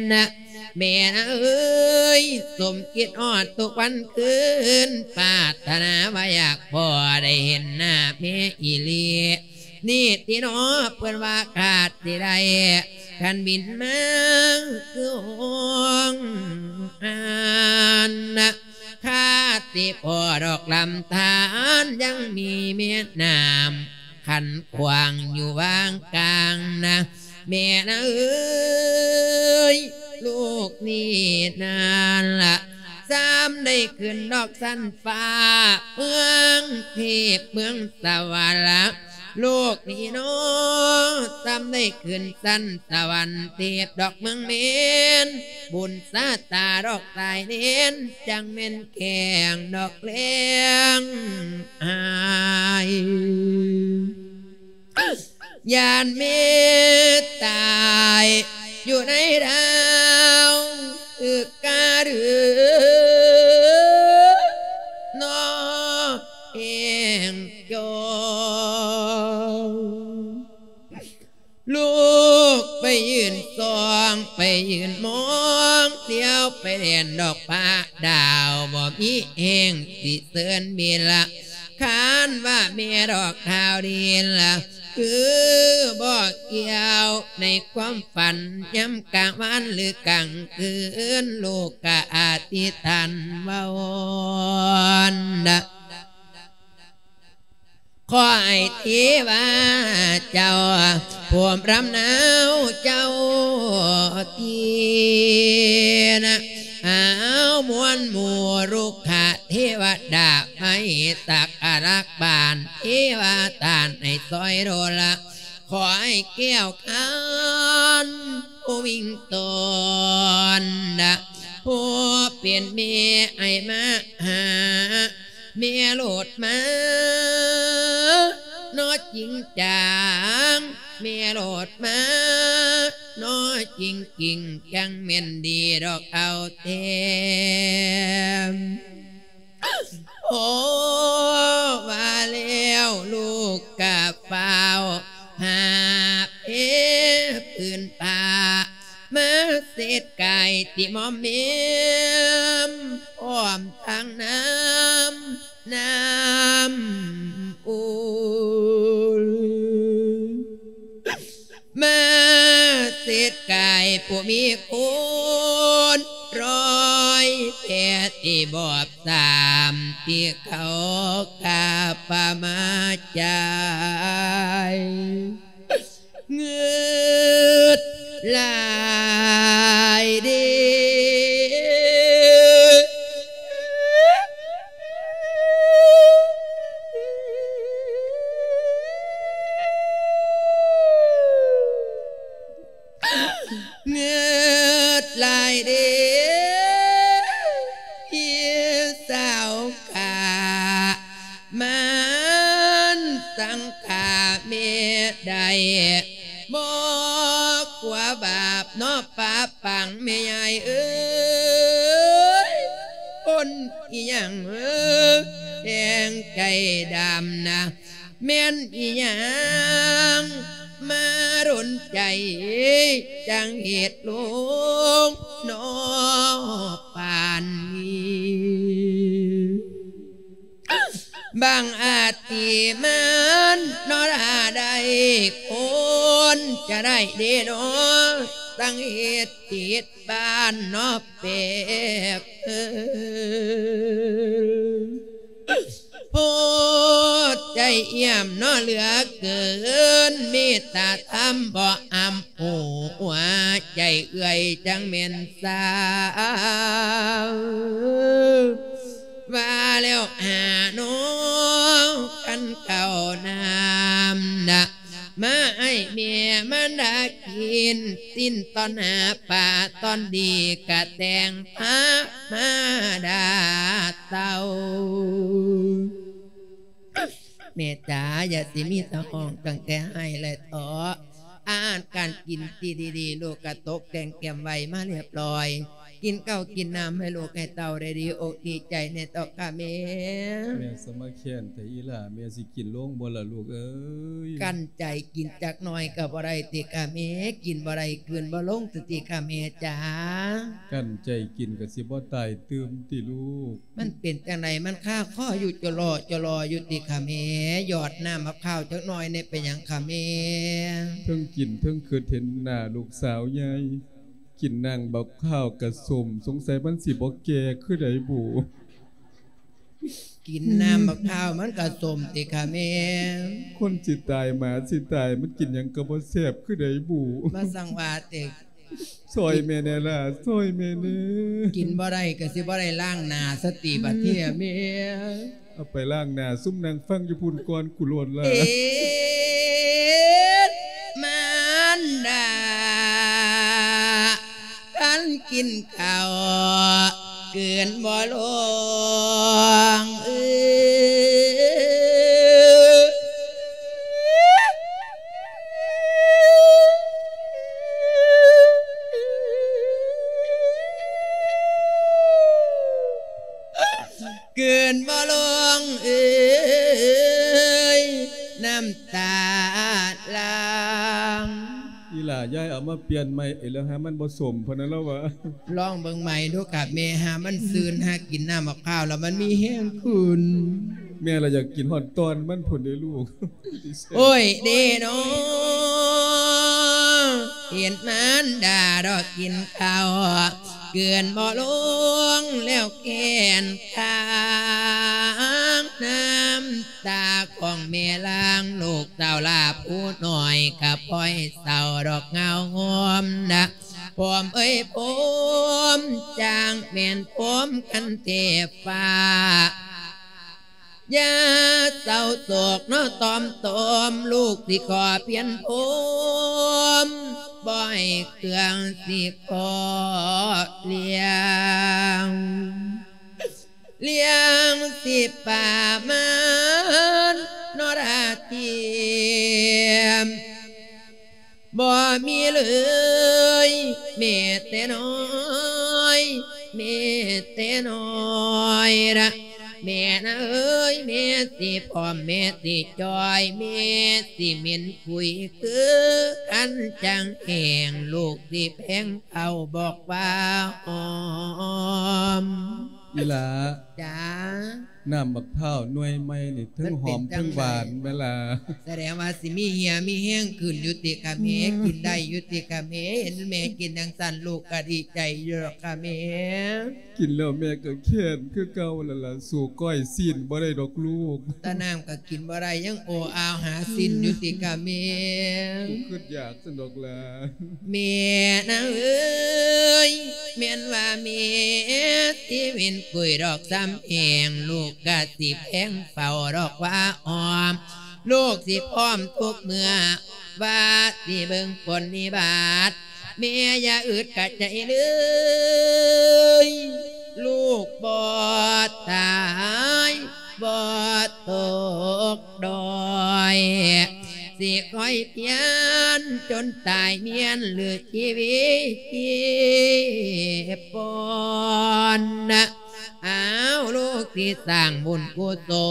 ແມ່ນາງເອີຍ ສົມຄິດຮອດທຸກວັນຄືນ ປາດຖະໜາວ່າຢາກພໍໄດ້ເຫັນໜ້າແມ່ອີ່ຫຼີ ນີ້ຕິເນາະ ເພິ່ນວ່າຄາດຊິໄດ້ ຄັນບິນມາຄືຫົງອານນະ ຄາດຊິພໍດອກລຳທານ ຍັງມີແມ່ນ້ຳ ຂັດຂວາງຢູ່ຫວ່າງກາງນະ ແມ່ນາເອີຍ ລູກນີ້ນັ້ນລະ ຊ້ຳໄດ້ຂຶ້ນດອກຊັ້ນຟ້າ ເມືອງເທບເມືອງສະຫວັນລະ ລູກນີ້ເນາະ ຊ້ຳໄດ້ຂຶ້ນຊັ້ນສະຫວັນເທບດອກ ເມືອງເມນ ບຸນຊາຕາດອກສາຍເນນ ຈັ່ງແມ່ນແຂງດອກແລງ ອ້າຍ ຢ້ານແມ່ຕາຍຢູ່ໃນດາວອຶກກະດືເນາະ ແຮງຈ່ອຍ ລູກໄປຢືນສ່ອງ ໄປຢືນມອງ ລຽວໄປແລ່ນດອກຟ້າດາວ ບໍ່ມີແຮງຊິເຊີນເວລາ ຄານວ່າແມ່ດອກດາວດີລະ ຄືບໍ່ກ່ຽວໃນຄວາມຝັນ ຍາມກາງວັນຫຼືກາງຄືນ ລູກກະອະທິຖານວາວອນນະ ຂໍໃຫ້ເທວະເຈົ້າ ຜູ້ລຳນາວເຈົ້າທີ່ນະ ຫາວມວນໝູ່ລຸກຂະເທວະດາ ໄມ້ສັກກະລັກບານ ເທວະທານໃຫ້ຊ່ອຍໂດລະ ຂໍໃຫ້ແກ້ວຄານຜູ້ວິງຕອນນະ ຜູ້ເປັນແມ່ໃຫ້ມາຫາ ແມ່ໂລດມາເນາະຈິງຈັງ ແມ່ໂລດມາເນາະຈິງຈິງ ຈັ່ງແມ່ນດີດອກເອົາແທ້ ໂອ້ ວ່າແລ້ວລູກກະຟ້າວຫາບເອຜືນຜ້າ ມາເຊັດກາຍທີ່ໝອມແໝມ ພ້ອມທັງນ້ຳ ນ້ຳອຸ່ນ ມາເຊັດກາຍຜູ້ມີຄຸນ ຮ້ອຍແປດທີ່ບອບສາມ ທີ່ເຂົາກາບປະມາຈາຍ ງືດຫຼາຍເດ້ ງືດຫຼາຍເດ້ ພີ່ສາວກະ ມັນສັງຂາແມ່ໄດ້ ບໍ່ກົວບາບເນາະ ປາປັງແມ່ຍາຍເອີຍ ຄົນອີ່ຫຍັງເອີຍ ແດງໃຈດຳນະ ແມ່ນອີ່ຫຍັງມາດົນໃຈ ຈັ່ງເຮັດລົງເນາະປານນີ້ ບາງອາດທີ່ມັນເນາະ ຖ້າໄດ້ຄົນຈະໄດ້ເດ້ເນາະ ຕັ້ງເຮັດຕິດບ້ານເນາະແປກເອີ ໂພດໃຈຢ້ຽມເນາະເຫຼືອເກີນ ເມດຕາທຳບໍ່ອຳ ໂອ້ ຫົວໃຈເອື້ອຍຈັ່ງແມ່ນສາວ ວ່າແລ້ວຫານ້ອງ ຄັນເຂົ້ານ້ຳນະ ມາໃຫ້ແມ່ມານດາກິນ ຊີ້ນຕອນໜ້າປາຕອນດີ ກະແຕ່ງພາມາດາເຕົ້າ. ແມ່ຈ໋າ ຢ່າຊິມີແຕ່ຮ້ອງຕັ້ງແຕ່ໄຫ້ແລະເຖາະ ອາຫານການກິນທີ່ດີໆ ລູກກະຕົກແຕ່ງກຽມໄວ້ມາຮຽບຮ້ອຍ ກິນເຂົ້າກິນນ້ຳໃຫ້ລູກໃຫ້ເຕົ້າໄດ້ດີອົກດີໃຈແດ່ເຖາະກະແມ່. ແມ່ສະມາແຄ້ນແທ້ອີ່ຫຼ້າ ແມ່ຊິກິນລົງບໍ່ລະລູກເອີຍ? ກັ້ນໃຈກິນຈັກໜ້ອຍກະບໍ່ໄດ້ຕິກະແມ່? ກິນບໍ່ໄດ້ກືນບໍ່ລົງຕິກະແມ່ຈ໋າ? ກັ້ນໃຈກິນກະຊິບໍ່ຕາຍຕື່ມຕິລູກ? ມັນເປັນຈັ່ງໃດ ມັນຄາຄໍຢູ່ຈະລໍຈະລໍຢູ່ຕິຄະແມ່? ຢອດນ້ຳມະພ້າວຈັກໜ້ອຍແດ່ ເປັນຫຍັງຄະແມ່? ເທິງກິນເທິງຄິດເຫັນໜ້າລູກສາວໃຫຍ່ ກິນນ້ຳບັກພ້າວກະສົ້ມ ສົງໄສມັນຊິບໍ່ແກ່ຄືໃດບຸ. ກິນນ້ຳບັກພ້າວມັນກໍສົ້ມຕິຄະແມ່. ຄົນຊິຕາຍໝາຊິຕາຍ ມັນກິນຫຍັງກໍບໍ່ແຊບຄືໃດບຸ. ມາສັ່ງວ່າແຕ່ ຊ່ອຍແມ່ແດ່ລະ ຊ່ອຍແມ່ແດ່. ກິນບໍ່ໄດ້ກໍຊິບໍ່ໄດ້ລ້າງໜ້າສະຕິບັດເທື່ອແມ່. ເອົາໄປລ້າງໜ້າ ຊຸມນັ່ງຟັງຢູ່ພຸ້ນກ່ອນກູໂລດລະ. ເອີ ມານດາ ຄັນກິນເຂົ້າກືນບໍ່ລົງ ເອີ ກືນບໍ່ລົງເອີຍ ນ້ຳຕາຫຼັ່ງ. ອີ່ຫຼ້າ ຍາຍເອົາມາປ່ຽນໃໝ່ ເອີ ແລ້ວຫາມັນບໍ່ສົ້ມພຸ້ນນະ ລາວວ່າ. ລອງເບິ່ງໃໝ່ດູກະແມ່ ຫາມັນຊື່ນ ຫາກິນນ້ຳໝາກພ້າວແລ້ວມັນມີແຮງຂຶ້ນ. ແມ່ລະຢາກກິນຮອດຕອນມັນພຸ້ນເດ້ລູກ. ໂອ້ຍເດເນາະ ເຫັນມານດາດອກກິນເຂົ້າ ກືນບໍ່ລົງແລ້ວແຄ້ນຄ້າງ ນ້ຳຕາຂອງແມ່ຫຼັ່ງ ລູກສາວຫຼ້າຜູ້ນ້ອຍກະປ່ອຍເສົ້າດອກເຫງົາໂຮມນະ ໂຮມເອີຍໂຮມ ຈ້າງແມ່ນໂຮມຄັນເທບຟ້າ. ຢ່າເສົ້າໂສກເນາະ ຕ້ອມໂຕມ ລູກຊິຂໍປ່ຽນໂຮມ ບໍ່ໃຫ້ເຄື່ອງຊິຂໍລ້ຽງ ລ້ຽງຊິປະມານເນາະລາທີ ບໍ່ມີເລີຍ ແມ່ແຕ່ນ້ອຍ ແມ່ແຕ່ນ້ອຍລະ ແມ່ນາເອີຍ ແມ່ຊິພ້ອມ ແມ່ຊິຈ່ອຍ ແມ່ຊິເໝັນຂຸຍຄືຄັນຈັງແຫ້ງ ລູກຊິແພງເອົາບອກວ່າຫອມ. ອີ່ຫຼ້າ ຈ້າ ນ້ຳບັກພ້າວໜ່ວຍໃໝ່ນີ້ ເທິງຫອມເທິງຫວານແມ່ນລະ. ສະແດງວ່າຊິມີເຫື່ອມີແຮງຂຶ້ນຢູ່ຕິກະແມ່ ອືມ ກິນໄດ້ຢູ່ຕິກະແມ່. ເຫັນແມ່ກິນຈັ່ງຊັ້ນ ລູກກະດີໃຈຢູ່ດອກກະແມ່. ກິນແລ້ວແມ່ກະແຄ້ນຄືເກົ່າຫັ້ນລະ ສູ້ກ້ອຍຊີ້ນບໍ່ໄດ້ດອກລູກ. ຕານ້ຳກະກິນບໍ່ໄດ້ ຍັງໂອອາວຫາຊີ້ນຢູ່ຕິກະແມ່. ອືມ ກູຄຶດຢາກຊັ້ນດອກຫຼ້າ. ແມ່ນາເອີຍ ແມ່ນວ່າແມ່ຊິເໝັນກຸຍດອກຊ້ຳແຫ້ງ ລູກກະຊິແພງເຝົ້າດອກວ່າອອມ ລູກຊິພ້ອມທຸກເມື່ອ ວ່າຊິເບິ່ງຜົນນິບາດ ແມ່ຢ່າອຶດກະໃຈເລີຍ ລູກບໍ່ຕາຍ ບໍ່ຕົກດ້ອຍ ຊິຄອຍພຽນຈົນຕາຍມ້ຽນ ຫຼືຊີວິດປົນນະ. ອ້າວ ລູກຊິສ້າງບຸນກຸສົ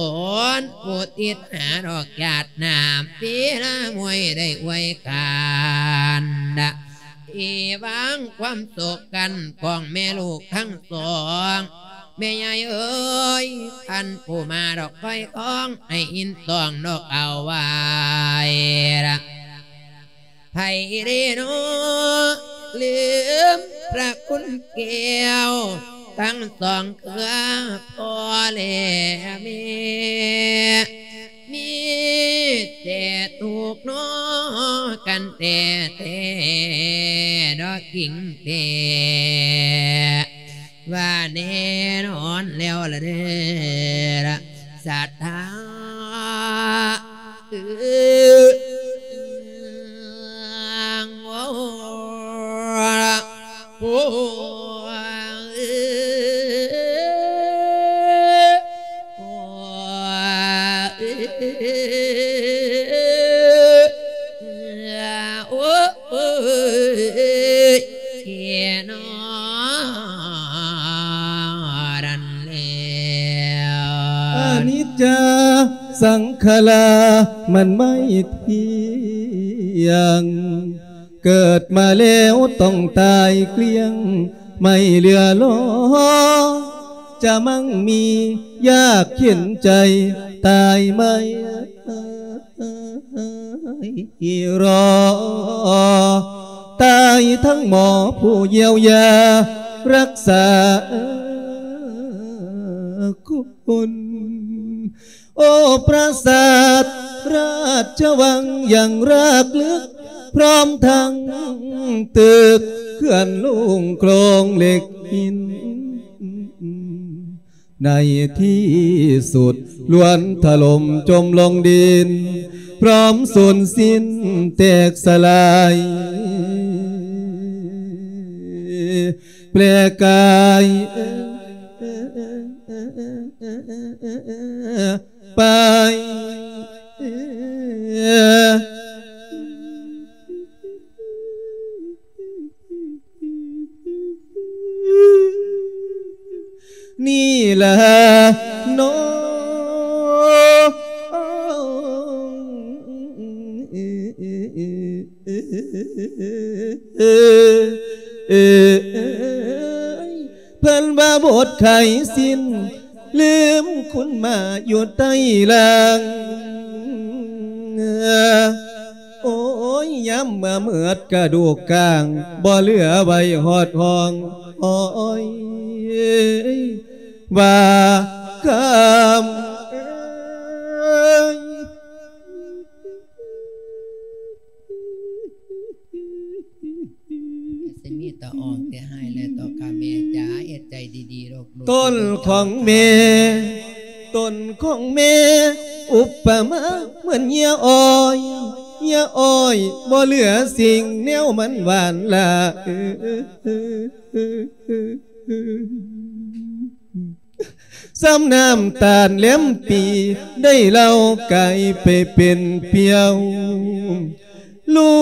ນ ອຸທິດຫາດອກຊາດໜ້າ ປີລະມວຍໄດ້ອວຍກັນນະ ອີຫວັງຄວາມສຸກກັນຂອງແມ່ລູກທັງສອງ. ແມ່ໃຫຍ່ເອີຍ ຄັນຜູ້ມາດອກຄອຍຄອງ ໃຫ້ອິນຕ້ອງນອກເອົາໄວ້ລະ ໃຜເດເນາະ ລືມພະຄຸນແກ້ວ ທັງສອງເຄືອພໍ່ແລະແມ່ ມີແຕ່ທຸກເນາະ ກັນແທ້ໆ ເນາະຄິງແທ້ ວ່າແນ່ນອນແລ້ວລະເດີ ສັດທາ ເອີ ໂອ້ ໂອ້ ໂອ້ ເອີ ໂອ້ ເອີ ເນາະ ນັ້ນແລ້ວ ອະນິດຈາ ສັງຂາລາ ມັນໄມ່ທຽງ ເກີດມາແລ້ວຕ້ອງຕາຍເກລ້ຽງ ໄມ່ເຫຼືອລໍ ຈະມັ່ງມີ ຍາກເຂັນໃຈ ຕາຍໄມ້ ລໍ ຕາຍທັງໝໍຜູ້ຢຽວຢາ ຮັກສາ ຄົນ ໂອ້ ປາສາດລາຊະວັງຢ່າງຮາກເລິກ ພ້ອມທັງຕຶກເຂື່ອນໂລງໂຄລງເຫຼັກຫີນ ໃນທີ່ສຸດລ້ວນຖະຫຼົ່ມຈົມລົງດິນ ພ້ອມສູນສິ້ນແຕກສະຫຼາຍ ແປກາຍໄປ ນີ້ລະເນາະ ເພິ່ນວ່າບົດໄຂສິ້ນ ລືມຄຸນມາຢູ່ໃຕ້ລ່າງ ໂອ້ຍ ຍາມມາເໝິດກະດູກກາງ ບໍ່ເຫຼືອໄວ້ຮອດຮ່ອງ ໂອ້ຍ ວ່າຄຳ ຊິມີແຕ່ອອກແຕ່ຮ້າຍແຫຼະ ຕໍ່ຂ້າແມ່ຈ໋າ ເຮັດໃຈດີໆ ລູກໆ ຕົ້ນຂອງແມ່ ຕົ້ນຂອງແມ່ ອຸປະມາເໝືອນເຫຍື່ອອ້ອຍ ເຫຍື່ອອ້ອຍ ບໍ່ເຫຼືອສິ່ງແນວມັນຫວານລະ ສ່ຳນ້ຳຕານແຫຼມປີ ໄດ້ເຫຼົ້າກາຍໄປເປັນປ່ຽວ ລູ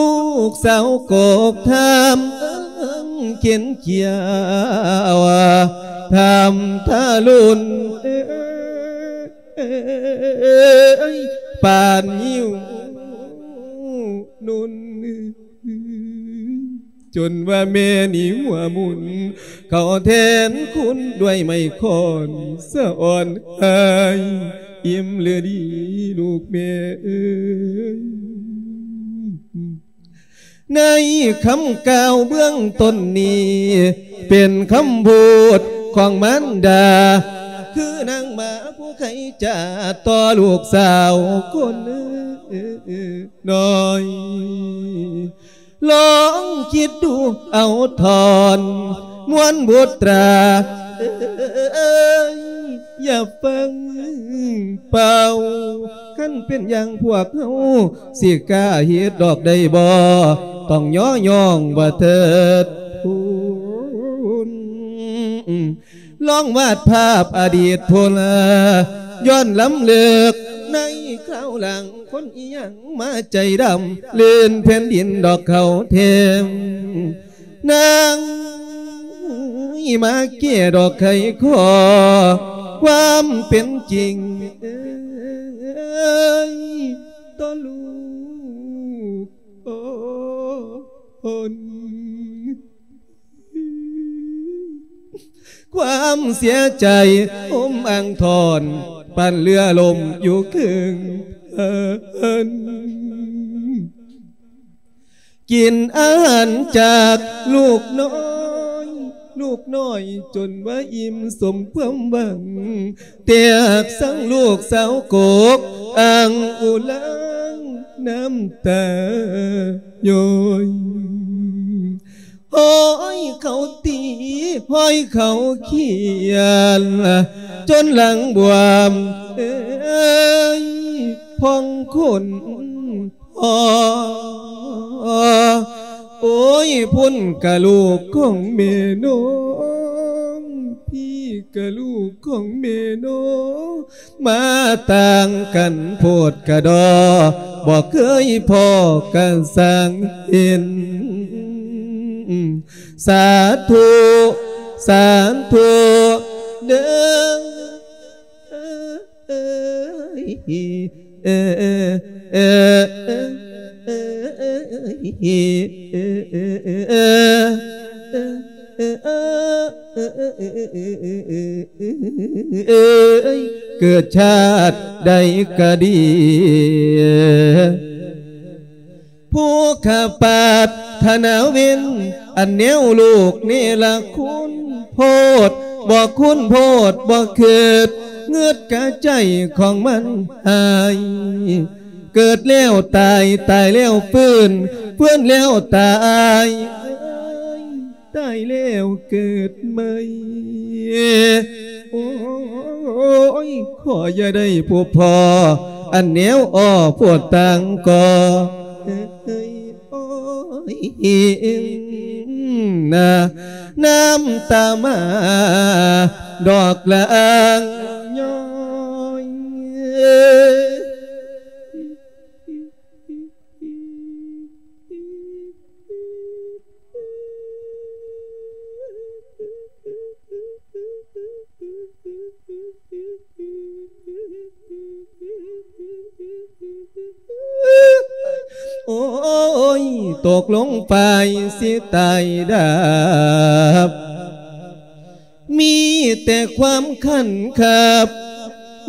ກສາວກອກຖາມເຄັ່ງເຂັນຂຽວ ຖາມທາລຸນ ເອີຍ ປານຫິວນຸ່ນ ຈົນວ່າແມ່ນີ້ຫົວໝຸ່ນ ເຂົ້າແທນຄຸນດ້ວຍໄມ້ຄ້ອນ ສະອອນອ້າຍ ອີ່ມຫຼືດີລູກແມ່ເອີຍ. ໃນຄຳກ່າວເບື້ອງຕົ້ນນີ້ ເປັນຄຳພູດຂອງມານດາ ຄືນາງໝາຜູ້ໄຄຈາຕໍ່ລູກສາວຄົນນ້ອຍ. ລອງຄິດດູເອົາທ່ອນ ມວນບຸດຕາເອີຍ ຢ່າຟັງເປົ່າ ຄັນເປັນຢ່າງພວກເຮົາ ຊິກ້າເຮັດດອກໄດ້ບໍ່? ຕ້ອງຍໍຍ້ອງວ່າເທີດພູນ ລອງວາດພາບອະດີດພຸ້ນລະ ຍ້ອນລຳເລິກໃນຄາວຫຼັງ ຄົນອີ່ຫຍັງມາໃຈດຳ ລື່ນແຜ່ນດິນດອກເຂົາແທ້ ນາງມາແກ້ດອກໄຂຂໍ້ ຄວາມເປັນຈິງເອີຍ ຕໍ່ລູກ ໂອ້ ຄວາມເສຍໃຈໂຮມອ່າງທ່ອນ ປານເຮືອລົ້ມຢູ່ເຄິ່ງເທິງ ກິນອາຫານຈາກລູກນ້ອຍ ລູກນ້ອຍຈົນວ່າອີ່ມສົມຄວາມຫວັງ ແຕກສັງລູກສາວກົກ ອ່າງອຸລາງນ້ຳຕາຍ້ອຍ ຫ້ອຍເຂົາຕີ ຫ້ອຍເຂົາຂຽນ ຈົນຫຼັງບວມເອີຍ ພອງຂົນ ໂອ້ຍ ພຸ້ນກະລູກຂອງແມ່ນ້ອງ ພີ້ກະລູກຂອງແມ່ນ້ອງ ມາຕ່າງກັນໂພດກະດໍ ບໍ່ເຄີຍພໍ້ກະຊ່າງເຫັນ ສາທຸ ສາທຸເດີ ເອີຍ ເອີຍ ເອີຍ ເອີຍ ເອີຍ ເອີຍ ເອີຍ ເກີດຊາດໃດກະດີ ຜູ້ຂ້າປາດຖະໜາເວັນ ອັນແນວລູກເນລະຄຸນ ໂພດບໍ່ຄຸນ ໂພດບໍ່ຄິດ ງຶດກະໃຈຂອງມັນຫາຍ ເກີດແລ້ວຕາຍ ຕາຍແລ້ວຟື້ນ ຟື້ນແລ້ວຕາຍ ຕາຍແລ້ວເກີດໃໝ່. ໂອ້ຍ ຂໍຢ່າໄດ້ພົບພໍ້ ອັນແນວອໍ້ໂພດຕ່າງກໍ ໂອ້ຍ ນາ ນ້ຳຕາມາ ດອກລາງຍ້ອຍ. ໂອ້ຍ ຕົກລົງໄປຊິຕາຍດັບ ມີແຕ່ຄວາມຄັນຄັບ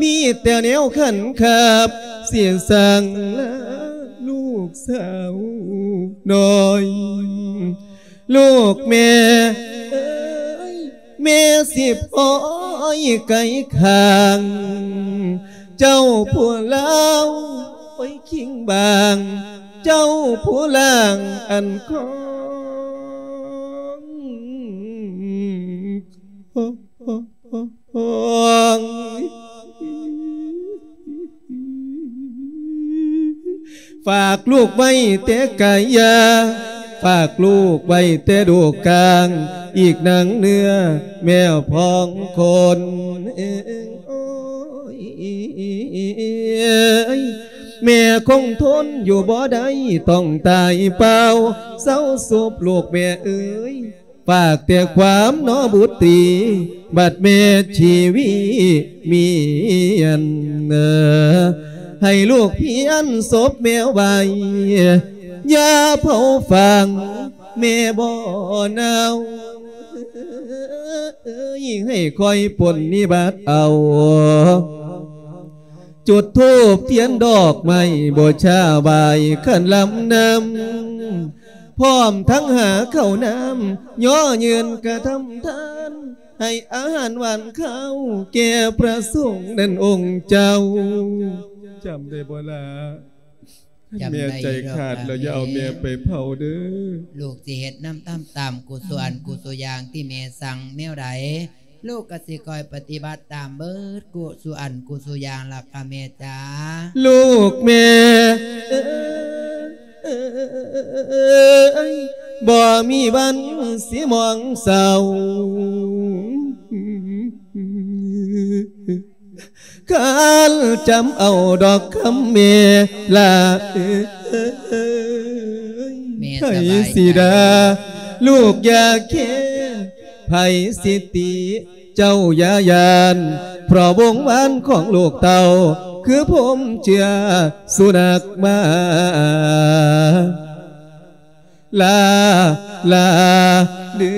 ມີແຕ່ແນວຄັນຄັບ ຊິສັ່ງລາລູກສາວນ້ອຍ ລູກແມ່ເອີຍ ແມ່ຊິປ່ອຍໄກ່ຂ້າງ ເຈົ້າຜູ້ລາວໄປຄິງບາງ ເຈົ້າຜູ້ລ່າງອັນຄອງ ຝາກລູກໄວ້ແຕ່ກາຍາ ຝາກລູກໄວ້ແຕ່ດູກກາງ ອີກໜັງເນື້ອແມ່ພອງຄົນ. ໂອ້ຍ ແມ່ຄົງທົນຢູ່ບໍ່ໄດ້ ຕ້ອງຕາຍເປົ່າ ເຊົາສົບລູກແມ່ເອີຍ. ຝາກແຕ່ຄວາມໜໍບຸດຕີ ບັດແມ່ຊີວິມີອັນ ໃຫ້ລູກພຽນສົບແມ່ໄວ້ ຢ່າເຜົາຝັງແມ່ບໍ່ເນົ່າ ໃຫ້ຄອຍປົນນິບັດເອົາ ຈຸດທູບທຽນດອກໄມ້ບູຊາໄຫວ້ຂັນລຳນຳ ພ້ອມທັງຫາເຂົ້ານ້ຳ ຍໍຍືນກະທຳທານ ໃຫ້ອາຫານຫວານຄາວແກ່ພະສົງນັ້ນອົງເຈົ້າ. ຈຳໄດ້ບໍ່ລະ? ຄັນແມ່ໃຈຂາດແລ້ວ ຢ່າເອົາແມ່ໄປເຜົາເດີ້. ລູກຊິເຮັດນຳຕາມ ຕາມກຸສູ່ອັນກຸສູ່ຢ່າງທີ່ແມ່ສັ່ງແນວໃດ ລູກກໍຊິຄອຍປະຕິບັດຕາມເບີດ ກຸສູ່ອັນກຸສູ່ຢ່າງລະກະແມ່ຈ໋າ. ລູກແມ່ເອີຍ ບໍ່ມີວັນຊິໝອງເສົ້າ ຄັນຈຳເອົາດອກຄຳແມ່ລະເອີຍ. ແມ່ສະບາຍໃຈ ໃຜຊິດ່າລູກຢ່າແຄ ໃຜຊິຕິເຈົ້າຢ່າຢ້ານ ເພາະວົງວານຂອງລູກເຕົ້າ ຄືພົມເຊື້ອສຸນັກໝາ ລາ ລາ ເດີ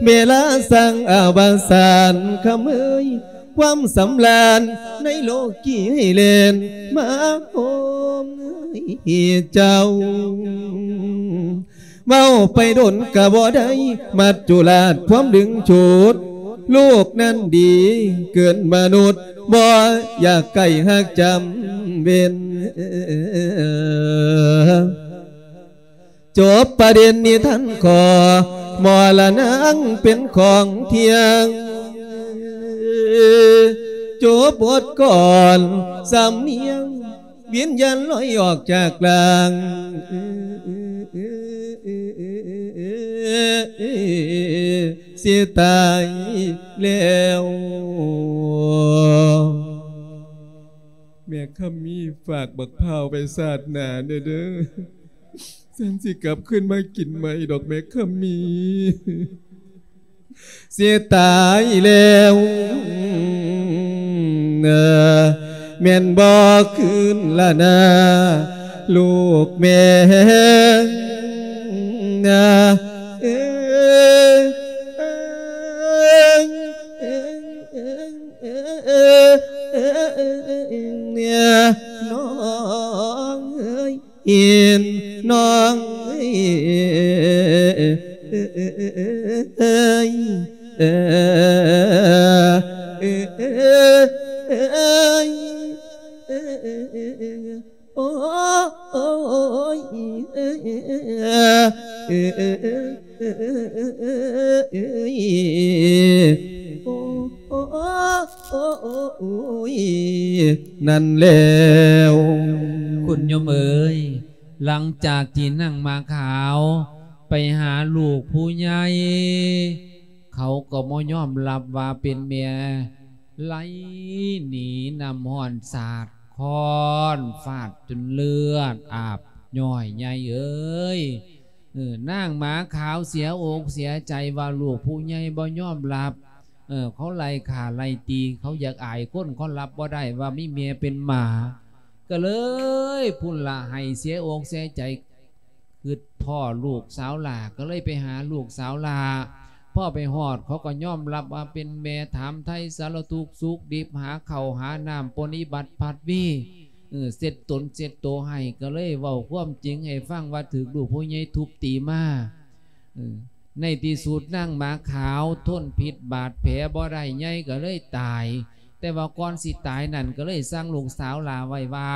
ເວລາສັງອາວະສານຄຳເອີຍ ຄວາມສຳລານໃນໂລກີໃຫ້ແລ່ນມາໂຮມເອີຍເຈົ້າ. ເວົ້າໄປດົນກະບໍ່ໄດ້ ມັດຈຸລາດຄວາມດຶງຈູດ ລູກນັ້ນດີເກີນມະນຸດ ບໍ່ຢາກໃກ້ຮັກຈຳເວັນ. ຈົບປະເດັນນິທານຂໍ ມໍລະນາງເປັນຂອງທ່ຽງ ຈົບບົດກອນສຳນຽງ ວິນຍານລອຍອອກຈາກຮ່າງ ຊິຕາຍແລ້ວ. ແມ່ຄຳມີ ຝາກບັກພ້າວໄວ້ຊາດໜ້າແດ່ເດີ ສັນຊິກັບຄືນມາກິນໃໝ່ດອກແມ່ຄຳມີ. ຊິຕາຍແລ້ວ ແມ່ນບໍ່ຄືນລະນາ ລູກແມ່ເອີຍ ນ້ອງເອີຍ ອີນນ້ອງເອີຍ. ເອີຍ ເອີຍ ເອີຍ ເອີຍ ເອີຍ ໂອ້ຍ ເອີຍ ເອີຍ ເອີຍ ເອີຍ ໂອ້ຍ ນັ້ນແລ້ວ ຄຸນໂຍມເອີຍ, ຫຼັງຈາກທີ່ນາງໝາຂາວໄປຫາລູກຜູ້ໃຫຍ່, ເຂົາກໍບໍ່ຍອມຮັບວ່າເປັນແມ່, ໄລ່ໜີນ້ຳຮ້ອນສາດຄ້ອນຟາດຈົນເລືອດອາບຍ້ອຍ. ໃຫຍ່ເອີຍ, ເອີ ນາງໝາຂາວເສຍອົກເສຍໃຈວ່າລູກຜູ້ໃຫຍ່ບໍ່ຍອມຮັບ, ເອີ ເຂົາໄລ່ຂ້າໄລ່ຕີ, ເຂົາຢາກອາຍຄົນ, ເຂົາຮັບບໍ່ໄດ້ວ່າມີແມ່ເປັນໝາ. ກໍເລີຍພຸ້ນລະ ໃຫ້ເສຍອົກເສຍໃຈ, ຄິດພໍ້ລູກສາວຫຼ້າ ກໍເລີຍໄປຫາລູກສາວຫຼ້າ. ພໍໄປຮອດ ເຂົາກໍຍອມຮັບວ່າເປັນແມ່, ຖາມໄຖ່ສາລະທຸກສຸກດິບ, ຫາເຂົ້າຫານ້ຳ, ປະນິບັດພັດວີ, ເອີ ເຊັດຕົນເຊັດໂຕໃຫ້, ກໍເລີຍເວົ້າຄວາມຈິງໃຫ້ຟັງວ່າຖືກລູກຜູ້ໃຫຍ່ທຸບຕີມາ. ເອີ ໃນທີ່ສຸດນາງໝາຂາວທົນພິດບາດແຜບໍ່ໄດ້, ໃຫຍ່ກໍເລີຍຕາຍ. ແຕ່ວ່າກ່ອນຊິຕາຍນັ້ນ ກໍເລີຍສັ່ງລູກສາວຫຼ້າໄວ້ວ່າ,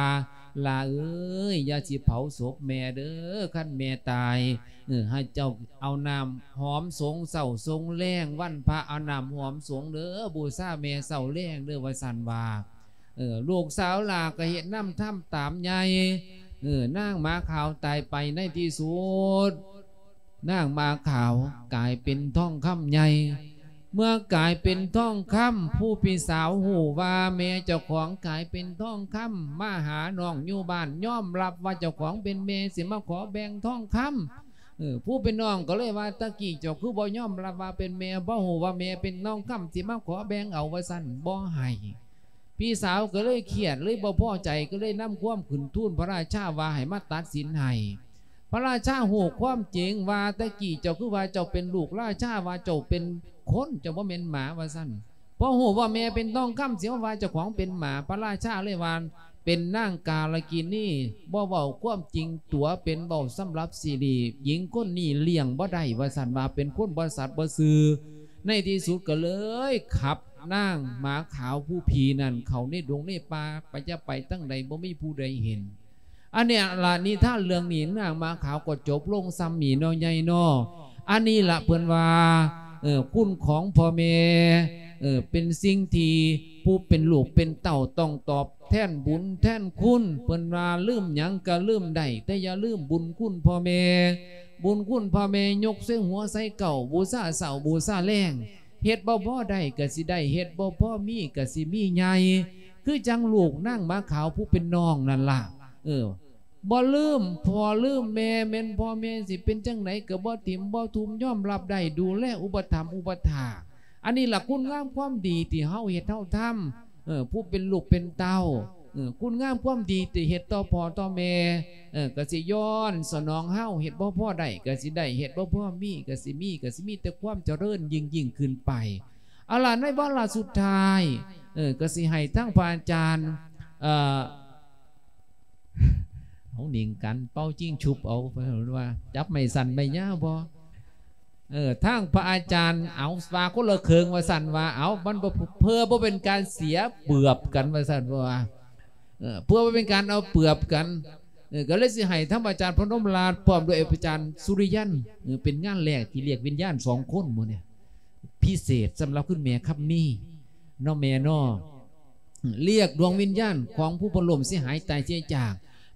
ຫຼ້າເອີຍ, ຢ່າຊິເຜົາສົບແມ່ເດີ, ຄັນແມ່ຕາຍ, ເອີ ໃຫ້ເຈົ້າເອົານ້ຳຫອມສົງເຊົ້າສົງແລງ, ວັນພະເອົານ້ຳຫອມສົງເດີ, ບູຊາແມ່ເຊົ້າແລງເດີ, ວ່າຊັ້ນວ່າ. ເອີ ລູກສາວຫຼ້າກໍເຮັດນຳທຳຕາມໃຫຍ່. ເອີ ນາງໝາຂາວຕາຍໄປ, ໃນທີ່ສຸດ ນາງໝາຂາວກາຍເປັນທອງຄຳໃຫຍ່. ເມື່ອກາຍເປັນທອງຄຳ, ຜູ້ເປັນສາວຮູ້ວ່າແມ່ເຈົ້າຂອງກາຍເປັນທອງຄຳ, ມາຫານ້ອງຢູ່ບ້ານ, ຍອມຮັບວ່າເຈົ້າຂອງເປັນແມ່, ຊິມາຂໍແບ່ງທອງຄຳ. ເອີ ຜູ້ເປັນນ້ອງກໍເລີຍວ່າ, ຕະກີ້ເຈົ້າຄືບໍ່ຍອມຮັບວ່າເປັນແມ່, ບໍ່ຮູ້ວ່າແມ່ເປັນທອງຄຳ, ຊິມາຂໍແບ່ງເອົາ, ວ່າຊັ້ນ, ບໍ່ໃຫ້. ພີ່ສາວກໍເລີຍຄຽດ, ເລີຍບໍ່ພໍໃຈ, ກໍເລີຍນຳຄວາມຂຶ້ນທູນພະລາຊາວ່າໃຫ້ມາຕັດສິນໃຫ້. ພະລາຊາຮູ້ຄວາມຈິງວ່າ, ຕະກີ້ເຈົ້າຄືວ່າເຈົ້າເປັນລູກລາຊາ, ວ່າເຈົ້າເປັນຄົນ, ເຈົ້າບໍ່ແມ່ນໝາ, ວ່າຊັ້ນ. ພໍຮູ້ວ່າແມ່ເປັນທອງຄຳ, ຊິມາວ່າເຈົ້າຂອງເປັນໝາ. ພະລາຊາເລີຍວ່າ, ເປັນນາງກາລະກິນີ, ບໍ່ເວົ້າຄວາມຈິງຕົວະເປັນ, ເວົ້າສຳລັບຊິລິ, ຍິງຄົນນີ້ລ້ຽງບໍ່ໄດ້, ວ່າຊັ້ນ, ວ່າເປັນຄົນບໍ່ສັດບໍ່ຊື່. ໃນທີ່ສຸດກໍເລີຍຂັບນາງໝາຂາວຜູ້ຜີນັ້ນເຂົ້າໃນດົງໃນປ່າ, ໄປຈະໄປທາງໃດບໍ່ມີຜູ້ໃດເຫັນ. ອັນນີ້ລະ ນິທານເລື່ອງນີ້ ນາງໝາຂາວກໍຈົບລົງສ່ຳນີ້ເນາະ ໃຫຍ່ເນາະ. ອັນນີ້ລະເພິ່ນວ່າ, ເອີ, ຄຸນຂອງພໍ່ແມ່, ເອີ, ເປັນສິ່ງທີ່ຜູ້ເປັນລູກເປັນເຕົ້າຕ້ອງຕອບແທນບຸນແທນຄຸນ. ເພິ່ນວ່າ ລືມຫຍັງກະລືມໄດ້, ແຕ່ຢ່າລືມບຸນຄຸນພໍ່ແມ່. ບຸນຄຸນພໍ່ແມ່ຍົກໃສ່ຫົວໃສ່ເກົ້າ, ບູຊາເຊົ້າບູຊາແລງ. ເຮັດບໍ່ພໍໄດ້ກະຊິໄດ້, ເຮັດບໍ່ພໍມີກະຊິມີໃຫຍ່. ຄືຈັ່ງລູກນາງໝາຂາວຜູ້ເປັນນ້ອງນັ້ນລະ, ເອີ, ບໍ່ລືມພໍ່ລືມແມ່, ແມ່ນພໍ່ແມ່ຊິເປັນຈັ່ງໃດກໍບໍ່ຖິ້ມບໍ່ທຸ່ມ, ຍອມຮັບໄດ້, ດູແລອຸປະຖຳອຸປະຖາກ. ອັນນີ້ລະຄຸນງາມຄວາມດີທີ່ເຮົາເຮັດເຮົາທຳ, ເອີ, ຜູ້ເປັນລູກເປັນເຕົ້າ, ເອີ, ຄຸນງາມຄວາມດີທີ່ເຮັດຕໍ່ພໍ່ຕໍ່ແມ່, ເອີ, ກໍຊິຍ້ອນສະໜອງເຮົາ, ເຮັດບໍ່ພໍໄດ້ກໍຊິໄດ້, ເຮັດບໍ່ພໍມີກໍຊິມີ, ກໍຊິມີແຕ່ຄວາມຈະເລີນຍິ່ງໆຂຶ້ນໄປ. ເອົາລະ ໃນວາລະສຸດທ້າຍ, ເອີ, ກໍຊິໃຫ້ທາງພະອາຈານ, ເອີ, ເອົາໜິງກັນເປົ່າຈິງຊຸບເອົາ, ເພິ່ນວ່າຈັບໄມ້ສັ້ນໄມ້ຍາວບໍ່? ເອີ, ທາງພະອາຈານເອົາວ່າຄົນລະເຄິ່ງວ່າຊັ້ນວ່າ, ເອົາ, ມັນບໍ່, ເພື່ອບໍ່ເປັນການເສຍເປືອບກັນວ່າຊັ້ນ, ເພາະວ່າ, ເອີ, ເພື່ອບໍ່ເປັນການເອົາເປືອບກັນ, ເອີ, ກໍເລີຍຊິໃຫ້ທາງອາຈານພະນົມລາດ ພ້ອມດ້ວຍອາຈານສຸລິຍັນ, ເອີ, ເປັນງານແລກທີ່ລຽກວິນຍານສອງຄົນມື້ນີ້ ພິເສດສຳລັບຄຸນແມ່ຄຳມີເນາະ ແມ່ເນາະ. ລຽກດວງວິນຍານຂອງຜູ້ເພິ່ນລົ້ມເສຍຫາຍຕາຍເສຍຈາກ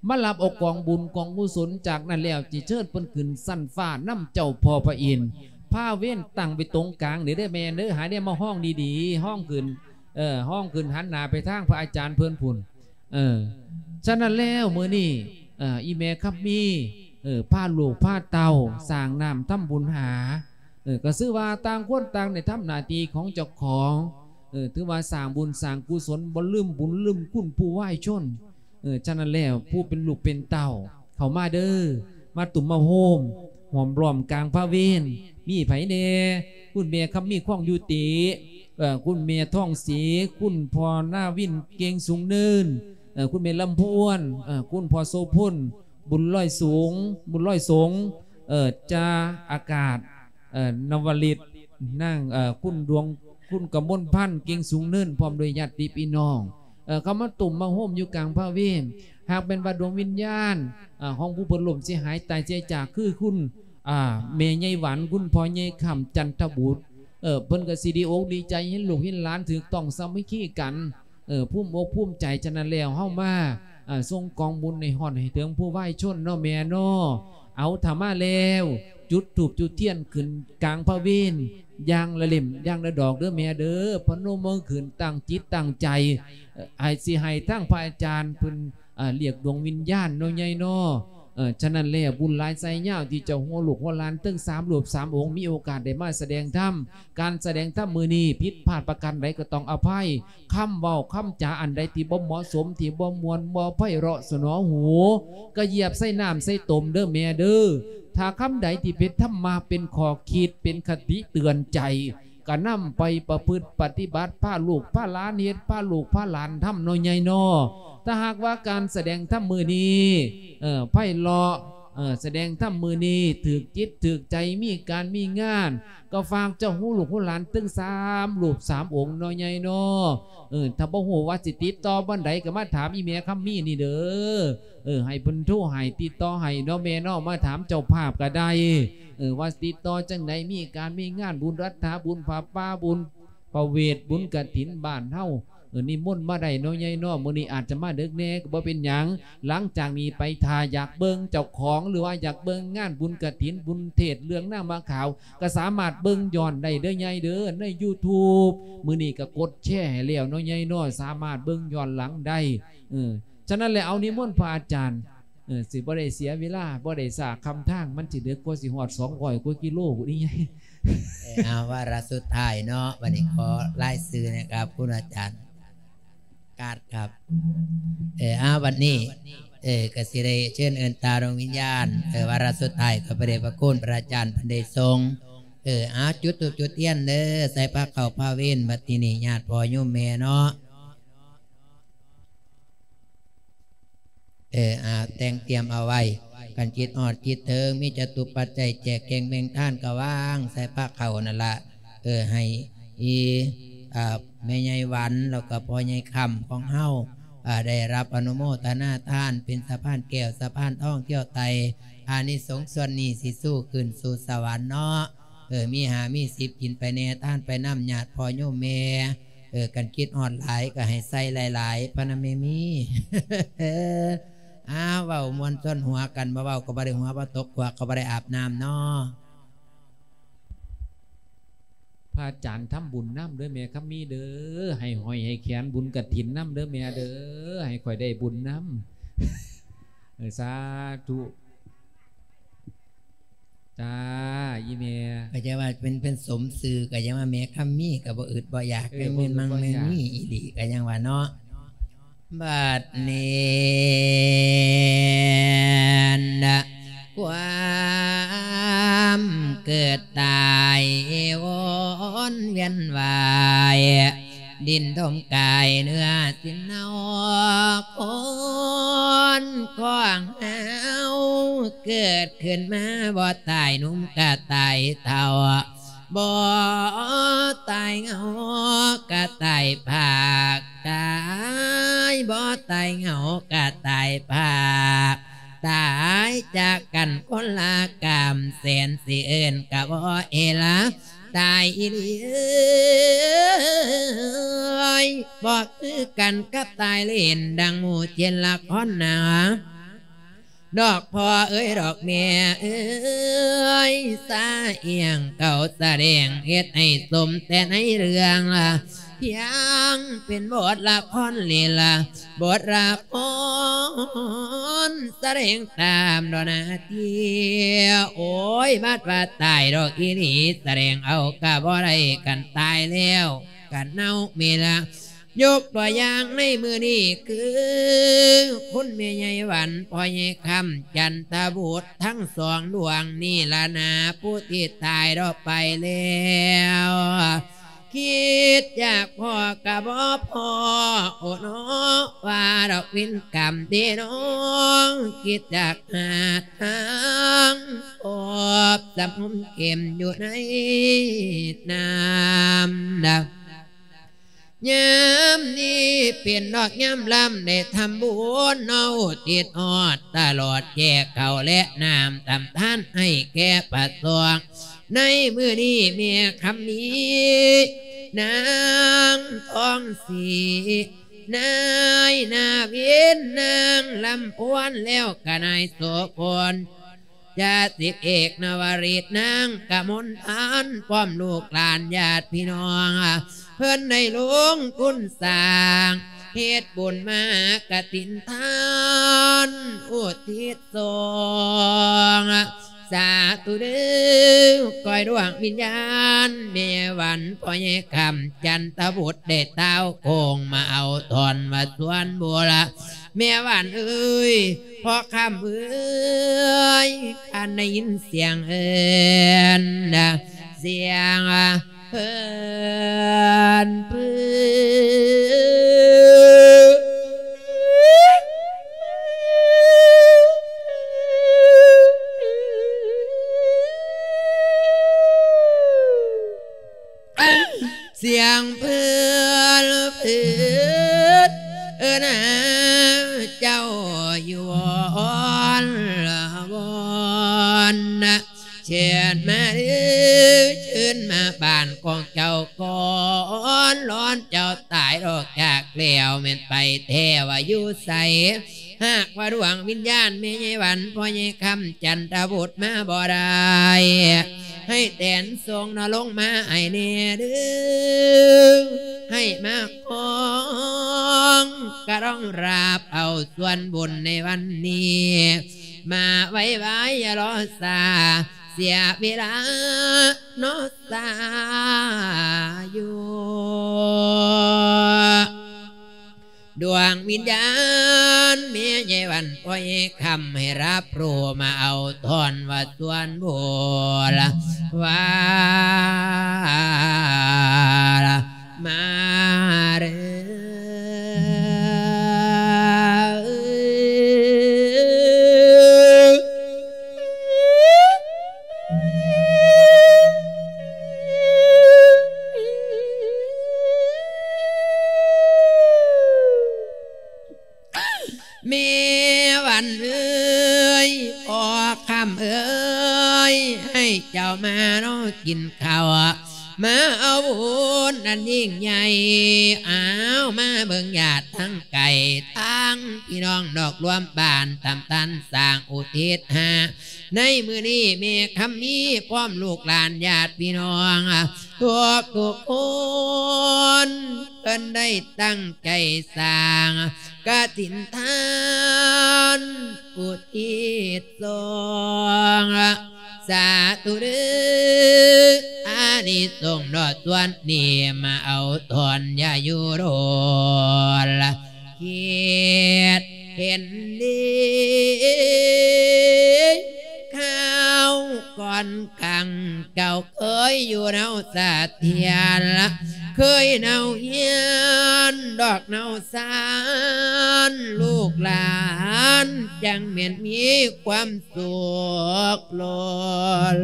ມາຮັບເອົາກອງບຸນກອງກຸສົນ. ຈາກນັ້ນແລ້ວ ຊິເຊີນເພິ່ນຂຶ້ນຊັ້ນຟ້ານຳເຈົ້າພໍ່ພະອິນ, ພາເວນຕັ້ງໄວ້ຕົງກາງນີ້ເດີແມ່ເດີ, ໃຫ້ໄດ້ມາຮອງດີໆ, ຮອງຂຶ້ນ, ເອີ, ຮອງຂຶ້ນຫັນໜ້າໄປທາງພະອາຈານເພິ່ນພຸ້ນ. ເອີ, ສະນັ້ນແລ້ວມື້ນີ້, ເອີ, ອີແມ່ຄຳມີ, ເອີ, ພາລູກພາເຕົ້າສ້າງນ້ຳທຳບຸນຫາ, ເອີ, ກໍຊື່ວ່າຕ່າງຄົນຕ່າງໄດ້ທຳໜ້າທີ່ຂອງເຈົ້າຂອງ, ເອີ, ຖືວ່າສ້າງບຸນສ້າງກຸສົນ, ບໍ່ລືມບຸນລືມຄຸນຜູ້ວາຍຊົນ. ເອີ, ສະນັ້ນແລ້ວ ຜູ້ເປັນລູກເປັນເຕົ້າ ເຂົ້າມາເດີ, ມາຕຸ້ມມາໂຮມ ຫ້ອມລ້ອມກາງພະເວນ. ມີໃຜແດ່? ຄຸນແມ່ຄຳມີ ຄອງຍຸຕິ, ເອີ, ຄຸນແມ່ທອງສີ, ຄຸນພໍ່ນາວິນ ເກັ່ງສູງເນີນ, ເອີ, ຄຸນແມ່ລຳພວນ, ເອີ, ຄຸນພໍ່ໂສພົນ ບຸນລອຍສູງ, ບຸນລອຍສົງ, ເອີ, ຈ່າອາກາດ, ເອີ ນະວະລິດ ນາງ ເອີ ຄຸນດວງ ຄຸນກະມົນພັນ ເກັ່ງສູງເນີນ ພ້ອມດ້ວຍຍາດຕິພີ່ນ້ອງ ເອີ ເຂົ້າມາຕຸ້ມມາໂຮມຢູ່ກາງພະເວນ. ຫາກແມ່ນວ່າດວງວິນຍານ ເອີ ຂອງຜູ້ເພິ່ນລົ້ມເສຍຫາຍຕາຍເສຍຈາກ ຄືຄຸນ ອ່າ ແມ່ໃຫຍ່ຫວັນ ຄຸນພໍ່ໃຫຍ່ຄຳ ຈັນທະບຸດ ເອີ ເພິ່ນກໍຊິດີອົກດີໃຈເຫັນລູກເຫັນຫຼານຖືກຕ້ອງສາມັກຄີກັນ ເອີ ພູມອົກພູມໃຈ. ສະນັ້ນແລ້ວ ເຮົາມາ ອ່າ ສົ່ງກອງບຸນໃຫ້ຮອດໃຫ້ເຖິງຜູ້ວາຍຊົນເນາະແມ່ເນາະ. ເອົາ ຖ້າມາແລ້ວ ຈຸດທູບຈຸດທຽນຂຶ້ນກາງພະເວນ ຢ່າງລະເຫຼັ້ມຢ່າງລະດອກເດີແມ່ເດີ. ພະນົມມືຂຶ້ນ ຕັ້ງຈິດຕັ້ງໃຈ ເອີ ໃຫ້ ຊິໃຫ້ທາງພະອາຈານເພິ່ນ ອ່າ ລຽກດວງວິນຍານເນາະ ໃຫຍ່ເນາະ. ເອີ ສະນັ້ນແລ້ວ ບຸນຫຼາຍໄຊຍາວທີ່ເຈົ້າຫົວລູກຫົວຫຼານເຖິງສາມຮູບສາມອົງ ມີໂອກາດໄດ້ມາສະແດງທຳ. ການສະແດງທຳມື້ນີ້ຜິດພາດປະການໃດກໍຕ້ອງອະໄພ. ຄຳເວົ້າຄຳຈາອັນໃດທີ່ບໍ່ເໝາະສົມ ທີ່ບໍ່ມ່ວນ ບໍ່ໄພເລາະສະໜອຫູ ກະຢຽບໃສ່ນ້ຳໃສ່ຕົມເດີແມ່ເດີ. ຖ້າຄຳໃດທີ່ເປັນທຳມະ ເປັນຂໍ້ຄິດ ເປັນຄະຕິເຕືອນໃຈ ກະນຳໄປປະພຶດປະຕິບັດ ພາລູກພາຫຼານເຮັດ ພາລູກພາຫຼານທຳເນາະໃຫຍ່ເນາະ. ຖ້າຫາກວ່າການສະແດງທຳມື້ນີ້ ເອີ ໄພເລາະ ເອີ ສະແດງທຳມື້ນີ້ຖືກຈິດຖືກໃຈ ມີການມີງານ ກໍຝາກເຈົ້າຮູ້ລູກຮູ້ຫຼານເຖິງສາມຮູບສາມອົງເນາະໃຫຍ່ເນາະ. ເອີ ຖ້າບໍ່ຮູ້ວ່າຊິຕິດຕໍ່ບ່ອນໃດ ກໍມາຖາມອີ່ແມ່ຄຳມີນີ້ເດີ. ເອີ ໃຫ້ເພິ່ນໂທໃຫ້ ຕິດຕໍ່ໃຫ້ເນາະແມ່ເນາະ ມາຖາມເຈົ້າພາບກໍໄດ້ ເອີ ວ່າຕິດຕໍ່ຈັ່ງໃດ ມີການມີງານ ບຸນຮັດຖາ ບຸນຜ້າປ່າ ບຸນພະເວດ ບຸນກະຖິນບ້ານເຮົາ ເອີ ນິມົນມາໄດ້ເນາະໃຫຍ່ເນາະ. ມື້ນີ້ອາດຈະມາເດິກແດ່ກໍບໍ່ເປັນຫຍັງ ຫຼັງຈາກນີ້ໄປ ຖ້າຢາກເບິ່ງເຈົ້າຂອງ ຫຼືວ່າຢາກເບິ່ງງານບຸນກະຖິນ ບຸນເທດເລື່ອງນາງໝາຂາວ ກໍສາມາດເບິ່ງຍ້ອນໄດ້ເດີໃຫຍ່ເດີ ໃນຢູທູບ. ມື້ນີ້ກໍກົດແຊໃຫ້ແລ້ວເນາະໃຫຍ່ເນາະ ສາມາດເບິ່ງຍ້ອນຫຼັງໄດ້. ເອີ ສະນັ້ນແຫຼະ ເອົານິມົນພະອາຈານ ເອີ ຊິບໍ່ໄດ້ເສຍເວລາ ບໍ່ໄດ້ຊ້າຄຳທາງ ມັນຊິເດິກກວ່າ ຊິຮອດສອງຮ້ອຍກວ່າກິໂລພຸ້ນໃຫຍ່. ເອີ ເອົາ ວາລະສຸດທ້າຍເນາະ ບັດນີ້ຂໍລາຍຊື່ນະຄັບ ຄຸນອາຈານກາດຄັບ. ເອີ ເອົາ ບັດນີ້ ເອີ ກໍຊິໄດ້ເຊີນເອີ້ນຕາດວງວິນຍານ ເອີ ວາລະສຸດທ້າຍ ຂອບພະເດດພະຄຸນພະອາຈານເພິ່ນໄດ້ສົ່ງ. ເອີ ເອົາ ຈຸດທູບຈຸດທຽນເດີ ໃສ່ພາເຂົ້າພາເວັນ ບັດທີນີ້ຍາດພໍ່ໂຍມແມ່ເນາະ. ເອີ ອາ ແຕ່ງຕຽມເອົາໄວ້ ຄັນຈິດຮອດຈິດເຖິງ ມີຈະຕຸປັດໄຈ ແຈກແຈງແບ່ງທານກະວາງໃສ່ພາເຂົ້ານັ້ນລະ. ເອີ ໃຫ້ອີ ອາ ແມ່ໃຫຍ່ຫວັນ ແລ້ວກະພໍ່ໃຫຍ່ຄຳຂອງເຮົາ ອາ ໄດ້ຮັບອະນຸໂມທະນາທານ ເປັນສະພານແກ້ວສະພານທອງທ່ຽວໄຕ່ ອານິສົງສ່ວນນີ້ຊິຊູຂຶ້ນສູ່ສະຫວັນເນາະ. ເອີ ມີຫ້າມີສິບກິນໄປແດ່ ທານໄປນຳຍາດພໍ່ໂຍມແມ່. ເອີ ຄັນຄິດຮອດຫຼາຍກໍໃຫ້ໃສ່ຫຼາຍໆ ພະນະແມ່ມີ. ອ້າວ ເວົ້າມ່ວນຊົນຫົວກັນ ບໍ່ເວົ້າກໍບໍ່ໄດ້ຫົວ ບໍ່ຕົກຂວາກກໍບໍ່ໄດ້ອາບນ້ຳເນາະ. ພະອາຈານທຳບຸນນຳເດີແມ່ຄຳມີເດີ ໃຫ້ຫ້ອຍໃຫ້ແຂນບຸນກະຖິນນຳເດີແມ່ເດີ ໃຫ້ຂ້ອຍໄດ້ບຸນນຳ. ເອີ ສາທຸ. ຈ້າ ອີ່ແມ່ ກໍຈະວ່າເປັນ ເປັນສົມຊື່ ກໍຍັງວ່າແມ່ຄຳມີກໍບໍ່ອຶດບໍ່ຢາກ ເອີ ແມ່ນມັງ ບໍ່ອຶດບໍ່ຢາກ ແມ່ນມີອີ່ຫຼີ ກໍຍັງວ່າເນາະ. ບັດນີ້ນະ ຄວາມເກີດຕາຍວົນວຽນວາຍ ດິນຖົມກາຍເນື້ອສິນເນົາ ຄົນຂອງເຮົາ ເກີດຂຶ້ນມາບໍ່ຕາຍໜຸ່ມກະຕາຍເຖົ້າ ບໍ່ຕາຍເຫງົາກະຕາຍພາກ ຕາຍບໍ່ຕາຍເຫງົາກະຕາຍພາກ ຕາຍຈາກກັນຄົນລະກາມ ແສນຊິເອີ້ນກະບໍ່ເອລະ ຕາຍອີ່ຫຼີເອີຍ ບໍ່ຄືກັນກັບຕາຍຫຼິ້ນ ດັ່ງໝູ່ເຊັ່ນລະຄອນໜາ ດອກພໍ່ເອີຍດອກແມ່ເອີຍ ສາອີ່ຫຍັງເຂົາສະແດງ ເຮັດໃຫ້ສົມແຕ່ໃນເລື່ອງລະ ພຽງເປັນບົດລະຄອນເລ່ນລະ ບົດລະຄອນສະແດງຕາມດອກໜ້າທີ່. ໂອ້ຍ ບັດວ່າຕາຍດອກອີ່ຫຼີ ສະແດງເອົາກະບໍ່ໄດ້ ຄັນຕາຍແລ້ວກະເນົ່າເມລະ. ຍົກຕົວຢ່າງໃນມື້ນີ້ຄື ຄຸນແມ່ໃຫຍ່ຫວັນ ພໍ່ໃຫຍ່ຄຳ ຈັນທະບຸດ ທັງສອງດວງນີ້ລະນາ ຜູ້ທີ່ຕາຍດອກໄປແລ້ວ ຄິດຢາກພໍ້ກໍບໍ່ພໍ້ ໂອ້ເນາະ ວ່າດອກເວນກຳເດນ້ອງ ຄິດຢາກຫາທາງ ພົບສຳຄົມເຂັ້ມຢູ່ໃນນ້ຳດາວ. ຍາມນີ້ເປັນດອກຍາມລຳ ໄດ້ທຳບຸນເນາະ ອຸທິດຮອດຕະຫຼອດແຈກເຂົ້າແລະນ້ຳ ທຳທານໃຫ້ແກ່ພະສົງ ໃນມື້ນີ້ແມ່ຄຳມີ ນາງທອງສີ ນາຍນາວິນ ນາງລຳພວນ ແລ້ວກະນາຍໂສພົນ ຈາສິກເອກນະວະລິດ ນາງກະມົນພັນ ພ້ອມລູກຫຼານຍາດພີ່ນ້ອງ ເພິ່ນໄດ້ລົງທຶນສ້າງ ເຮັດບຸນມະຫາກະຖິນທານ ອຸທິດ ສອງ ສາທຸເດີ ກ່ອຍດວງວິນຍານ ແມ່ຫວັນ ພໍ່ໃຫຍ່ຄຳ ຈັນທະບຸດ ໄດ້ຕ່າວໂຄງມາເອົາທ່ອນວ່າສວນບຸນລະ ແມ່ຫວັນເອີຍ ພໍ່ຄຳເອີຍ ຄັນໄດ້ຍິນສຽງເອີ້ນ ສຽງ ເພິ່ນ ສຽງເພິ່ນ ເພິ່ນ ເອີ້ນຫາເຈົ້າຢູ່ວອນລະວອນນະ ເຊີນມາເດີ ເຊີນມາບ້ານຂອງເຈົ້າກ່ອນ ລອນເຈົ້າຕາຍອອກຈາກແລ້ວ ແມ່ນໄປແທ້ວ່າຢູ່ໃສ ຫາກວ່າດວງວິນຍານແມ່ໃຫຍ່ຫວັນ ພໍ່ໃຫຍ່ຄຳ ຈັນທະບຸດ ມາບໍ່ໄດ້ ໃຫ້ແຕນສົ່ງນະລົງມາໃຫ້ແດ່ເດີ ໃຫ້ມາຄອງກະລອງລາບເອົາສ່ວນບຸນໃນວັນນີ້ ມາໄວໆ ຢ່າລໍຊ້າ ເສຍເວລາເນາະ ສາຢູ່ ດວງວິນຍານແມ່ໃຫຍ່ຫວັນ ປ່ອຍຄຳໃຫ້ຮັບຮູ້ ມາເອົາທ່ອນວ່າສ່ວນບຸນ ວ່າມາເດີ. ແມ່ຫວັນເອີຍ ພໍ່ຄຳເອີຍ ໃຫ້ເຈົ້າມາເນາະກິນເຂົ້າ ມາເອົາບຸນອັນຍິ່ງໃຫຍ່ ອ້າວ ມາເບິ່ງຍາດທັງໄກ ທັງພີ່ນ້ອງນອກລວມບ້ານ ຕຳຕັນສ້າງອຸທິດຫາ ໃນມື້ນີ້ແມ່ຄຳມີ ພ້ອມລູກຫຼານຍາດພີ່ນ້ອງ ທຸກໆຄົນ ເພິ່ນໄດ້ຕັ້ງໃຈສ້າງກະຖິນທານ ອຸທິດສອງ ສາທຸເດີ ອານິສົງເນາະ ສ່ວນນີ້ມາເອົາທ່ອນ ຢ່າຢູ່ດົນ ຄິດເຫັນດີ ຄາວກ່ອນຄັ້ງເຈົ້າເຄີຍຢູ່ເນົາສະຖຽນ ເຄີຍເນົາຮຽນດອກເນົາສານ ລູກຫຼານຈັ່ງແມ່ນມີຄວາມສຸກລົ້ນ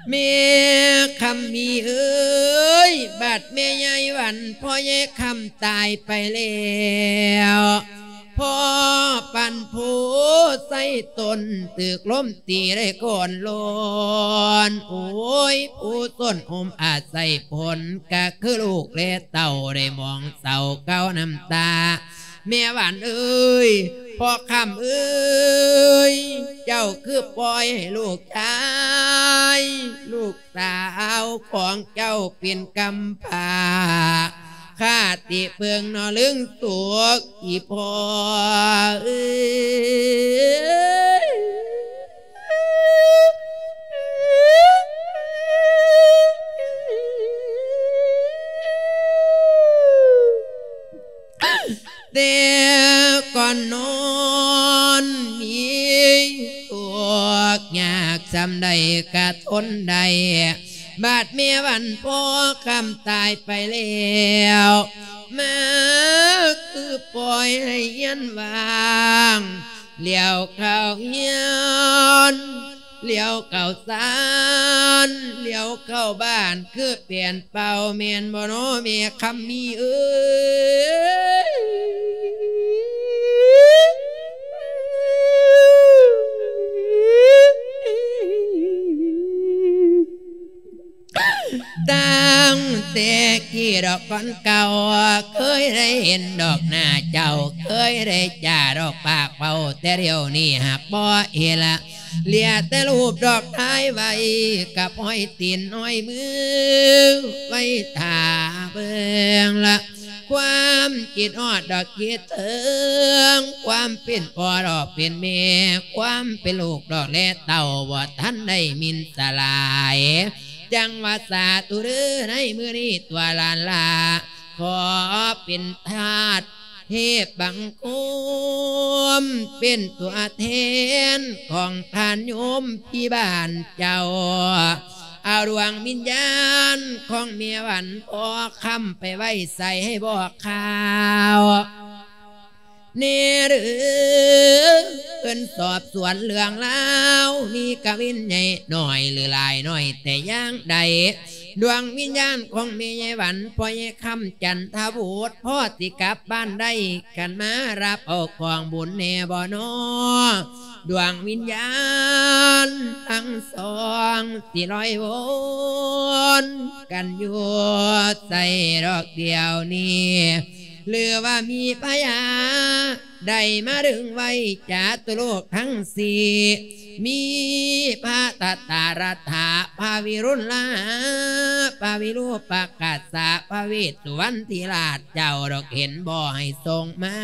ແມ່ຄຳມີເອີຍ ບາດແມ່ຍາຍຫວັນ ພໍ່ຍາຍຄຳຕາຍໄປແລ້ວ ພໍ່ປັນໂພໄຊຕົ້ນ ຖືກລົມຕີໄດ້ໂກນໂລນ ໂອ້ຍ ຜູ້ຊົນຮົ່ມອາໄສພົນ ກະຄືລູກແລເຕົ້າ ໄດ້ມອງເສົ້າເກົານ້ຳຕາ ແມ່ຫວັນເອີຍ ພໍ່ຄຳເອີຍ ເຈົ້າຄືປ່ອຍໃຫ້ລູກຊາຍ ລູກສາວຂອງເຈົ້າເປັນກຳພ້າ ຄາຕິເພິ່ງເນາະລຶງໂສກ ອີ່ພໍ່ເອີຍ ແຕ່ກ່ອນນອນມີທຸກຍາກສ່ຳໃດກະທົນໄດ້ ບາດແມ່ວັນພໍຄຳຕາຍໄປແລ້ວ ມາຄືປ່ອຍໃຫ້ເຮືອນວ່າງ ຫຼຽວເຂົ້າເຮືອນ ຫຼຽວເຂົ້າຊານ ຫຼຽວເຂົ້າບ້ານ ຄືແປນເປົ່າ ແມ່ນບໍ່ນໍແມ່ຄຳມີເອີຍ? ຕັ້ງແຕ່ກີ້ດອກກ່ອນເກົ່າ ເຄີຍໄດ້ເຫັນດອກໜ້າເຈົ້າ ເຄີຍໄດ້ຈາດອກປາກເວົ້າ ແຕ່ດຽວນີ້ຫາກບໍ່ເຫັນລະ ເຫຼືອແຕ່ຮູບດອກຖ່າຍໄວ້ ກັບຮອຍຕີນຮອຍມື ໄວ້ຖ້າເບິ່ງລະ ຄວາມຄິດຮອດດອກຄິດເຖິງ ຄວາມເປັນພໍ່ດອກເປັນແມ່ ຄວາມເປັນລູກດອກແລເຕົ້າ ບໍ່ທັນໄດ້ມິນສະຫຼາຍ ຈັ່ງວ່າສາທຸເດີ ໃນມື້ນີ້ຕົວຫຼານລາ ຂໍເປັນທາດເທບບັງຄົມ ເປັນຕົວແທນຂອງທ່ານໂຍມພີ່ບ້ານເຈົ້າ ເອົາດວງວິນຍານຂອງແມ່ວັນພໍຄຳໄປໄວ້ໃສໃຫ້ບອກຂ່າວ ແນ່ເດີ ເພິ່ນສອບສວນເລື່ອງລາວ ມີກະວິນໃຫຍ່ໜ້ອຍ ຫຼືຫຼາຍໜ້ອຍແຕ່ຢ່າງໃດ ດວງວິນຍານຂອງແມ່ໃຫຍ່ວັນ ພໍ່ໃຫຍ່ຄຳຈັນທະວຸດ ພໍຊິກັບບ້ານໄດ້ ຄັນມາຮັບເອົາກອງບຸນແນ່ບໍ່ນໍ ດວງວິນຍານທັງສອງ ຊິລອຍວົນກັນຢູ່ໃສດອກດຽວນີ້ ຫຼືວ່າມີພະຍາໄດ້ມາດຶງໄວ້ຈາຕຸໂລກທັງສີ່ ມີພະຕະຕາລັດຖະ ພະວິລຸນລາ ພະວິຣູປະກາສະ ພະເວດສຸວັນທິລາດເຈົ້າດອກ ເຫັນບໍ່ໃຫ້ສົ່ງມາ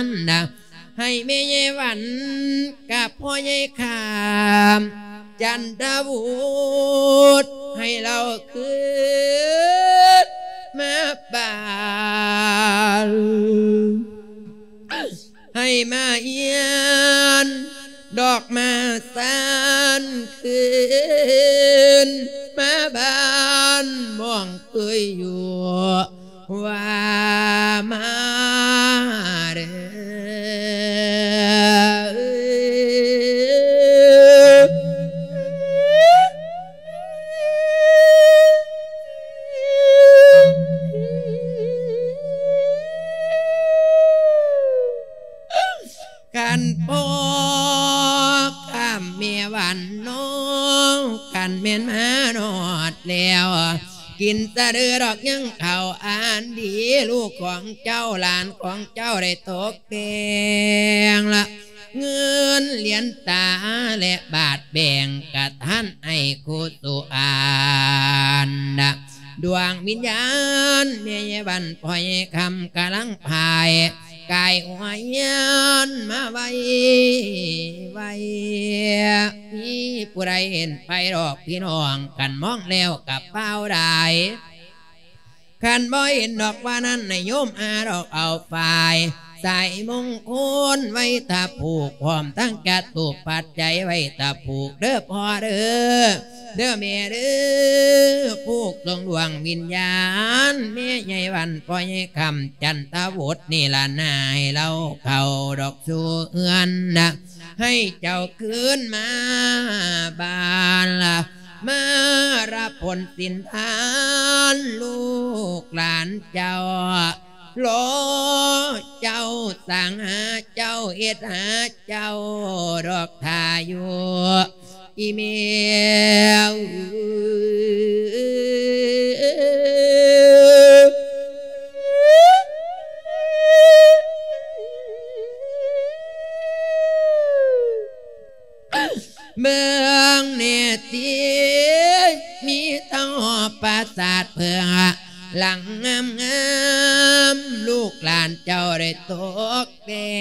ນນະ ໃຫ້ແມ່ໃຫຍ່ວັນກັບພໍ່ໃຫຍ່ຄຳຈັນທະວຸດ ໃຫ້ລາວຄືນມາບ້ານ ໃຫ້ມາເຮືອນດອກມາຊານ ຄືນມາບ້ານໝ່ອງເຄີຍຢູ່ ວ່າມາເດີ ຄັນພໍຄຳແມ່ວັນນ້ອງ ຄັນແມ່ນມາຮອດແລ້ວ ກິນສະເດີດອກຍັງເຂົ້າອັນດີ ລູກຂອງເຈົ້າ ຫຼານຂອງເຈົ້າໄດ້ຕົກແຕ່ງລະ ເງິນຫຼຽນຕາ ແລະ ບາດແບ່ງກະທັນໃຫ້ຄູສຸອານນະ ດວງວິນຍານແມ່ໃຫຍ່ວັນ ພໍ່ໃຫຍ່ຄຳກຳລັງພາຍ ກາຍຫົວເຮືອນມາໄວ ໄວ ມີຜູ້ໃດເຫັນໄປດອກພີ່ນ້ອງ ຄັນມອງແລ້ວກະຟ້າວໄດ້ ຄັນບໍ່ເຫັນດອກວ່ານັ້ນ ໃຫ້ໂຍມອາດອກເອົາຝ້າຍ ສາຍມົງຄຸນໄວ້ຖ້າຜູກ ພ້ອມທັງຈະຕູບປັດໄຈໄວ້ຖ້າຜູກເດີພໍ່ເດີ ເດີແມ່ເດີ ຜູກສົ່ງດວງວິນຍານ ແມ່ໃຫຍ່ວັນ ພໍ່ໃຫຍ່ຄຳ ຈັນທະວຸດ ນິລະນາ ໃຫ້ລາວເຂົ້າດອກສູ່ເຮືອນນະ ໃຫ້ເຈົ້າຄືນມາບ້ານລະ ມາຮັບຜົນສິນທານ ລູກຫຼານເຈົ້າ ລໍເຈົ້າ ສ້າງຫາເຈົ້າ ເຮັດຫາເຈົ້າ ດອກຖ້າຢູ່ ອີແມ່ເອີຍ ເບິ່ງແນ່ຕິ ມີທັງຫໍປາສາດເພິ່ງ ຫຼັງງາມໆ ລູກຫຼານເຈົ້າໄດ້ຕົກແຕ່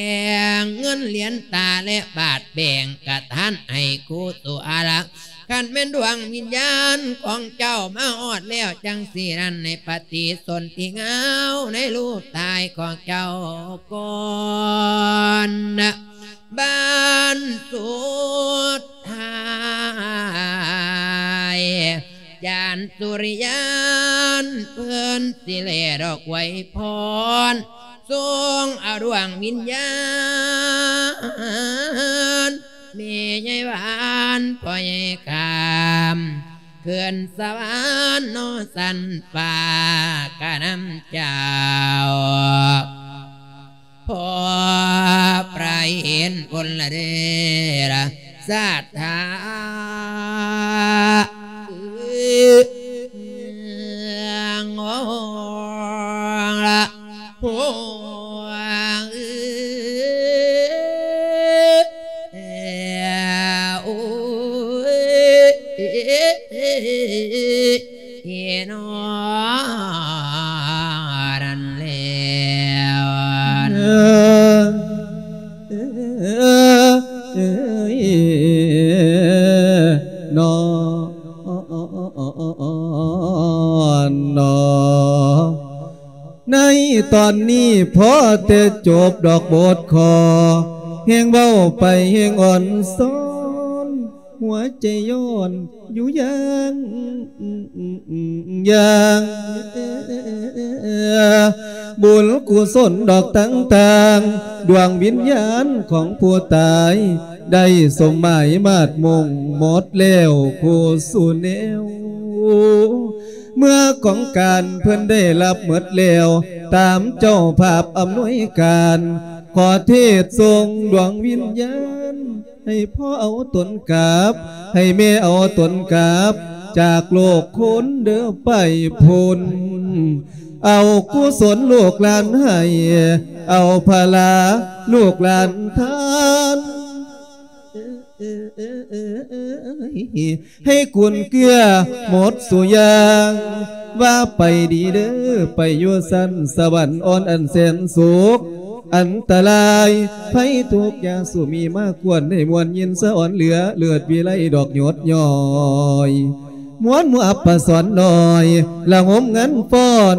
ງ ເງິນຫຼຽນຕາ ແລະ ບາດແບ່ງກະທັນໃຫ້ຄູສຸອາລະ ຄັນແມ່ນດວງວິນຍານຂອງເຈົ້າມາຮອດແລ້ວຈັ່ງຊີ້ນັ້ນ ໃນປະຕິສົນທິງາວ ໃນຮູບຖ່າຍຂອງເຈົ້າກ່ອນນະ ບານສຸດທ້າຍ ຈານສຸລິຍານ ເພິ່ນຊິແລດອກໄວພອນ ສົ່ງເອົາດວງວິນຍານ ແມ່ໃຫຍ່ຫວານ ພໍ່ໃຫຍ່ຄຳ ຂຶ້ນສະຫວັນເນາະ ຊັ້ນຟ້າກະນຳເຈົ້າ ພໍປາເຫັນບຸນລະເດລະສັດທາ ລະໂອ ເອ ໂອ ເອ ເອ ເອ ເອ ເນາະ ນັ້ນແລ້ວ ເອີ ເອີ ເອີ ເນາະ ເນາະ. ໃນຕອນນີ້ພໍແຕ່ຈົບດອກບົດຂໍ ແຮ່ງເວົ້າໄປແຮ່ງອ່ອນຊອນ ຫົວໃຈຍ້ອນຢູ່ຢ່າງ ຢ່າງ ບຸນກຸສົນດອກຕ່າງໆ ດວງວິນຍານຂອງຜູ້ຕາຍ ໄດ້ສົມໝາຍມາດມຸ່ງໝົດແລ້ວຄູ່ສູ່ແນວ. ເມື່ອຂອງການເພິ່ນໄດ້ຮັບໝົດແລ້ວ ຕາມເຈົ້າພາບອຳນວຍການ ຂໍເທດສົ່ງດວງວິນຍານ ໃຫ້ພໍ່ເອົາຕົນກັບ ໃຫ້ແມ່ເອົາຕົນກັບ ຈາກໂລກຄົນເດີໄປພຸ້ນ ເອົາກຸສົນລູກຫຼານໃຫ້ ເອົາພະລາລູກຫຼານທານ ໃຫ້ກຸນເກື້ອໝົດສູ່ຢ່າງ ວ່າໄປດີເດີ ໄປຢູ່ຊັ້ນສະຫວັນອ່ອນອັນແສນສຸກ ອັນຕະລາຍໄພທຸກຢ່າສູ່ມີມາກວນ ໃຫ້ມ່ວນຍິນສະອອນເຫຼືອເລີດວິໄລດອກຍົດຍ້ອຍ ມ່ວນໝູ່ອັບປະສອນນ້ອຍ ລະງົມງັນຟ້ອນ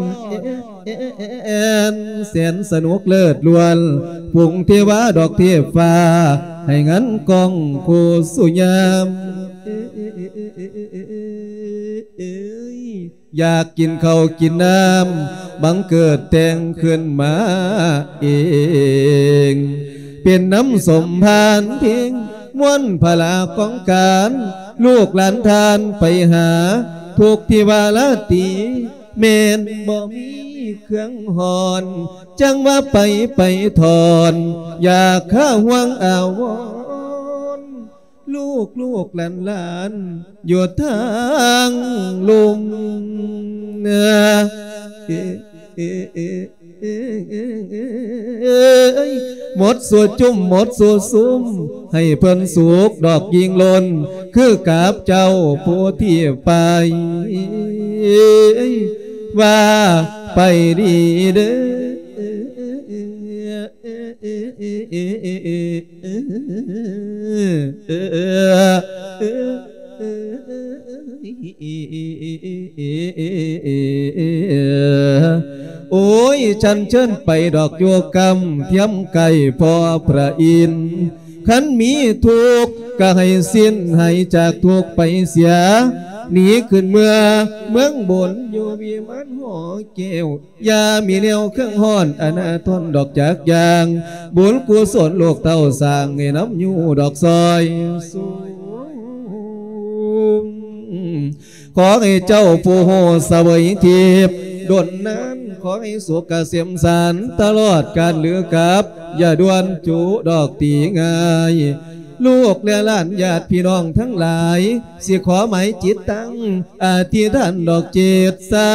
ແອນແສນສະໜຸກເລີດລ້ວນ ຝູງເທວາດອກເທບຟ້າ ໃຫ້ງັນກ້ອງຄູ່ສູ່ຍາມ ຢາກກິນເຂົ້າກິນນ້ຳ ບັງເກີດແຕ່ງຂຶ້ນມາເອງ ເປັນນ້ຳສົມພານເພັງ ມ່ວນພະລາຂອງການ ລູກຫຼານທ່ານໄປຫາ ທຸກທີ່ວ່າລາຕີ ແມ່ນບໍ່ມີເຄື່ອງຮ້ອນ ຈັ່ງວ່າໄປ ໄປຖອນ ຢາກຄາຫ່ວງອາວອນ ລູກໆຫຼານໆຢູ່ທາງລຸ່ມ ເອີ ເອີ ເອີ ເອີ ເອີ ເອີ ເອີ ໝົດສູ່ຈຸ້ມ ໝົດສູ່ຊຸມ ໃຫ້ເພິ່ນສຸກດອກຍິ່ງລົ້ນ ຄືກັບເຈົ້າຜູ້ທີ່ໄປ ວ່າໄປດີເດີ ໂອ້ຍ ສັນເຊີນໄປດອກຢູ່ກຳ ທຽມໃກ້ພໍ່ພະອິນ ຄັນມີທຸກກະໃຫ້ສິ້ນ ໃຫ້ຈາກທຸກໄປເສຍ ໜີຂຶ້ນເມືອເມືອງບົນ ຢູ່ວິມານຫໍແກ້ວ ຢ່າມີແນວເຄື່ອງຮ້ອນອະນາທົນດອກຈັກຢ່າງ ບຸນກຸສົນລູກເຕົ້າສ້າງໃຫ້ນຳຢູ່ດອກຊອຍສູງ ຂໍໃຫ້ເຈົ້າຜູ້ຮູ້ສະເຫວີຍທິບດົນນານ ຂໍໃຫ້ສຸກກະເສມສານຕະຫຼອດການຫຼືກັບ ຢ່າດ່ວນຈຸດອກຕີງ່າຍ ລູກແລະຫຼານຍາດພີ່ນ້ອງທັງຫຼາຍ ຊິຂໍໝາຍຈິດຕັ້ງ ອະທິຖານດອກຈິດໃສ່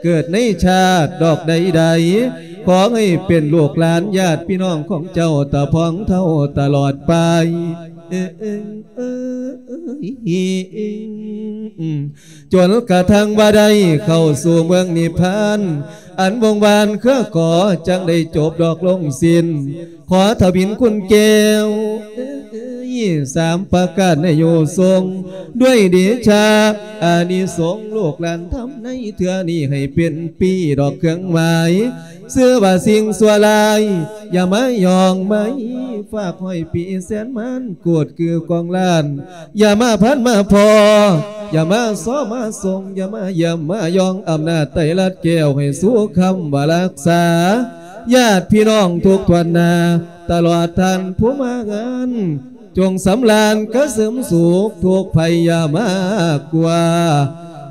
ເກີດໃນຊາດດອກໃດໆ ຂໍໃຫ້ເປັນລູກຫຼານຍາດພີ່ນ້ອງຂອງເຈົ້າຕາພອງເທົ່າຕະຫຼອດໄປ ຈົນກະທັ່ງວ່າໄດ້ເຂົ້າສູ່ເມືອງນິບພານ ອັນວົງວານເຄືອກໍ ຈັ່ງໄດ້ຈົບດອກລົງສິ້ນ ຂໍທະວິນຄຸນແກ້ວ ສາມປະການໃຫ້ຢູ່ຊົງ ດ້ວຍເດຊະອານິສົງ ລູກຫຼານທຳໃນເທື່ອນີ້ ໃຫ້ເປັນປີດອກເຄື່ອງໝາຍ ຊື່ວ່າສິ່ງຊົ່ວຮ້າຍ ຢ່າມາຍ່ອງໄມ ຝາກຮ້ອຍປີແສນມານ ໂກດຄືກອງລ້ານ ຢ່າມາພັນມາພໍ ຢ່າມາຊໍມາສົ່ງ ຢ່າມາຢ້ຽມມາຢອງ ອຳນາດໄຕລັດແກ້ວ ໃຫ້ສູ່ຄຳວ່າຮັກສາ ຍາດພີ່ນ້ອງທຸກຖ້ວນໜ້າ ຕະຫຼອດທ່ານຜູ້ມາງານ ຈົ່ງສຳລານກະເສີມສຸກ ທຸກໄພຢ່າມາກວ່າ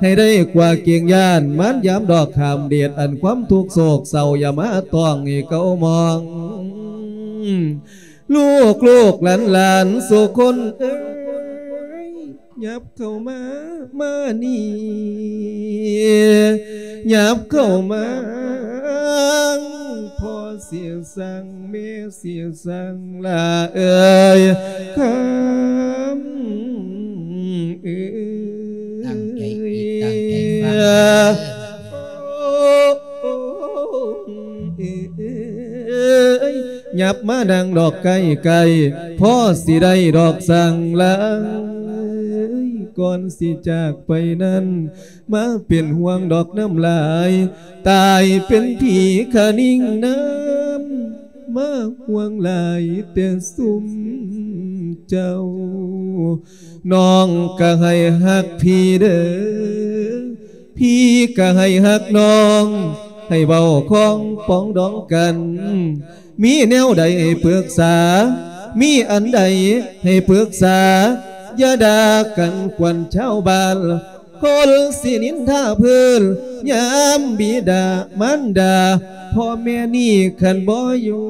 ໃຫ້ໄດ້ກວ່າເກງຢ້ານ ມານຍາມດອກຂ້າມເດດ ອັນຄວາມທຸກໂສກເສົ້າ ຢ່າມາຕ້ອງໃຫ້ເກົາມອງ ລູກໆຫຼານໆ ສູ່ຄົນເອີຍ ຫຍັບເຂົ້າມາ ມານີ້ ຫຍັບເຂົ້າມາ ພໍ່ຊິສັ່ງ ແມ່ຊິສັ່ງ ຫຼ້າເອີຍ ຄຳເອີຍ ຕັ້ງໃຈຄິດ ຕັ້ງໃຈຟັງເດີ ຫຍັບມານັ່ງດອກໃກ້ໆ ພໍຊິໄດ້ດອກສັ່ງ ຫຼ້າເອີຍ ກ່ອນຊິຈາກໄປນັ້ນ ມາເປັນຫ່ວງດອກນ້ຳລາຍ ຕາຍເປັນຜີຂະນິງນ້ຳ ມາຫ່ວງຫຼາຍແຕ່ຊຸມເຈົ້າ ນ້ອງກະໃຫ້ຮັກພີ່ເດີ ພີ່ກະໃຫ້ຮັກນ້ອງ ໃຫ້ເວົ້າຂອງປອງດອງກັນ ມີແນວໃດໃຫ້ປຶກສາ ມີອັນໃດໃຫ້ປຶກສາ ຢ່າດ່າກັນກວນຊາວບ້ານ ຄົນຊິນິນທາເພີ້ນ ຍາມບິດາມານດາ ພໍ່ແມ່ນີ້ຄັນບໍ່ຢູ່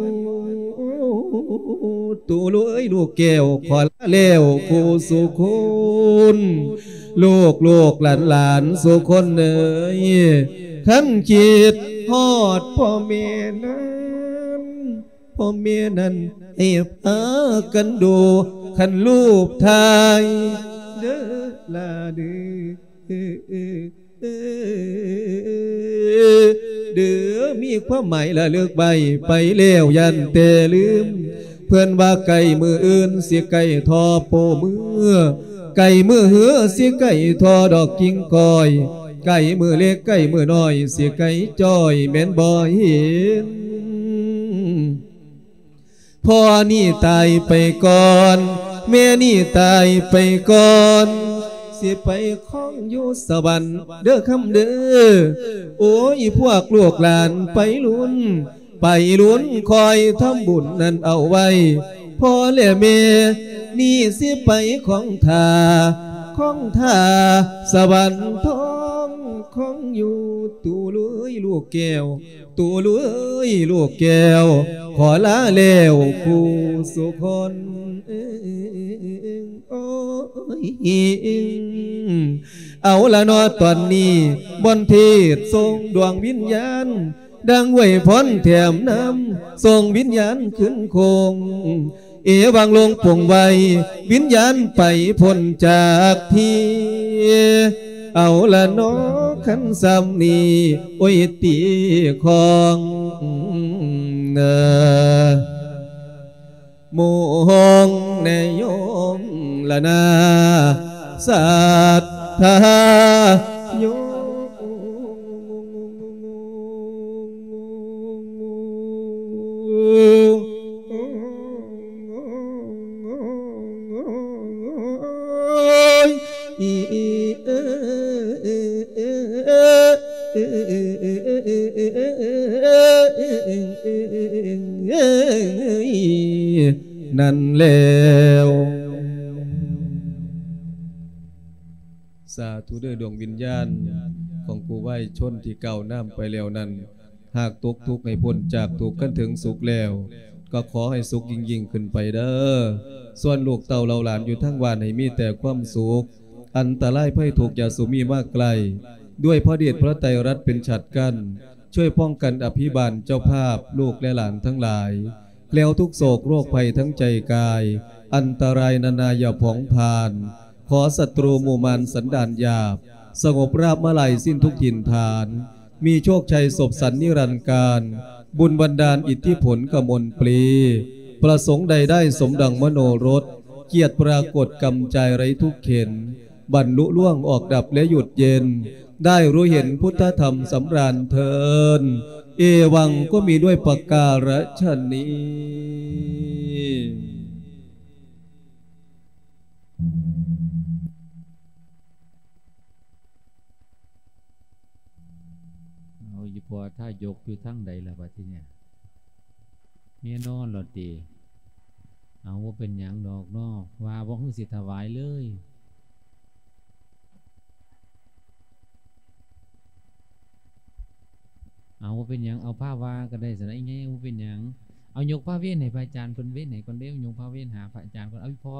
ຕູເອີຍ ລູກແກ້ວ ຂໍລາແລ້ວຄູ່ສູ່ຄົນ ລູກໆຫຼານໆສູ່ຄົນເອີຍ ຄັນຄິດຮອດພໍ່ແມ່ນັ້ນ ພໍ່ແມ່ນັ້ນໃຫ້ພາກັນດູ ຄັນຮູບຖ່າຍເດີ ຫຼ້າເດີ ເດີ ມີຄວາມໝາຍລະລຶກໄວ້ ໄປແລ້ວຢ້ານແຕ່ລືມ ເພິ່ນວ່າໃກ້ມື້ອື່ນຊິໃກ້ທໍ່ໂປ້ມື ໃກ້ມື້ເຮືອຊິໃກ້ທໍ່ດອກກິ່ງກ້ອຍ ໃກ້ມື້ເລັກໃກ້ມື້ນ້ອຍ ຊິໃກ້ຈ້ອຍແມ່ນບໍ່ເຫັນ ພໍ່ນີ້ຕາຍໄປກ່ອນ ແມ່ນີ້ຕາຍໄປກ່ອນ ຊິໄປຄອງຢູ່ສະຫວັນເດີຄຳເດີ ໂອ້ຍ ພວກລູກຫຼານໄປລຸ້ນ ໄປລຸ້ນຄອຍທຳບຸນນັ້ນເອົາໄວ້ ພໍ່ແລະແມ່ ນີ້ຊິໄປຄອງທ່າ ຄອງທ່າສະຫວັນທອງ ຄອງຢູ່ ຕູເອີຍ ລູກແກ້ວ ຕູເອີຍ ລູກແກ້ວ ຂໍລາແລ້ວຄູ່ສູ່ຄົນ ໂອ້ຍ ເອົາລະເນາະ ຕອນນີ້ ມອນເທດສົ່ງດວງວິນຍານ ດັ່ງໄວພອນແຖມນຳ ສົ່ງວິນຍານຄືນຄົງ ເອວັງລົງປົງໄວ້ ວິນຍານໄປພົ້ນຈາກທີ່ ເອົາລະເນາະ ຄັນຊ່ຳນີ້ ໂອ້ຍ ຕີຂອງ ເອີ ໂມງແນໂຍມລະນາ ສັດທາໂຍມ ນັ້ນແລ້ວ ສາທຸເດີ ດວງວິນຍານຂອງຜູ້ວາຍຊົນທີ່ກ່າວນາມໄປແລ້ວນັ້ນ ຫາກຕົກທຸກໃຫ້ພົ້ນຈາກທຸກຄັນເຖິງສຸກແລ້ວ ກໍຂໍໃຫ້ສຸກຍິ່ງໆຂຶ້ນໄປເດີ. ສ່ວນລູກເຕົ້າເຫຼົ່າຫຼານຢູ່ທາງບ້ານໃຫ້ມີແຕ່ຄວາມສຸກ, ອັນຕະລາຍໄພທຸກຢ່າສູ່ມີມາໃກ້, ດ້ວຍພະເດດພະໄຕລັດເປັນສັດກັ້ນ, ຊ່ວຍປ້ອງກັນອະພິບານເຈົ້າພາບລູກແລະຫຼານທັງຫຼາຍ, ແຄล้วທຸກໂສກໂລກໄພທັງໃຈກາຍ, ອັນຕະລາຍນານາຢ່າຜອງຜ່ານ, ຂໍສັດຕູໝູ່ມານສັນດານຫຍາບ ສະຫງົບລາບມາລາຍສິ້ນທຸກຖິ່ນຖານ, ມີໂຊກໄຊສົບສັນນິລັນການ, ບຸນບັນດານອິດທິຜົນກະມົນປຣີ, ປະສົງໃດໄດ້ສົມດັ່ງມະໂນລົດ, เกียรติปรากฏกำใจไร้ทุกข์เข็ญ บรรลุล่วงออกดับและหยุดเย็น ได้รู้เห็นพุทธธรรมสำราญเทิน เอวังก็มีด้วยประการฉะนี้ เอาอีพ่อทายกอยู่ทางใดล่ะบัดทีเนี้ย เมียนอนแล้วติ เอา บ่เป็นหยังดอกเนาะ ว่าบ่คือสิถวายเลย เอา บ่เป็นหยัง เอาพาว่าก็ได้ซั่นนะ อีแง่ บ่เป็นหยัง เอายกพาเวรให้พระอาจารย์เพิ่นเวรให้ก่อนเด้อ ยกพาเวรหาพระอาจารย์ก่อน เอาอีพ่อ